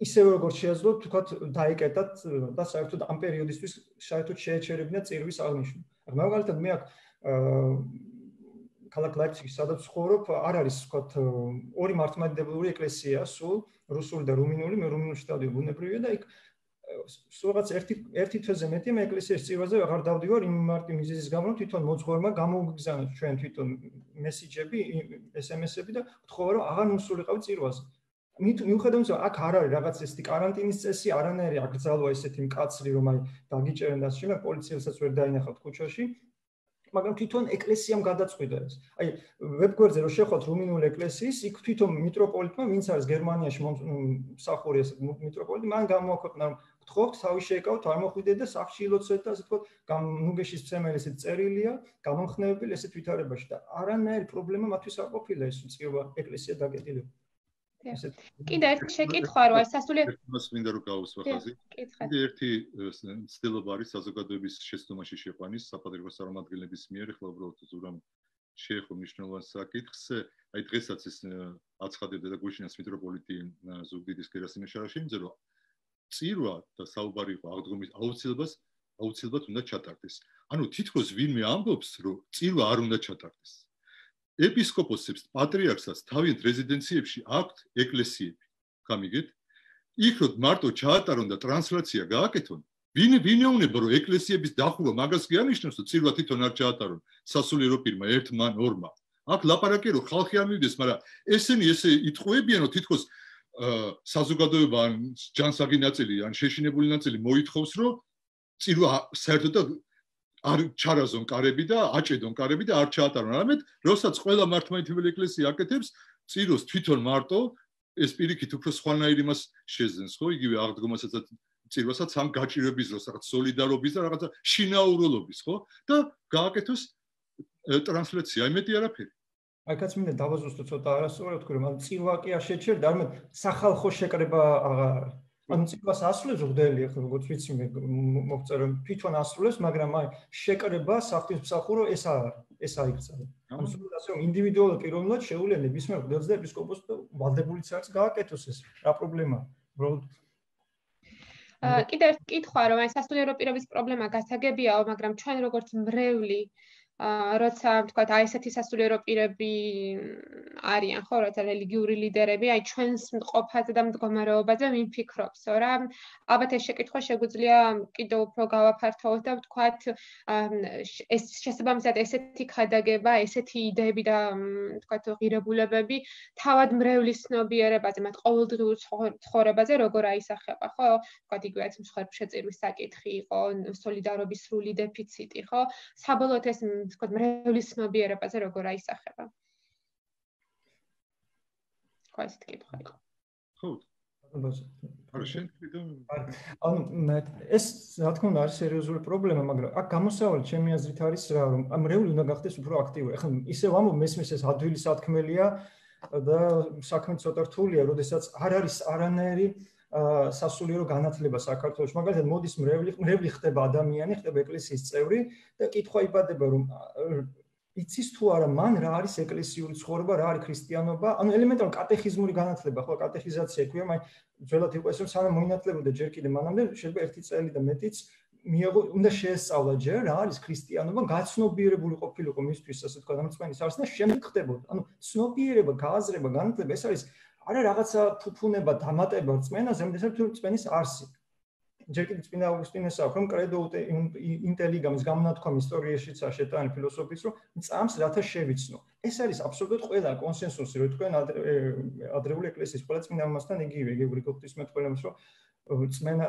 ისევე როგორც შეეძლოთ, თქვათ, დაეკეტათ და საერთოდ ამ პერიოდისთვის საერთოდ შეეჩერებინათ წირვის აღნიშვნა. მაგალითად, მე აქ ქალაქ ლაიფციგში, სადაც ვცხოვრობ, არ არის, თქვათ, ორი მართლმადიდებლური ეკლესია, სულ რუსული და რუმინული, მე რუმინულში დავდივარ, ბუნებრივია და იქ სულ რაღაც ერთი ერთი თვეზე მეტი მე ეკლესიის წირვაზე აღარ დავდივარ იმ მარტივ მიზეზის გამო, რომ თვითონ მოძღვარმა გამოუგზავნა ჩვენ თვითონ მესიჯები, ეს ემ ესები და ვთხოვა რომ აღარ მოსულიყავი წირვაზე. მიუხედავად იმისა, აქ არ არის რაღაც ესეთი каранტინის წესი, არანაირი აკრძალვა ესეთი მკაცრი, რომ აი დაგიჭერენ და შეიძლება პოლიციელსაც ვერ დაინახავთ ქუჩაში. მაგრამ თვითონ ეკლესიამ გადაწყვიტა ეს. აი ვებგვერდზე რო შეხოთ რუმინული ეკლესიის, იქ თვითონ მიტროპოლიტმა, ვინც არის გერმანიაში მსახური ესეთ მიტროპოლიტი, მან გამოაქვეყნა რომ გთხოვთ, თავი შეეკავთ, არ მოხვიდეთ და სახლში ილოცეთ და ასე ვთქვათ, ნუგეშის მცემელი ესეთ წერილია, გამომხნევებელი ესეთ ვითარებაში და არანაირი პრობლემა მათთვის არ ყოფილა ეს უწყება ეკლესია დაკეტილება. კიდე ერთი შეკითხვა რო აი სასულიერო მას მინდა რომ გავუსვა ხაზი. კიდე ერთი ცდილობა არის საზოგადოების შეცდომაში შეყვანის საპატრიარქო წარმომადგენლების მიერ, ახლა უბრალოდ ზურამ შეეხო მნიშვნელოვან საკითხს. აი დღესაც ეს აცხადებდა და გუშინაც მიტროპოლიტი ზუგდიდის გერასიმე შარაშინიძე, რომ წირვა და საუბარი იყო აღდგომის აუცილებლობას აუცილებლად უნდა ჩატარდეს. ანუ თითქოს ვინმე ამბობს, რომ წირვა არ უნდა ჩატარდეს. ეპისკოპოსებს, პატრიარქსაც თავიანთ რეზიდენციებში აქვთ ეკლესიები. გამიგეთ? იქ რომ მარტო ჩაატარონ და ტრანსლაცია გააკეთონ, ვინ ვინეუნება რომ ეკლესიების დახურვა მაგას კი ანიშნავს, რომ წირვა თვითონ არ ჩაატარონ სასულიერო პირმა, ერთმა, ორმა. აქ ლაპარაკია რომ ხალხი არ მივიდეს, მაგრამ ესენი ესე იტყუებიან, რომ თითქოს საზოგადოება ან ჯანსაღი ნაწილი ან შეშინებული ნაწილი მოითხოვს, რომ წირვა საერთოდ არ ჩარაზონ კარები და აჭედონ კარები და არ ჩაატარონ. არამედ, როსაც ყველა მართლმადიდებელი ეკლესია აკეთებს, წიროს თვითონ მარტო ეს პირიქით უფრო სხვანაირ იმას შეძენს, ხო? იგივე აღდგომასაც და წირვასაც ამ გაჭირვების დროს, რაღაც სოლიდარობის და რაღაცა შინაურულობის, ხო? და გააკეთოს ტრანსლაცია, იმეთი არაფერი. აი კაც მინდა დავაზუსტო ცოტა არასწორად თქვი რომ წირვა კი არ შეჩერდა, არამედ სახალხო შეკრება აღარ არის. ანუ წირვას ასრულებს მღვდელი, ახლა როგორც ვიცი მე მოგწერე რომ თვითონ ასრულებს, მაგრამ აი შეკრება საღვთისმსახურო ეს არ არის, ეს აიქცია. ანუ სულ ასე რომ ინდივიდუალურად პიროვნულად შეუძლია ნებისმიერ მღვდელს და ეპისკოპოსს და ვალდებულიც არის გააკეთოს ეს. რა პრობლემაა? უბრალოდ კიდევ ერთი კითხვა რომ აი სასულიერო პირობის პრობლემა გასაგებიაო, მაგრამ ჩვენ როგორც მრევლი როცა ვთქვათ აი ესეთი სასულიერო პირები არიან ხო, როცა რელიგიური ლიდერები, აი ჩვენს მყოფაზე და მდგომარეობაზე ვიფიქრობსო რა. ალბათ ეს შეკითხვა შეგვიძლია კიდევ უფრო გავაფართოვოთ და ვთქვათ ეს შესაბამისად ესეთი ქადაგება, ესეთი იდეები და ვთქვათ ღირებულებები თავად მრევლის ცნობიერებაზე, მათ ყოველდღიურ ცხოვრებაზე როგორ აისახება, ხო? ვთქვათ იგივეც მსხვერპლშეწირვის საკითხი იყო, სოლიდარობის სრული დეფიციტი, ხო? საბოლოოდ ეს ვთქვათ მრევლის ცნობიერებაზე როგორ აისახება. ხო, ესეთი კითხვა იყო. ხო. არა შენ კიდევ ანუ ეს რა თქმა უნდა არის სერიოზული პრობლემა, მაგრამ აქ გამოსავალი ჩემი აზრით არის რა, რომ მრევლი უნდა გახდეს უფრო აქტიური. ახლა ისევ ამბობ მესმის ეს ადვილი სათქმელია და საქმე ცოტა რთულია, როდესაც არ არის არანაირი სასულიერო განათლება საქართველოში. მაგალითად მოდის მრევლი, მრევლი ხდება ადამიანი, ხდება ეკლესიის წევრი და კითხვა იბადება რომ იცის თუ არა მან რა არის ეკლესიური ცხოვრება, რა არის ქრისტიანობა, ანუ ელემენტარული კატეხიზმური განათლება, ხო, კატეხიზაცია ქვია, მაგრამ ძველად იყო ეს რომ სანამ მოინათლებოდა ჯერ კიდე მანამდე შეიძლება ერთი წელი და მეტიც მიიღო, უნდა შეესწავლა ჯერ რა არის ქრისტიანობა, გაცნობიერებული ყოფილიყო მისთვის, ასე თქვა, დამწმენის არს და შემდეგ ხდებოდა. ანუ ცნობიერება, გააზრება, განათლება ეს არის არა რაღაცა ფუფუნება, დამატება რწმენაზე, ამიტომაც თუ რწმენის არსი. ჯერ კიდევ წმინდა ავგუსტინეს აქვს რომ კრედო ინტელიგამის გამონათქვამი ისტორიაშიც არ შეტანი ფილოსოფიის რომ წამს რათა შევიცნო. ეს არის აბსოლუტურად ყველა კონსენსუსი, რომ თქვენ ადრეული ეკლესიის ყველა წმინდა მომასთან იგივე, გეგვრიგო ღვთისმეტყველებს რომ წმენა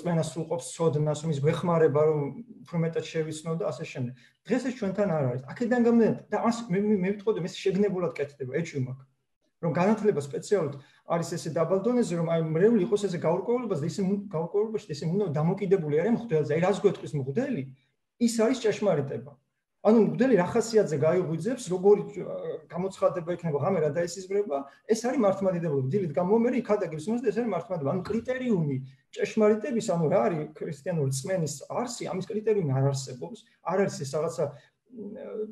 წმენა სრულყოფს ცოდნას, რომ ის გვეხმარება რომ უფრო მეტად შევიცნო და ასე შემდეგ. დღეს ეს ჩვენთან არ არის. აქედან გამომდინარე და მე მე ვიტყოდი ეს შეგნებულად კეთდება, ეჭვი მაქვს. რომ განათლება სპეციალურად არის ესე დაბალ დონეზე, რომ აი მრევლი იყოს ესე გაურკვევლებას და ისე გაურკვევლობაში ესე უნდა დამოკიდებული არის მღვდელზე. აი რას გვეტყვის მღვდელი, ის არის ჭეშმარიტება. ანუ მღვდელი რა ხასიათზე გაიღვიძებს, როგორი გამოცხადება იქნება, ღამე რა დაესიზმრება, ეს არის მართლმადიდებლობა. დილით გამომერი იქადაგებს იმას და ეს არის მართლმადიდებლობა. ანუ კრიტერიუმი ჭეშმარიტების, ანუ რა არის ქრისტიანული წმენის არსი, ამის კრიტერიუმი არ არსებობს. არ არის ეს რაღაცა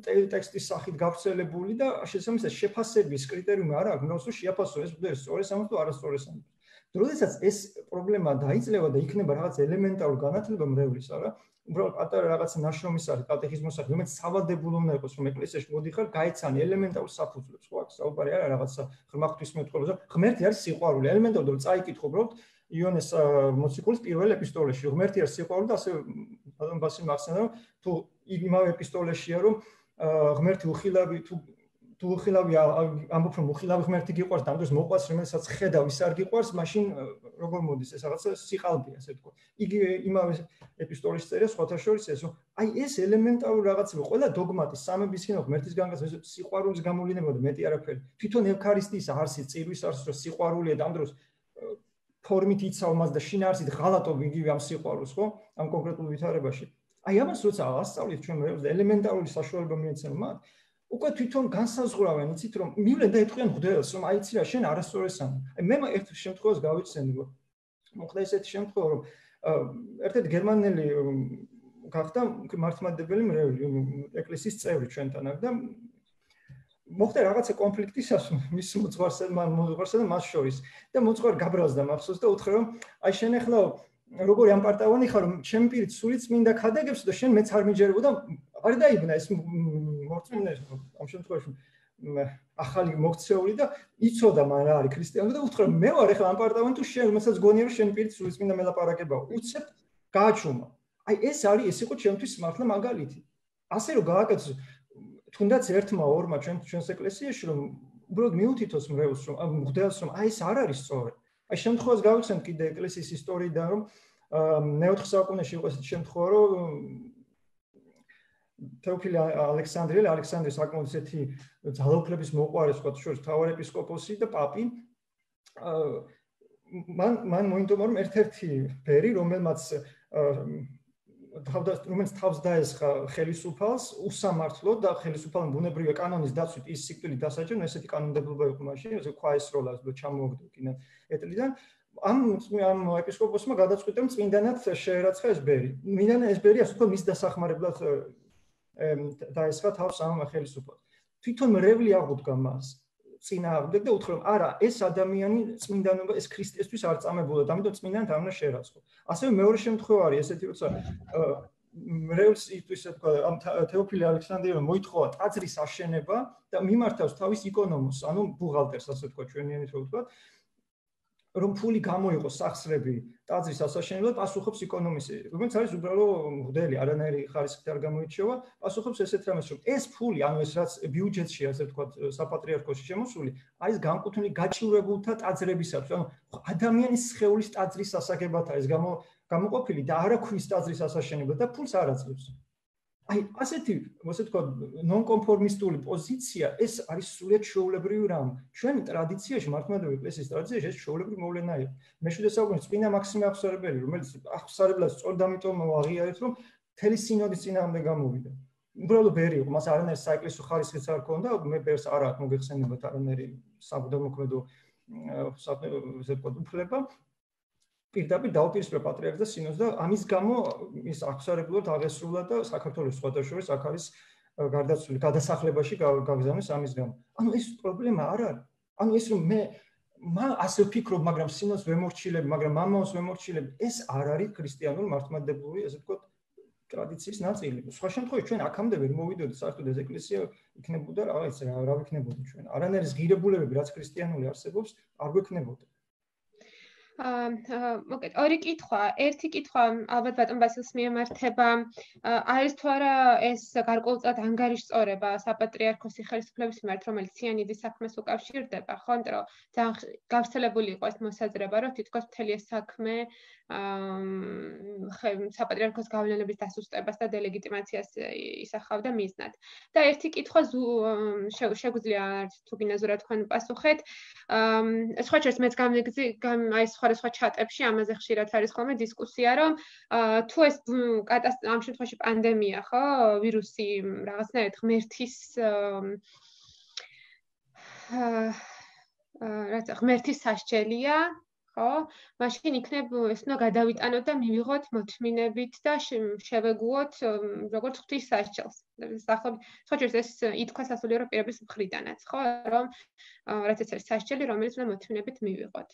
ტექსტის სახით გავრცელებული და შესაბამისად შეფასების კრიტერიუმი არ აქვს, რომ შეაფასო ეს მღვდელი სწორეს ამბობს თუ არასწორეს ამბობს. როდესაც ეს პრობლემა დაიწლება და იქნება რაღაც ელემენტარული განათლება მრევლის, არა? უბრალოდ პატარა რაღაცა ნაშრომის არის, კატეხიზმოს არის, რომელიც სავალდებულო უნდა იყოს, რომ ეკლესიაში მოდიხარ, გაეცანი ელემენტარულ საფუძვლებს, ხო? აქ საუბარი არა რაღაცა ღრმა ღვთისმეტყველებზე, ღმერთი არის სიყვარული, ელემენტარულად რომ წაიკითხო, უბრალოდ იონეს მოციქულის პირველ ეპისტოლეში, ღმერთი არის სიყვარული და ასე ბატონ ბასილ მახსენდა, რომ თუ იმავე ეპისტოლეშია, რომ ღმერთი უხილავი თუ თუ უხილავი ამბობ რომ უხილავი ღმერთი გიყვარს და ამ დროს მოყვას რომელსაც ხედავ ის არ გიყვარს მაშინ როგორ მოდის ეს რაღაცა სიყალბეა ასე თქვა იგი იმავე ეპისტოლის წერია სხვათა შორის ეს რომ აი ეს ელემენტარული რაღაცები ყველა დოგმატის სამების ხინო ღმერთის განკაცება სიყვარულის გამოვლინება და მეტი არაფერი თვითონ ევქარისტიის არსი წირვის არსი რომ სიყვარულია და ამ დროს ფორმით იცავ მას და შინაარსით ღალატობ იგივე ამ სიყვარულს ხო ამ კონკრეტულ ვითარებაში აი ამას როცა ასწავლით ჩვენ მეებს და ელემენტარული საშუალება მიეცემ მათ უკვე თვითონ განსაზღვრავენ იცით რომ მივლენ და ეთქვიან მღვდელს რომ აი იცი რა შენ არასწორეს ამ აი მე ერთ შემთხვევას გავიცანი რომ მოხდა ესეთი შემთხვევა რომ ერთ-ერთი გერმანელი გახდა მართლმადიდებელი მრევლი ეკლესიის წევრი ჩვენთან აქ და მოხდა რაღაცა კონფლიქტისას მის მოძღვარსა მოძღვარსა და მას შორის და მოძღვარ გაბრალს და მახსოვს და უთხრა რომ აი შენ ახლა როგორი ამპარტავანი ხარ რომ ჩემი პირით სულიც მინდა ქადაგებს და შენ მეც არ მიჯერებო და არ დაიბნა ეს მორწმუნე ამ შემთხვევაში ახალი მოქცეული და იცოდა მან რა არის ქრისტიანი და უთხრა მე ვარ ახლა ამპარტავანი თუ შენ მეცაც გონია რომ შენ პირით სულიც მინდა მელაპარაკებაო უცებ გააჩუმა აი ეს არის ეს იყო ჩემთვის მართლა მაგალითი ასე რომ გააკეთოს თუნდაც ერთმა ორმა ჩვენ ჩვენს ეკლესიაში რომ უბრალოდ მიუთითოს მრევლს რომ მღვდელს რომ აი ეს არ არის სწორი აი შემთხვევას გავიხსენთ კიდე ეკლესიის ისტორიიდან რომ მეოთხე საუკუნეში იყო ესეთი შემთხვევა რომ თეოფილე ალექსანდრიელი ალექსანდრე საკმაოდ ესეთი ძალაუფლების მოყვარე სხვათა შორის მთავარეპისკოპოსი და პაპი მან მან მოინდომა რომ ერთ-ერთი ბერი რომელმაც რომელიც თავს დაესხა ხელისუფალს უსამართლოდ და ხელისუფალმა ბუნებრივი კანონის დაცვით ის სიკვდილით დასაჯა, ესეთი კანონმდებლობა იყო მაშინ, ესე ქვაესროლა ჩამოაგდო კიდე ეტლიდან ამ ამ ეპისკოპოსმა გადაწყვიტა რომ წმინდანად შეერაცხა ეს ბერი. მიდან ეს ბერი ასე თქო მის დასახმარებლად დაესხა თავს ამ ხელისუფალს. თვითონ მრევლი აღუდგა მას. წინააღმდეგ და უთხრა რომ არა ეს ადამიანი წმინდანობა ეს ქრისტესთვის არ წამებულა და ამიტომ წმინდანად არ უნდა შეერაცხო. ასევე მეორე შემთხვევა არის ესეთი როცა მრევლს ისე თქვა ამ თეოფილე ალექსანდრიელმა მოითხოვა ტაძრის აშენება და მიმართავს თავის იკონომოსს, ანუ ბუღალტერს ასე თქვა ჩვენიანით რო ვთქვა რომ ფული გამოიყო სახსრები ტაძრის ასაშენებლად პასუხობს იკონომისი, რომელიც არის უბრალო მღვდელი, არანაირი ხარისხით არ გამოირჩევა, პასუხობს ესეთ რამეს, რომ ეს ფული, ანუ ეს რაც ბიუჯეტში ასე ვთქვათ, საპატრიარქოში შემოსული, არის განკუთვნილი გაჭირვებულთა ტაძრებისათვის, ანუ ადამიანის სხეულის ტაძრის ასაგებათა ეს გამოყოფილი და არა ქვის ტაძრის ასაშენებლად და ფულს არ აძლევს. აი, ასეთი, ასე ვთქვათ, ნონკონფორმისტული პოზიცია, ეს არის სრულიად ჩვეულებრივი რამ. ჩვენი ტრადიციაში, მართლმადიდებელი ეკლესიის ტრადიციაში ეს ჩვეულებრივი მოვლენა იყო. მეშვიდე საუკუნის წმინდა მაქსიმე აღსარებელი, რომელიც აღსარებლად სწორედ ამიტომ აღიარეთ, რომ მთელი სინოდის წინააღმდეგ გამოვიდა. უბრალოდ ბერი იყო, მას არანაირი საეკლესიო ხარისხიც არ ჰქონდა, მე ბერს არ აქვს მოგეხსენებათ არანაირი საბუდამოქმედო ასე ვთქვათ, უფლება. პირდაპირ დაუპირისპირა პატრიარქს და სინოდს და ამის გამო ის აღსარებლად აღესრულა და საქართველოს სხვათა შორის აქ არის გარდაცვლილი გადასახლებაში გაგზავნეს ამის გამო. ანუ ეს პრობლემა არ არის. ანუ ეს რომ მე მა ასე ვფიქრობ, მაგრამ სინოდს ვემორჩილებ, მაგრამ მამაოს ვემორჩილებ, ეს არ არის ქრისტიანული მართლმადიდებლური, ასე ვთქვათ, ტრადიციის ნაწილი. სხვა შემთხვევაში ჩვენ აქამდე ვერ მოვიდოდით, საერთოდ ეს ეკლესია იქნებოდა რაღაც რა რა ვიქნებოდა ჩვენ. არანაირი ღირებულებები, რაც ქრისტიანული არსებობს, არ გვექნებოდა. აა მოკეთ ორი კითხვა. ერთი კითხვა ალბათ ბატონ ბასილს მიემართება, არის თუ არა ეს გარკვეულწილად ანგარიშწორება საპატრიარქოსი ხელისუფლების მიმართ, რომელიც ციანიდის საქმეს უკავშირდება, ხო? იმიტომ რომ ძალიან გავრცელებული იყო ეს მოსაზრება, რომ თითქოს მთელი ეს საქმე აა საპატრიარქოს გავლენების დასუსტებას და დელეგიტიმაციას ისახავდა მიზნად. და ერთი კითხვა შეგვიძლია თუ გინდა ზურა თქვენ პასუხეთ. აა სხვა შორის მეც გამიგზი აი სხვადასხვა ჩატებში ამაზე ხშირად არის ხოლმე დისკუსია, რომ თუ ეს ამ შემთხვევაში პანდემია, ხო, ვირუსი რაღაცნაირად ღმერთის აა რაც ღმერთის სასჯელია, ხო? მაშინ იქნებ ეს უნდა გადავიტანოთ და მივიღოთ მოთმინებით და შევეგუოთ როგორც ღვთის სასჯელს. სახლობ, სხვა შორის ეს ითქვა სასულიერო პირების მხრიდანაც, ხო, რომ რაც ეს არის სასჯელი, რომელიც უნდა მოთმინებით მივიღოთ.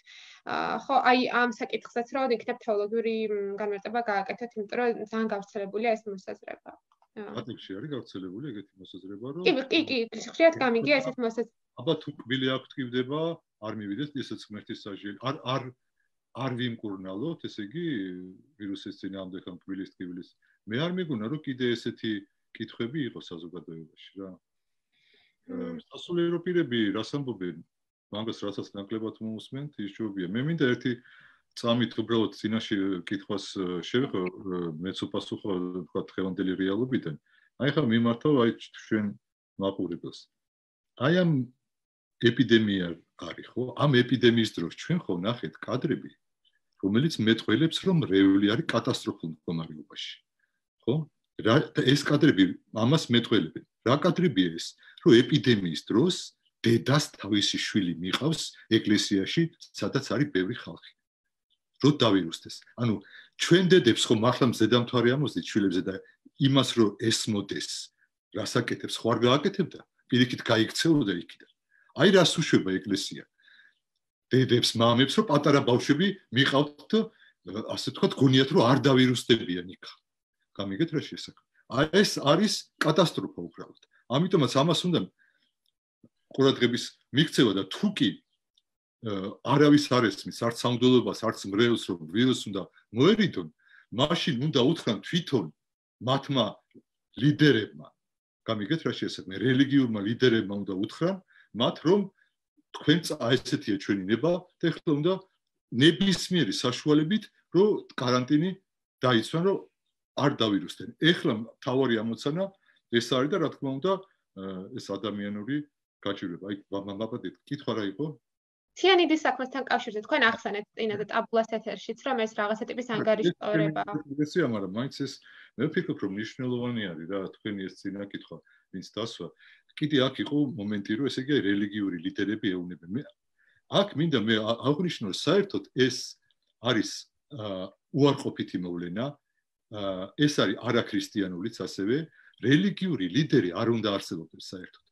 ხო, აი ამ საკითხსაც რომ იქნებ თეოლოგიური განმარტება გააკეთოთ, იმიტომ რომ ძალიან გავრცელებულია ეს მოსაზრება. ატიფში არის გავრცელებული ეგეთი მოსაზრება, რომ კი, კი, კი, ხშირად გამიგია ესეთ მოსაზრება. აბა თუ კბილი აქ თქივდება, არ მივიდეს ესეც ღმერთის სასჯელი. არ არ არ ვიმკურნალოთ, ესე იგი ვირუსის წინააღმდეგ ამ კბილის თქვილის. მე არ მეგონა რომ კიდე ესეთი კითხვები იყო საზოგადოებაში რა. სასულიერო პირები რას ამბობენ? მაგას რასაც ნაკლებად მოусმენთ, ის ჯობია. მე მინდა ერთი წამით უბრალოდ წინაში კითხვას შევეხო, მეც უპასუხო თქვა დღევანდელი რეალობიდან. აი ხა მიმართავ აი ჩვენ მაყურებელს. აი ამ ეპიდემია არის ხო? ამ ეპიდემიის დროს ჩვენ ხო ნახეთ კადრები, რომელიც მეტყველებს, რომ რევლი არის კატასტროფულ მდგომარეობაში. ხო? რა ეს კადრები ამას მეტყველებენ. რა კადრებია ეს? რომ ეპიდემიის დროს დედას თავისი შვილი მიყავს ეკლესიაში, სადაც არის ბევრი ხალხი. რო დავირუსდეს. ანუ ჩვენ დედებს ხო მართლა მზედამთვარე ამოსდით შვილებზე და იმას რომ ესმოდეს, რასაკეთებს ხო არ გააკეთებდა? პირიქით გაიქცეოდა იქიდან. აი რას უშვება ეკლესია. დედებს, მამებს რომ პატარა ბავშვები მიყავთ, ასე ვთქვათ, გონიათ რომ არ დავირუსდებიან იქ. გამიგეთ რა შესაძლოა. აი ეს არის კატასტროფა უბრალოდ. ამიტომაც ამას უნდა ყურადღების მიქცევა და თუ კი არავის არ ესმის, არც სამღვდელოებას, არც მრევლს, რომ ვირუსს უნდა მოერიდონ, მაშინ უნდა უთხრან თვითონ მათმა ლიდერებმა. გამიგეთ რა შესაძლოა. რელიგიურმა ლიდერებმა უნდა უთხრან მათ, რომ თქვენ ესეთია ჩვენი ნება და ეხლა უნდა ნებისმიერი საშუალებით, რომ კარანტინი დაიცვან, რომ არ დავირუსდნენ. ეხლა თავარი ამოცანა ეს არის და რა თქმა უნდა ეს ადამიანური გაჭირვება. აი მამაბადეთ, კითხვა რა იყო? თიანიდის საქმესთან კავშირზე თქვენ ახსენეთ წინა და ტაბულას ეთერშიც, რომ ეს რაღაცა ტიპის ანგარიშტორება. ესეა, მაგრამ მაინც ეს მე ვფიქრობ, რომ მნიშვნელოვანი არის რა თქვენი ეს წინა კითხვა, ვინც დასვა. კიდე აქ იყო მომენტი, რომ ესე იგი რელიგიური ლიდერები ეუბნებენ. მე აქ მინდა მე აღვნიშნო, საერთოდ ეს არის უარყოფითი მოვლენა. ეს არის არაქრისტიანულიც ასევე რელიგიური ლიდერი არ უნდა არსებობდეს საერთოდ.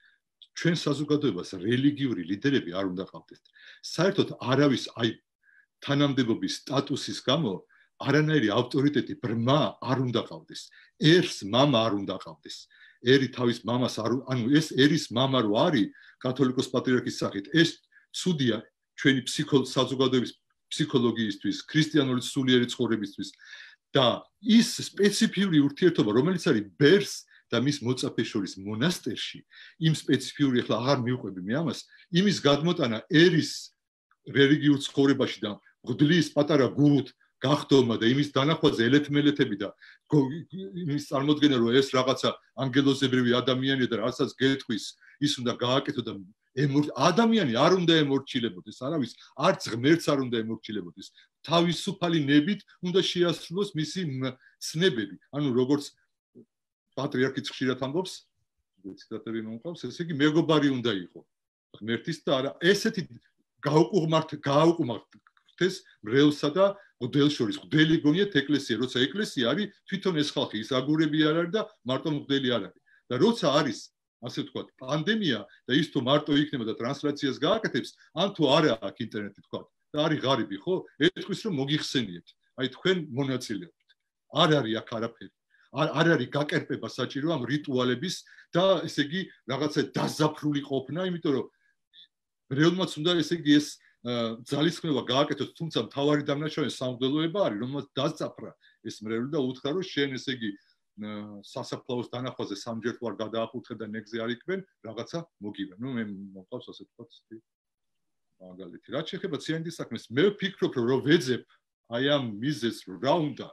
ჩვენ საზოგადოებას რელიგიური ლიდერები არ უნდა ყავდეს. საერთოდ არავის აი თანამდებობის სტატუსის გამო არანაირი ავტორიტეტი ბრმა არ უნდა ყავდეს. ერს მამა არ უნდა ყავდეს. ერი თავის მამას არ ანუ ეს ერის მამა რო არის კათოლიკოს პატრიარქის სახით, ეს ცუდია ჩვენი საზოგადოების ფსიქოლოგიისთვის, ქრისტიანული სულიერი ცხოვრებისთვის და ის სპეციფიური ურთიერთობა, რომელიც არის ბერს და მის მოწაფეს შორის მონასტერში, იმ სპეციფიური ახლა აღარ მივყვები მე ამას, იმის გადმოტანა ერის რელიგიურ ცხოვრებაში და მღვდლის პატარა გურუთ გახდომა და იმის დანახვაზე ელეთმელეთები და იმის წარმოქმნა რომ ეს რაღაცა ანგელოზებრივი ადამიანია და რასაც გეტყვის ის უნდა გააკეთო და ადამიანი არ უნდა ემორჩილებოდეს, არავის არც ღმერთს არ უნდა ემორჩილებოდეს. თავისუფალი ნებით უნდა შეასრულოს მისი ცნებები. ანუ როგორც პატრიარქიც ხშირად ამბობს, ციტატები მომყავს, ესე იგი მეგობარი უნდა იყო ღმერთის და არა ესეთი გაუკუღმართ გაუკუღმართეს მრევლსა და მღვდელს შორის. მღვდელი გონიათ ეკლესია, როცა ეკლესია არის თვითონ ეს ხალხი, ის აგურები არ არის და მარტო მღვდელი არ არის. და როცა არის ასე ვთქვათ პანდემია და ის თუ მარტო იქნება და ტრანსლაციას გააკეთებს, ან თუ არა აქ ინტერნეტი ვთქვათ და არის ღარიბი, ხო? ეთქვის რომ მოგიხსენიებთ. აი თქვენ მონაწილეობთ. არ არის აქ არაფერი. არ არ არის გაკერპება საჭირო ამ რიტუალების და ესე იგი რაღაცა დაზაფრული ყოფნა, იმიტომ რომ რეალმაც უნდა ესე იგი ეს ძალისხმევა გააკეთოს, თუმცა მთავარი დამნაშავე სამღვდელოება არის, რომელსაც დაზაფრა ეს მრევლი და უთხრა რომ შენ ესე იგი სასაფლაოს დანახვაზე სამჯერ თუ არ გადაახურთხე და ნეგზე არ იქნებ, რაღაცა მოგივე. ნუ მე მოყავს ასე თქვა მაგალითი. რაც შეეხება ციანიდის საქმეს, მე ვფიქრობ რომ ვეძებ აი ამ მიზეზს რომ რა უნდა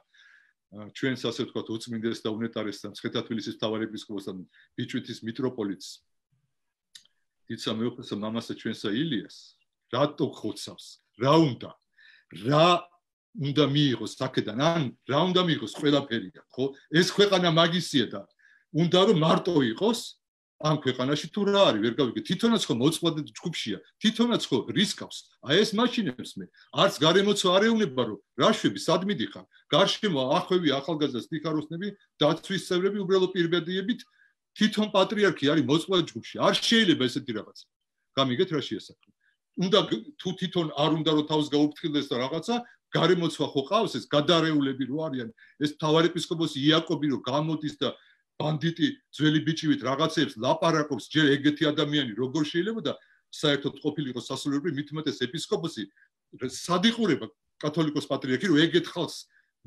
ჩვენს ასე ვთქვათ უწმინდეს და უნეტარეს და მცხეთა თბილისის მთავარეპისკოპოსს და ბიჭვითის მიტროპოლიტს იცა მეუღლესა მამასა ჩვენსა ილიას რატო ხოცავს? რა უნდა? რა უნდა მიიღოს აქედან? ან რა უნდა მიიღოს ყველაფერია, ხო? ეს ქვეყანა მაგისია და უნდა რომ მარტო იყოს ამ ქვეყანაში თუ რა არის, ვერ გავიგე. თვითონაც ხო მოწყვლადი ჯგუფშია, თვითონაც ხო რისკავს. აი ეს მაშინებს მე არც გარემოცო არ ეუნება რომ რა შვები სად მიდიხარ? გარშემო ახვევი ახალგაზრდა სტიქაროსნები, დაცვის წევრები უბრალოდ პირბედიებით თვითონ პატრიარქი არის მოწყვლადი ჯგუფში. არ შეიძლება ესეთი რაღაცა. გამიგეთ რა შეასახა? უნდა თუ თვითონ არ უნდა რომ თავს გაუფრთხილდეს და რაღაცა გარემოცვა ხო ყავს ეს გადარეულები რო არიან ეს მთავარეპისკოპოსი იაკობი რო გამოდის და ბანდიტი ძველი ბიჭივით რაღაცებს ლაპარაკობს ჯერ ეგეთი ადამიანი როგორ შეიძლება და საერთოდ ყოფილიყო სასულიერო მithumetes ეპისკოპოსი სადიყურება კათოლიკოს პატრიარქი რომ ეგეთ ხალხს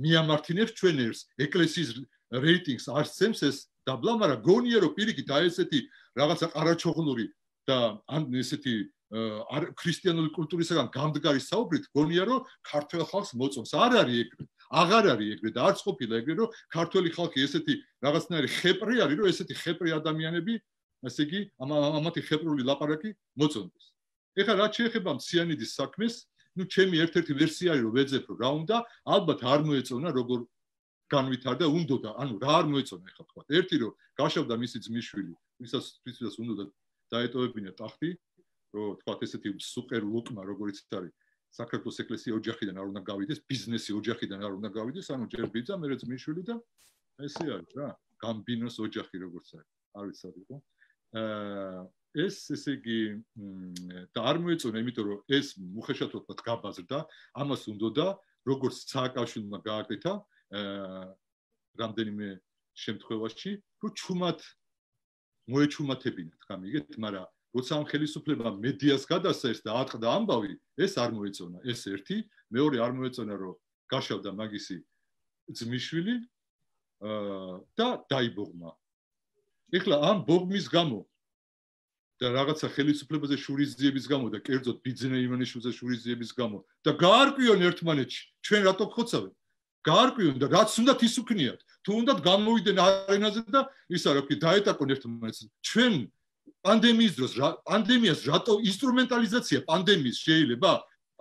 მიამართინებს ჩვენ ერს ეკლესიის რეიტინგს არცემს ეს დაბლა, მაგრამ გონია რომ პირიქით აი ესეთი რაღაცა ყარაჩოღლური და ან ესეთი ქრისტიანული კულტურისგან გამდგარი საუბრით გონია რომ ქართველ ხალხს მოწონს. არ არის ეგრე. აღარ არის ეგრე და არც ყოფილა ეგრე რომ ქართველი ხალხი ესეთი რაღაცნაირი ხეპრი არის რომ ესეთი ხეპრი ადამიანები ასე იგი ამათი ხეპრული ლაპარაკი მოწონდეს. ეხლა რაც შეეხება მციანიდის საქმეს, ну ჩემი ერთ-ერთი ვერსია არის რომ ვეძებ რომ რა უნდა, ალბათ არ მოეწონა როგორ განვითარდა, უნდოდა, ანუ რა არ მოეწონა ეხლა თქვა. ერთი რომ გაშავდა მისი ძმისშვილი, ვისაც ვისაც უნდა დაეტოვებინა ტახტი, რომ თქვა ესეთი სუპერ ლუკმა როგორიც არის საქართველოს ეკლესია ოჯახიდან არ უნდა გავიდეს, ბიზნესი ოჯახიდან არ უნდა გავიდეს, ანუ ჯერ ბიძა, მერე ძმისშვილი და ესე არის რა, გამბინოს ოჯახი როგორც არის. არ ვიცი რა. აა ეს ესე იგი და არ მოეწონა, იმიტომ რომ ეს მუხეშათობად გაბაზრდა, ამას უნდოდა როგორც სააკაშვილმა გააკეთა აა რამდენიმე შემთხვევაში, რომ ჩუმად მოეჩუმათებინათ, გამიგეთ, მაგრამ როცა ამ ხელისუფლებამ მედიას გადასცეს და ატყდა ამბავი, ეს არ მოეწონა, ეს ერთი, მეორე არ მოეწონა, რომ გაშავდა მაგისი ძმისშვილი აა და დაიბოღმა. ეხლა ამ ბოღმის გამო და რაღაცა ხელისუფლებაზე შურისძიების გამო და კერძოდ ბიძინა ივანიშვილზე შურისძიების გამო და გაარკვიონ ერთმანეთში, ჩვენ რატო ხოცავენ? გაარკვიონ და რაც უნდათ ის უქნიათ. თუ უნდათ გამოვიდნენ არენაზე და ისა რა ვქი, დაეტაკონ ერთმანეთს. ჩვენ პანდემიის დროს პანდემიას რატო ინსტრუმენტალიზაცია პანდემიის შეიძლება?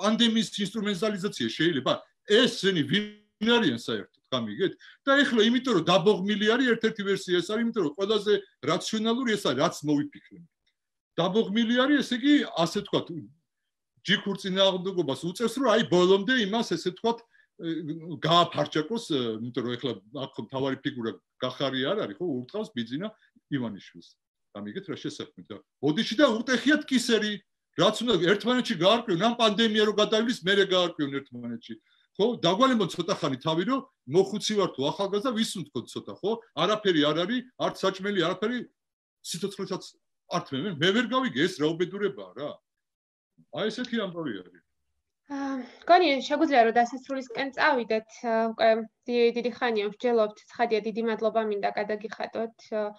პანდემიის ინსტრუმენტალიზაცია შეიძლება? ესენი ვინ არიან საერთოდ, გამიგეთ? და ეხლა იმიტომ რომ დაბოღმილი არის ერთ-ერთი ვერსია ეს არის, იმიტომ რომ ყველაზე რაციონალური ეს არის, რაც მოვიფიქრე. დაბოღმილი არის, ესე იგი, ასე თქვა, ჯიქურ წინააღმდეგობას უწევს, რომ აი ბოლომდე იმას ესე თქვა გააფარჩაკოს, იმიტომ რომ ეხლა აქ მთავარი ფიგურა გახარი არ არის, ხო, ურტყავს ბიძინა ივანიშვილს. გამიგეთ რა შესაქმე და ბოდიში და უტეხიათ კისერი, რაც უნდა ერთმანეთში გაარკვიონ, ამ პანდემია რო გადავლის, მერე გაარკვიონ ერთმანეთში. ხო, დაგვალებოთ ცოტა ხანი თავი, რომ მოხუცი ვარ თუ ახალგაზრდა, ვის უნდა ცოტა, ხო? არაფერი არ არის, არც საჭმელი, არაფერი სიცოცხლესაც არ თმევენ, მე ვერ გავიგე ეს რა უბედურებაა რა. აი ესეთი ამბავი არის. აა, გონი, შეგვიძლია რომ დასასრულისკენ წავიდეთ, უკვე დიდი ხანია ვსჯელობთ, ცხადია დიდი მადლობა მინდა გადაგიხადოთ. აა,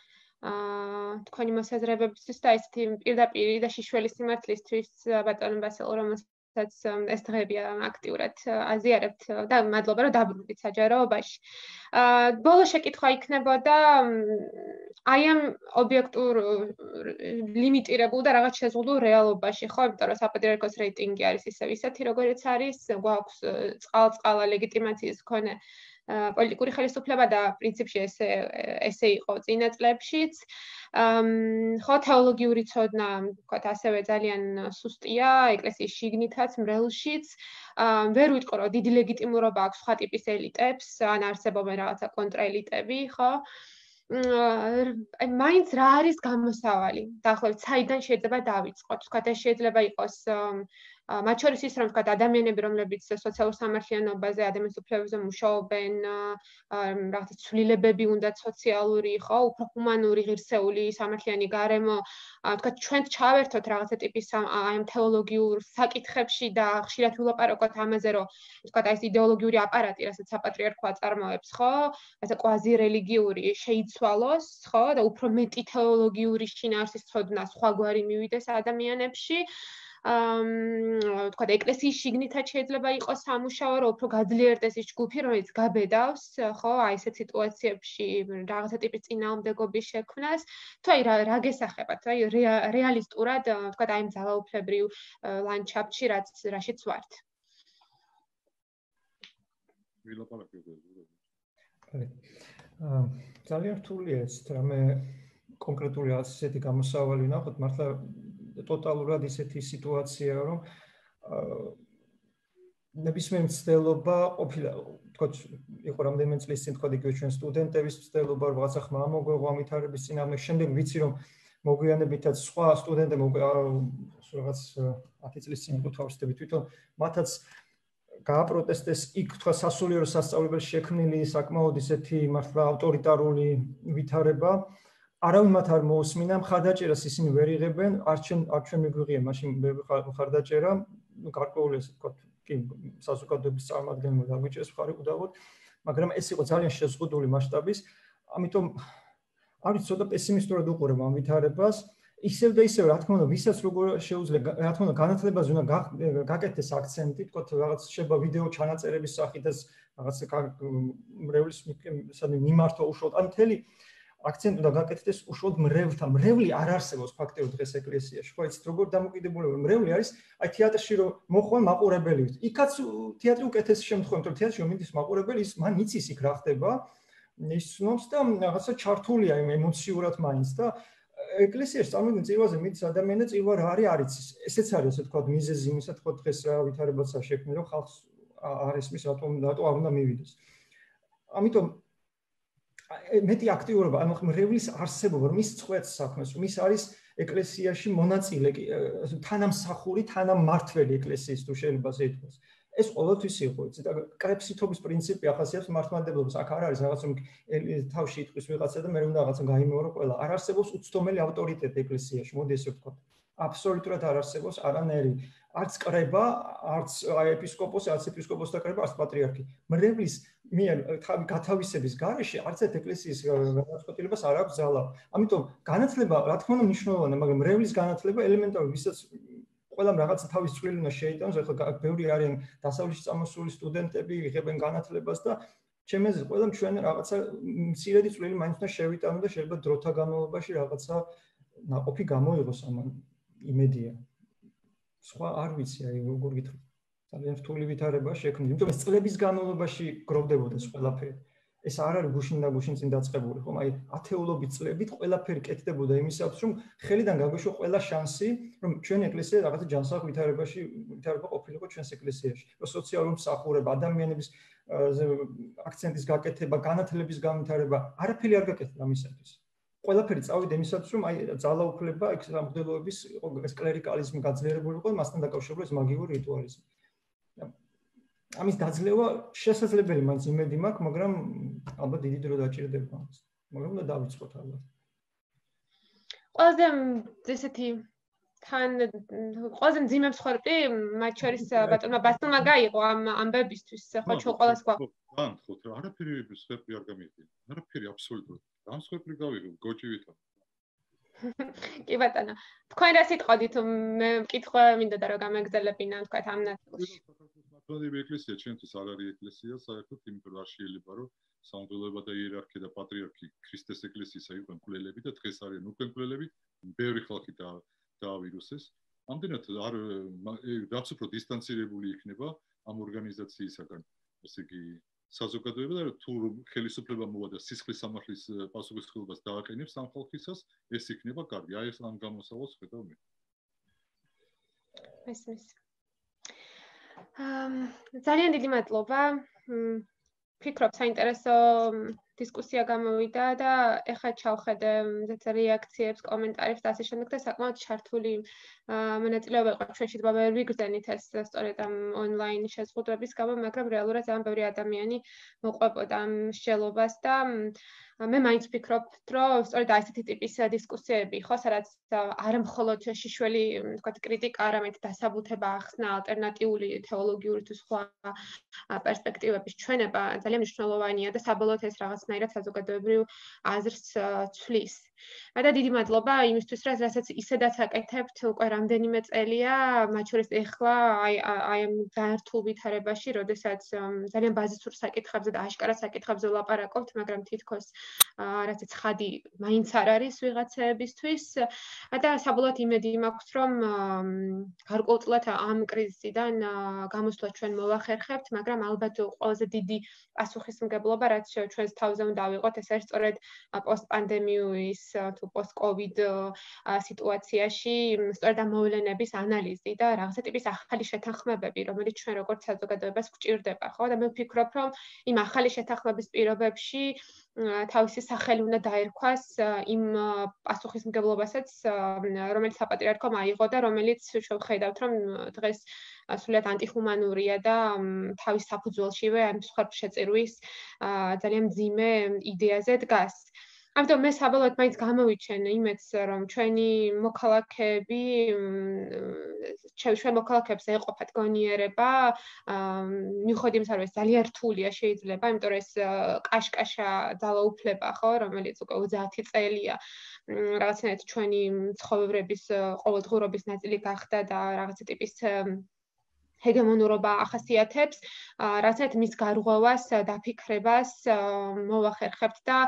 თქვენი მოსაზრებებისთვის და ესეთი პირდაპირ და შიშველი სიმართლისთვის ბატონო ბასილ, რომელსაც ეს დღეები აქტიურად აზიარებთ და მადლობა რომ დაბრუნდით საჯაროობაში. აა, ბოლო შეკითხვა იქნებოდა აი ამ ობიექტურ ლიმიტირებულ და რაღაც შეზღუდულ რეალობაში, ხო, იმიტომ რომ საპატრიარქოს რეიტინგი არის ისევ ისეთი, როგორიც არის, გვაქვს წყალ-წყალა ლეგიტიმაციის მქონე პოლიტიკური ხელისუფლება და პრინციპში ესე ესე იყო წინა წლებშიც. ხო, თეოლოგიური ცოდნა, ვთქვათ, ასევე ძალიან სუსტია, ეკლესიის შიგნითაც, მრევლშიც. ვერ ვიტყო, რომ დიდი ლეგიტიმურობა აქვს სხვა ტიპის ელიტებს, ან არსებობენ რაღაცა კონტრაელიტები, ხო? აი, მაინც რა არის გამოსავალი? დაახლოებით, საიდან შეიძლება დავიწყოთ? ვთქვათ, ეს შეიძლება იყოს მათ შორის ის, რომ ვთქვათ, ადამიანები, რომლებიც სოციალურ სამართლიანობაზე, ადამიანის უფლებებზე მუშაობენ, რაღაცა ცვლილებები უნდათ სოციალური, ხო, უფრო ჰუმანური, ღირსეული, სამართლიანი გარემო, ვთქვათ, ჩვენ ჩავერთოთ რაღაცა ტიპის აი ამ თეოლოგიურ საკითხებში და ხშირად ვილაპარაკოთ ამაზე, რომ ვთქვათ, აი ეს იდეოლოგიური აპარატი, რასაც საპატრიარქო აწარმოებს, ხო, რაღაცა კვაზი რელიგიური შეიცვალოს, ხო, და უფრო მეტი თეოლოგიური შინაარსის ცოდნა სხვაგვარი მივიდეს ადამიანებში. აა, ვთქვათ, ეკლესიის შიგნითაც შეიძლება იყოს სამუშაო, რომ უფრო გაძლიერდეს ის ჯგუფი, რომელიც გაბედავს, ხო, აი ესეთ სიტუაციებში რაღაცა ტიპის წინააღმდეგობის შექმნას, თუ აი რა რა გესახებათ, აი რეალისტურად, ვთქვათ, აი ამ ძალაუფლებრივ ლანდშაფტში, რაც რაშიც ვართ. აა, ძალიან რთულია ეს, რამე კონკრეტული ასეთი გამოსავალი ნახოთ, მართლა ტოტალურად ისეთი სიტუაცია, რომ ნებისმიერ მცდელობა ყოფილა, თქო, იყო რამდენიმე წლის წინ, თქო, იგივე ჩვენ სტუდენტების მცდელობა, რაღაცა ხმა მოგვეღო ამითარების წინააღმდეგ, შემდეგ ვიცი, რომ მოგვიანებითაც სხვა სტუდენტები რაღაც ათი წლის წინ იყო თავისუფლები თვითონ, მათაც გააპროტესტეს იქ, თქვა, სასულიერო სასწავლებელში შექმნილი საკმაოდ ისეთი მართლა ავტორიტარული ვითარება. არავინ მათ არ მოусმინა, მხარდაჭერას ისინი ვერ იღებენ, არჩენ არჩენ მიგვიღია, მაშინ მხარდაჭერა, ну, გარკვეული ესე ვთქვათ, კი, საზოგადოების წარმომადგენლებმა დაგვიჭერს მხარი უდავოდ მაგრამ ეს იყო ძალიან შეზღუდული მასშტაბის, ამიტომ არის ცოტა პესიმისტურად უყურებ ამ ვითარებას. ისევ და ისევ, რა თქმა უნდა, ვისაც როგორ შეუძლია, რა თქმა უნდა, განათლებაზე უნდა გაკეთდეს აქცენტი, თქო, რაღაც შეიძლება ვიდეო ჩანაწერების სახით ეს რაღაც მრევლის მიმართვა უშუალოდ, ან მთელი აქცენტი უნდა გაკეთდეს უშუალოდ მრევლთა. მრევლი არ არსებობს ფაქტიურად დღეს ეკლესიაში. ხო, იცით, როგორ დამოკიდებულება მრევლი არის, აი თეატრში რომ მოხვენ მაყურებელი. იქაც თეატრი უკეთესი შემთხვევა, თუმცა თეატრში რომ მიდის მაყურებელი, ის მან იცის იქ რა ხდება, ის ცნობს და რაღაცა ჩართულია იმ ემოციურად მაინც და ეკლესიაში წარმოგიდგენთ წირვაზე მიდის ადამიანი და წირვა რა არის არ იცის. ესეც არის ასე თქვა მიზეზი იმისა თქვა დღეს რა ვითარებაცაა შექმნილი რომ ხალხს არ ესმის რატომ რატო არ უნდა მივიდეს. ამიტომ მეტი აქტიურობა ანუ მრევლის არსებობა რომ ის წყვეტს საქმეს რომ ის არის ეკლესიაში მონაწილე თანამსახური თანამმართველი ეკლესიის თუ შეიძლება ასე ითქვას. ეს ყოველთვის იყო, იცით, კრეფსითობის პრინციპი ახასიათებს მართლმადიდებლობას. აქ არ არის რაღაც რომ თავში იტყვის ვიღაცა და მე უნდა რაღაცა გაიმეორო ყველა. არ არსებობს უცდომელი ავტორიტეტი ეკლესიაში, მოდი ესე ვთქვა. აბსოლუტურად არ არსებობს არანაირი არც კრება, არც ეპისკოპოსი, არც ეპისკოპოსთა კრება, არც პატრიარქი. მრევლის მიერ თავი გათავისების გარეშე არც ერთ ეკლესიის განაცხადებას არ აქვს ძალა. ამიტომ განათლება, რა თქმა უნდა, მნიშვნელოვანია, მაგრამ მრევლის განათლება ელემენტარული, ვისაც ყველამ რაღაცა თავის წვლილი უნდა შეიტანოს, ახლა ბევრი არიან დასავლეთში წამოსული სტუდენტები, იღებენ განათლებას და ჩემი აზრით ყველამ ჩვენ რაღაცა მცირედი წვლილი მაინც უნდა შევიტანო და შეიძლება დროთა განმავლობაში რაღაცა ნაყოფი გამოიღოს ამან იმედია. სხვა არ ვიცი, აი როგორ გითხრათ. ძალიან რთული ვითარება შექმნილი, იმიტომ ეს წლების განმავლობაში გროვდებოდა ეს ყველაფერი. ეს არ არის გუშინ და გუშინ წინ დაწყებული, ხომ? აი ათეულობით წლებით ყველაფერი კეთდებოდა იმისათვის, რომ ხელიდან გაგვეშვა ყველა შანსი, რომ ჩვენი ეკლესია რაღაცა ჯანსაღ ვითარებაში ვითარება ყოფილიყო ჩვენს ეკლესიაში. რომ სოციალური მსახურება, ადამიანების აქცენტის გაკეთება, განათლების განვითარება, არაფერი არ გაკეთდა ამისათვის. ყველაფერი წავიდა იმისათვის, რომ აი ძალაუფლება, ეგ სამღვდელოების ეს კლერიკალიზმი გაძლიერებული იყო, მასთან დაკავშირებული ეს მაგიური რიტუალიზმი. ამის დაძლევა შესაძლებელი მაინც იმედი მაქვს, მაგრამ ალბათ დიდი დრო დაჭირდება ამას. მაგრამ უნდა დავიწყოთ ალბათ. ყველაზე ესეთი თან ყველაზე მძიმე მსხვერპლი მათ შორის ბატონმა ბასტონმა გაიყო ამ ამბებისთვის, ხო ჩვენ ყველას გვაქვს. განხოთ რა, არაფერი მსხვერპლი არ გამიდგება. არაფერი აბსოლუტურად. ამ მსხვერპლი გავიღო გოჭივითო. კი ბატონო, თქვენ რა სიტყოდით, მე მკითხვა მინდოდა რომ გამეგზელებინა თქვა ამ ნაწილში. მართლმადიდებელი ეკლესია ჩვენთვის არ არის ეკლესია, საერთოდ იმიტომ რომ არ შეიძლება რომ სამღვდელოება და იერარქია და პატრიარქი ქრისტეს ეკლესიისა იყვნენ მკვლელები და დღეს არიან უკვე მკვლელები, ბევრი ხალხი დაავირუსეს. ამდენად არ რაც უფრო დისტანცირებული იქნება ამ ორგანიზაციისაგან, ესე იგი საზოგადოება და თუ ხელისუფლება მოვა და სისხლის სამართლის პასუხისმგებლობას დააყენებს ამ ხალხისას, ეს იქნება კარგი. აი ეს ამ გამოსავალს ხედავ მე. ესმის. ძალიან დიდი მადლობა. ფიქრობ საინტერესო დისკუსია გამოვიდა და ეხლა ჩავხედე რეაქციებს, კომენტარებს და ასე შემდეგ და საკმაოდ ჩართული მონაწილეობა იყო ჩვენში და ვერ ვიგრძენით ეს სწორედ ამ ონლაინ შეზღუდვების გამო, მაგრამ რეალურად ძალიან ბევრი ადამიანი მოყვებოდა ამ მსჯელობას და მე მაინც ვფიქრობ, რომ სწორედ აი ესეთი ტიპის დისკუსიები ხო, სადაც არ მხოლოდ შიშველი, თქვათ, კრიტიკა, არამედ დასაბუთება ახსნა, ალტერნატიული თეოლოგიური თუ სხვა პერსპექტივების ჩვენება ძალიან მნიშვნელოვანია და საბოლოოდ ეს რაღაცნაირად საზოგადოებრივ აზრს ცვლის. და დიდი მადლობა იმისთვის, რომ რასაც ისედაც აკეთებთ უკვე რამდენიმე წელია, მათ შორის ეხლა აი აი ამ გაერთულ ვითარებაში, როდესაც ძალიან ბაზისურ საკითხებზე და აშკარა საკითხებზე ვლაპარაკობთ, მაგრამ თითქოს რაც ცხადი მაინც არ არის ვიღაცებისთვის და საბოლოოდ იმედი მაქვს, რომ გარკვეულწილად ამ კრიზისიდან გამოსვლა ჩვენ მოვახერხებთ, მაგრამ ალბათ ყველაზე დიდი პასუხისმგებლობა, რაც ჩვენს თავზე უნდა ავიღოთ, ეს არის სწორედ პოსტპანდემიის თუ პოსტ-კოვიდ სიტუაციაში სწორედ ამ მოვლენების ანალიზი და რაღაცა ტიპის ახალი შეთანხმებები, რომელიც ჩვენ როგორც საზოგადოებას გვჭირდება, ხო? და მე ვფიქრობ, რომ იმ ახალი შეთანხმების პირობებში თავისი სახელი უნდა დაერქვას იმ პასუხისმგებლობასაც, რომელიც საპატრიარქომ აიღო და რომელიც შევხედავთ, რომ დღეს სულად ანტიხუმანურია და თავის საფუძველშივე ამ მსხვერპლშეწირვის ძალიან მძიმე იდეაზე დგას. ამიტომ მე საბოლოოდ მაინც გამოვიჩენ იმედს, რომ ჩვენი მოქალაქეები ჩვენ მოქალაქეებს ეყოფათ გონიერება, მიუხედავად იმისა, რომ ეს ძალიან რთულია შეიძლება, იმიტომ რომ ეს კაშკაშა ძალაუფლება, ხო, რომელიც უკვე ოცდაათი წელია რაღაცნაირად ჩვენი ცხოვრების ყოველდღიურობის ნაწილი გახდა და რაღაცა ტიპის ჰეგემონურობა ახასიათებს, რაღაცნაირად მის გარღვევას, დაფიქრებას მოვახერხებთ და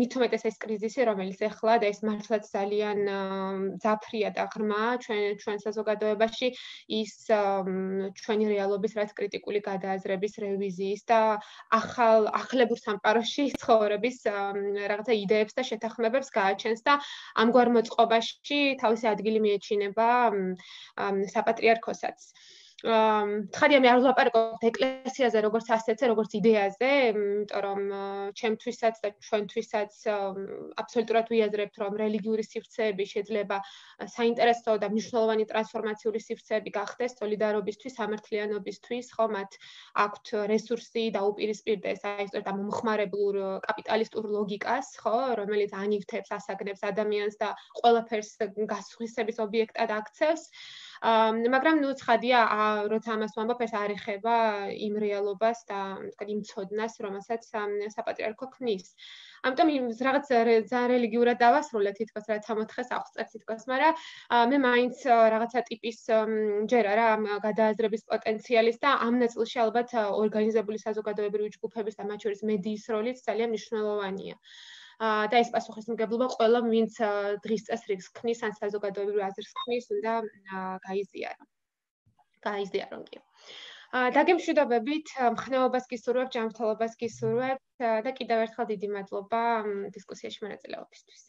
მით უმეტეს ეს კრიზისი, რომელიც ეხლა და ეს მართლაც ძალიან ძაფრია და ღრმაა ჩვენ ჩვენ საზოგადოებაში, ის ჩვენი რეალობის რაც კრიტიკული გადააზრების რევიზიის და ახალ ახლებურ სამყაროში ცხოვრების რაღაცა იდეებს და შეთანხმებებს გააჩენს და ამგვარ მოწყობაში თავისი ადგილი მიეჩინება საპატრიარქოსაც. თხარია მე არ ვლაპარაკობ ეკლესიაზე როგორც ასეთზე, როგორც იდეაზე, იმიტომ რომ ჩემთვისაც და ჩვენთვისაც აბსოლუტურად ვიაზრებთ, რომ რელიგიური სივრცეები შეიძლება საინტერესო და მნიშვნელოვანი ტრანსფორმაციული სივრცეები გახდეს სოლიდარობისთვის, სამართლიანობისთვის, ხო, მათ აქვთ რესურსი და უპირისპირდეს აი სწორედ ამ მომხმარებლურ კაპიტალისტურ ლოგიკას, ხო, რომელიც ანივთებს, ასაგნებს ადამიანს და ყველაფერს გასხვისების ობიექტად აქცევს. მაგრამ ნუ ცხადია, როცა ამას ვამბობ, ეს არ ეხება იმ რეალობას და თქვა იმ ცოდნას, რომელსაც საპატრიარქო ქმნის. ამიტომ რაღაც ძალიან რელიგიურად დავასრულე თითქოს რაც ამოთხეს აღწევ თითქოს, მაგრამ მე მაინც რაღაცა ტიპის ჯერა რა ამ გადააზრების პოტენციალის და ამ ნაწილში ალბათ ორგანიზებული საზოგადოებრივი ჯგუფების და მათ შორის მედიის როლიც ძალიან მნიშვნელოვანია. და ეს პასუხისმგებლობა ყველა ვინც დღის წესრიგს ქმნის ან საზოგადოებრივ აზრს ქმნის, უნდა გაიზიარო. გაიზიარონ კი. დაგემშვიდობებით, მხნეობას გისურვებთ, ჯანმრთელობას გისურვებთ და კიდევ ერთხელ დიდი მადლობა დისკუსიაში მონაწილეობისთვის.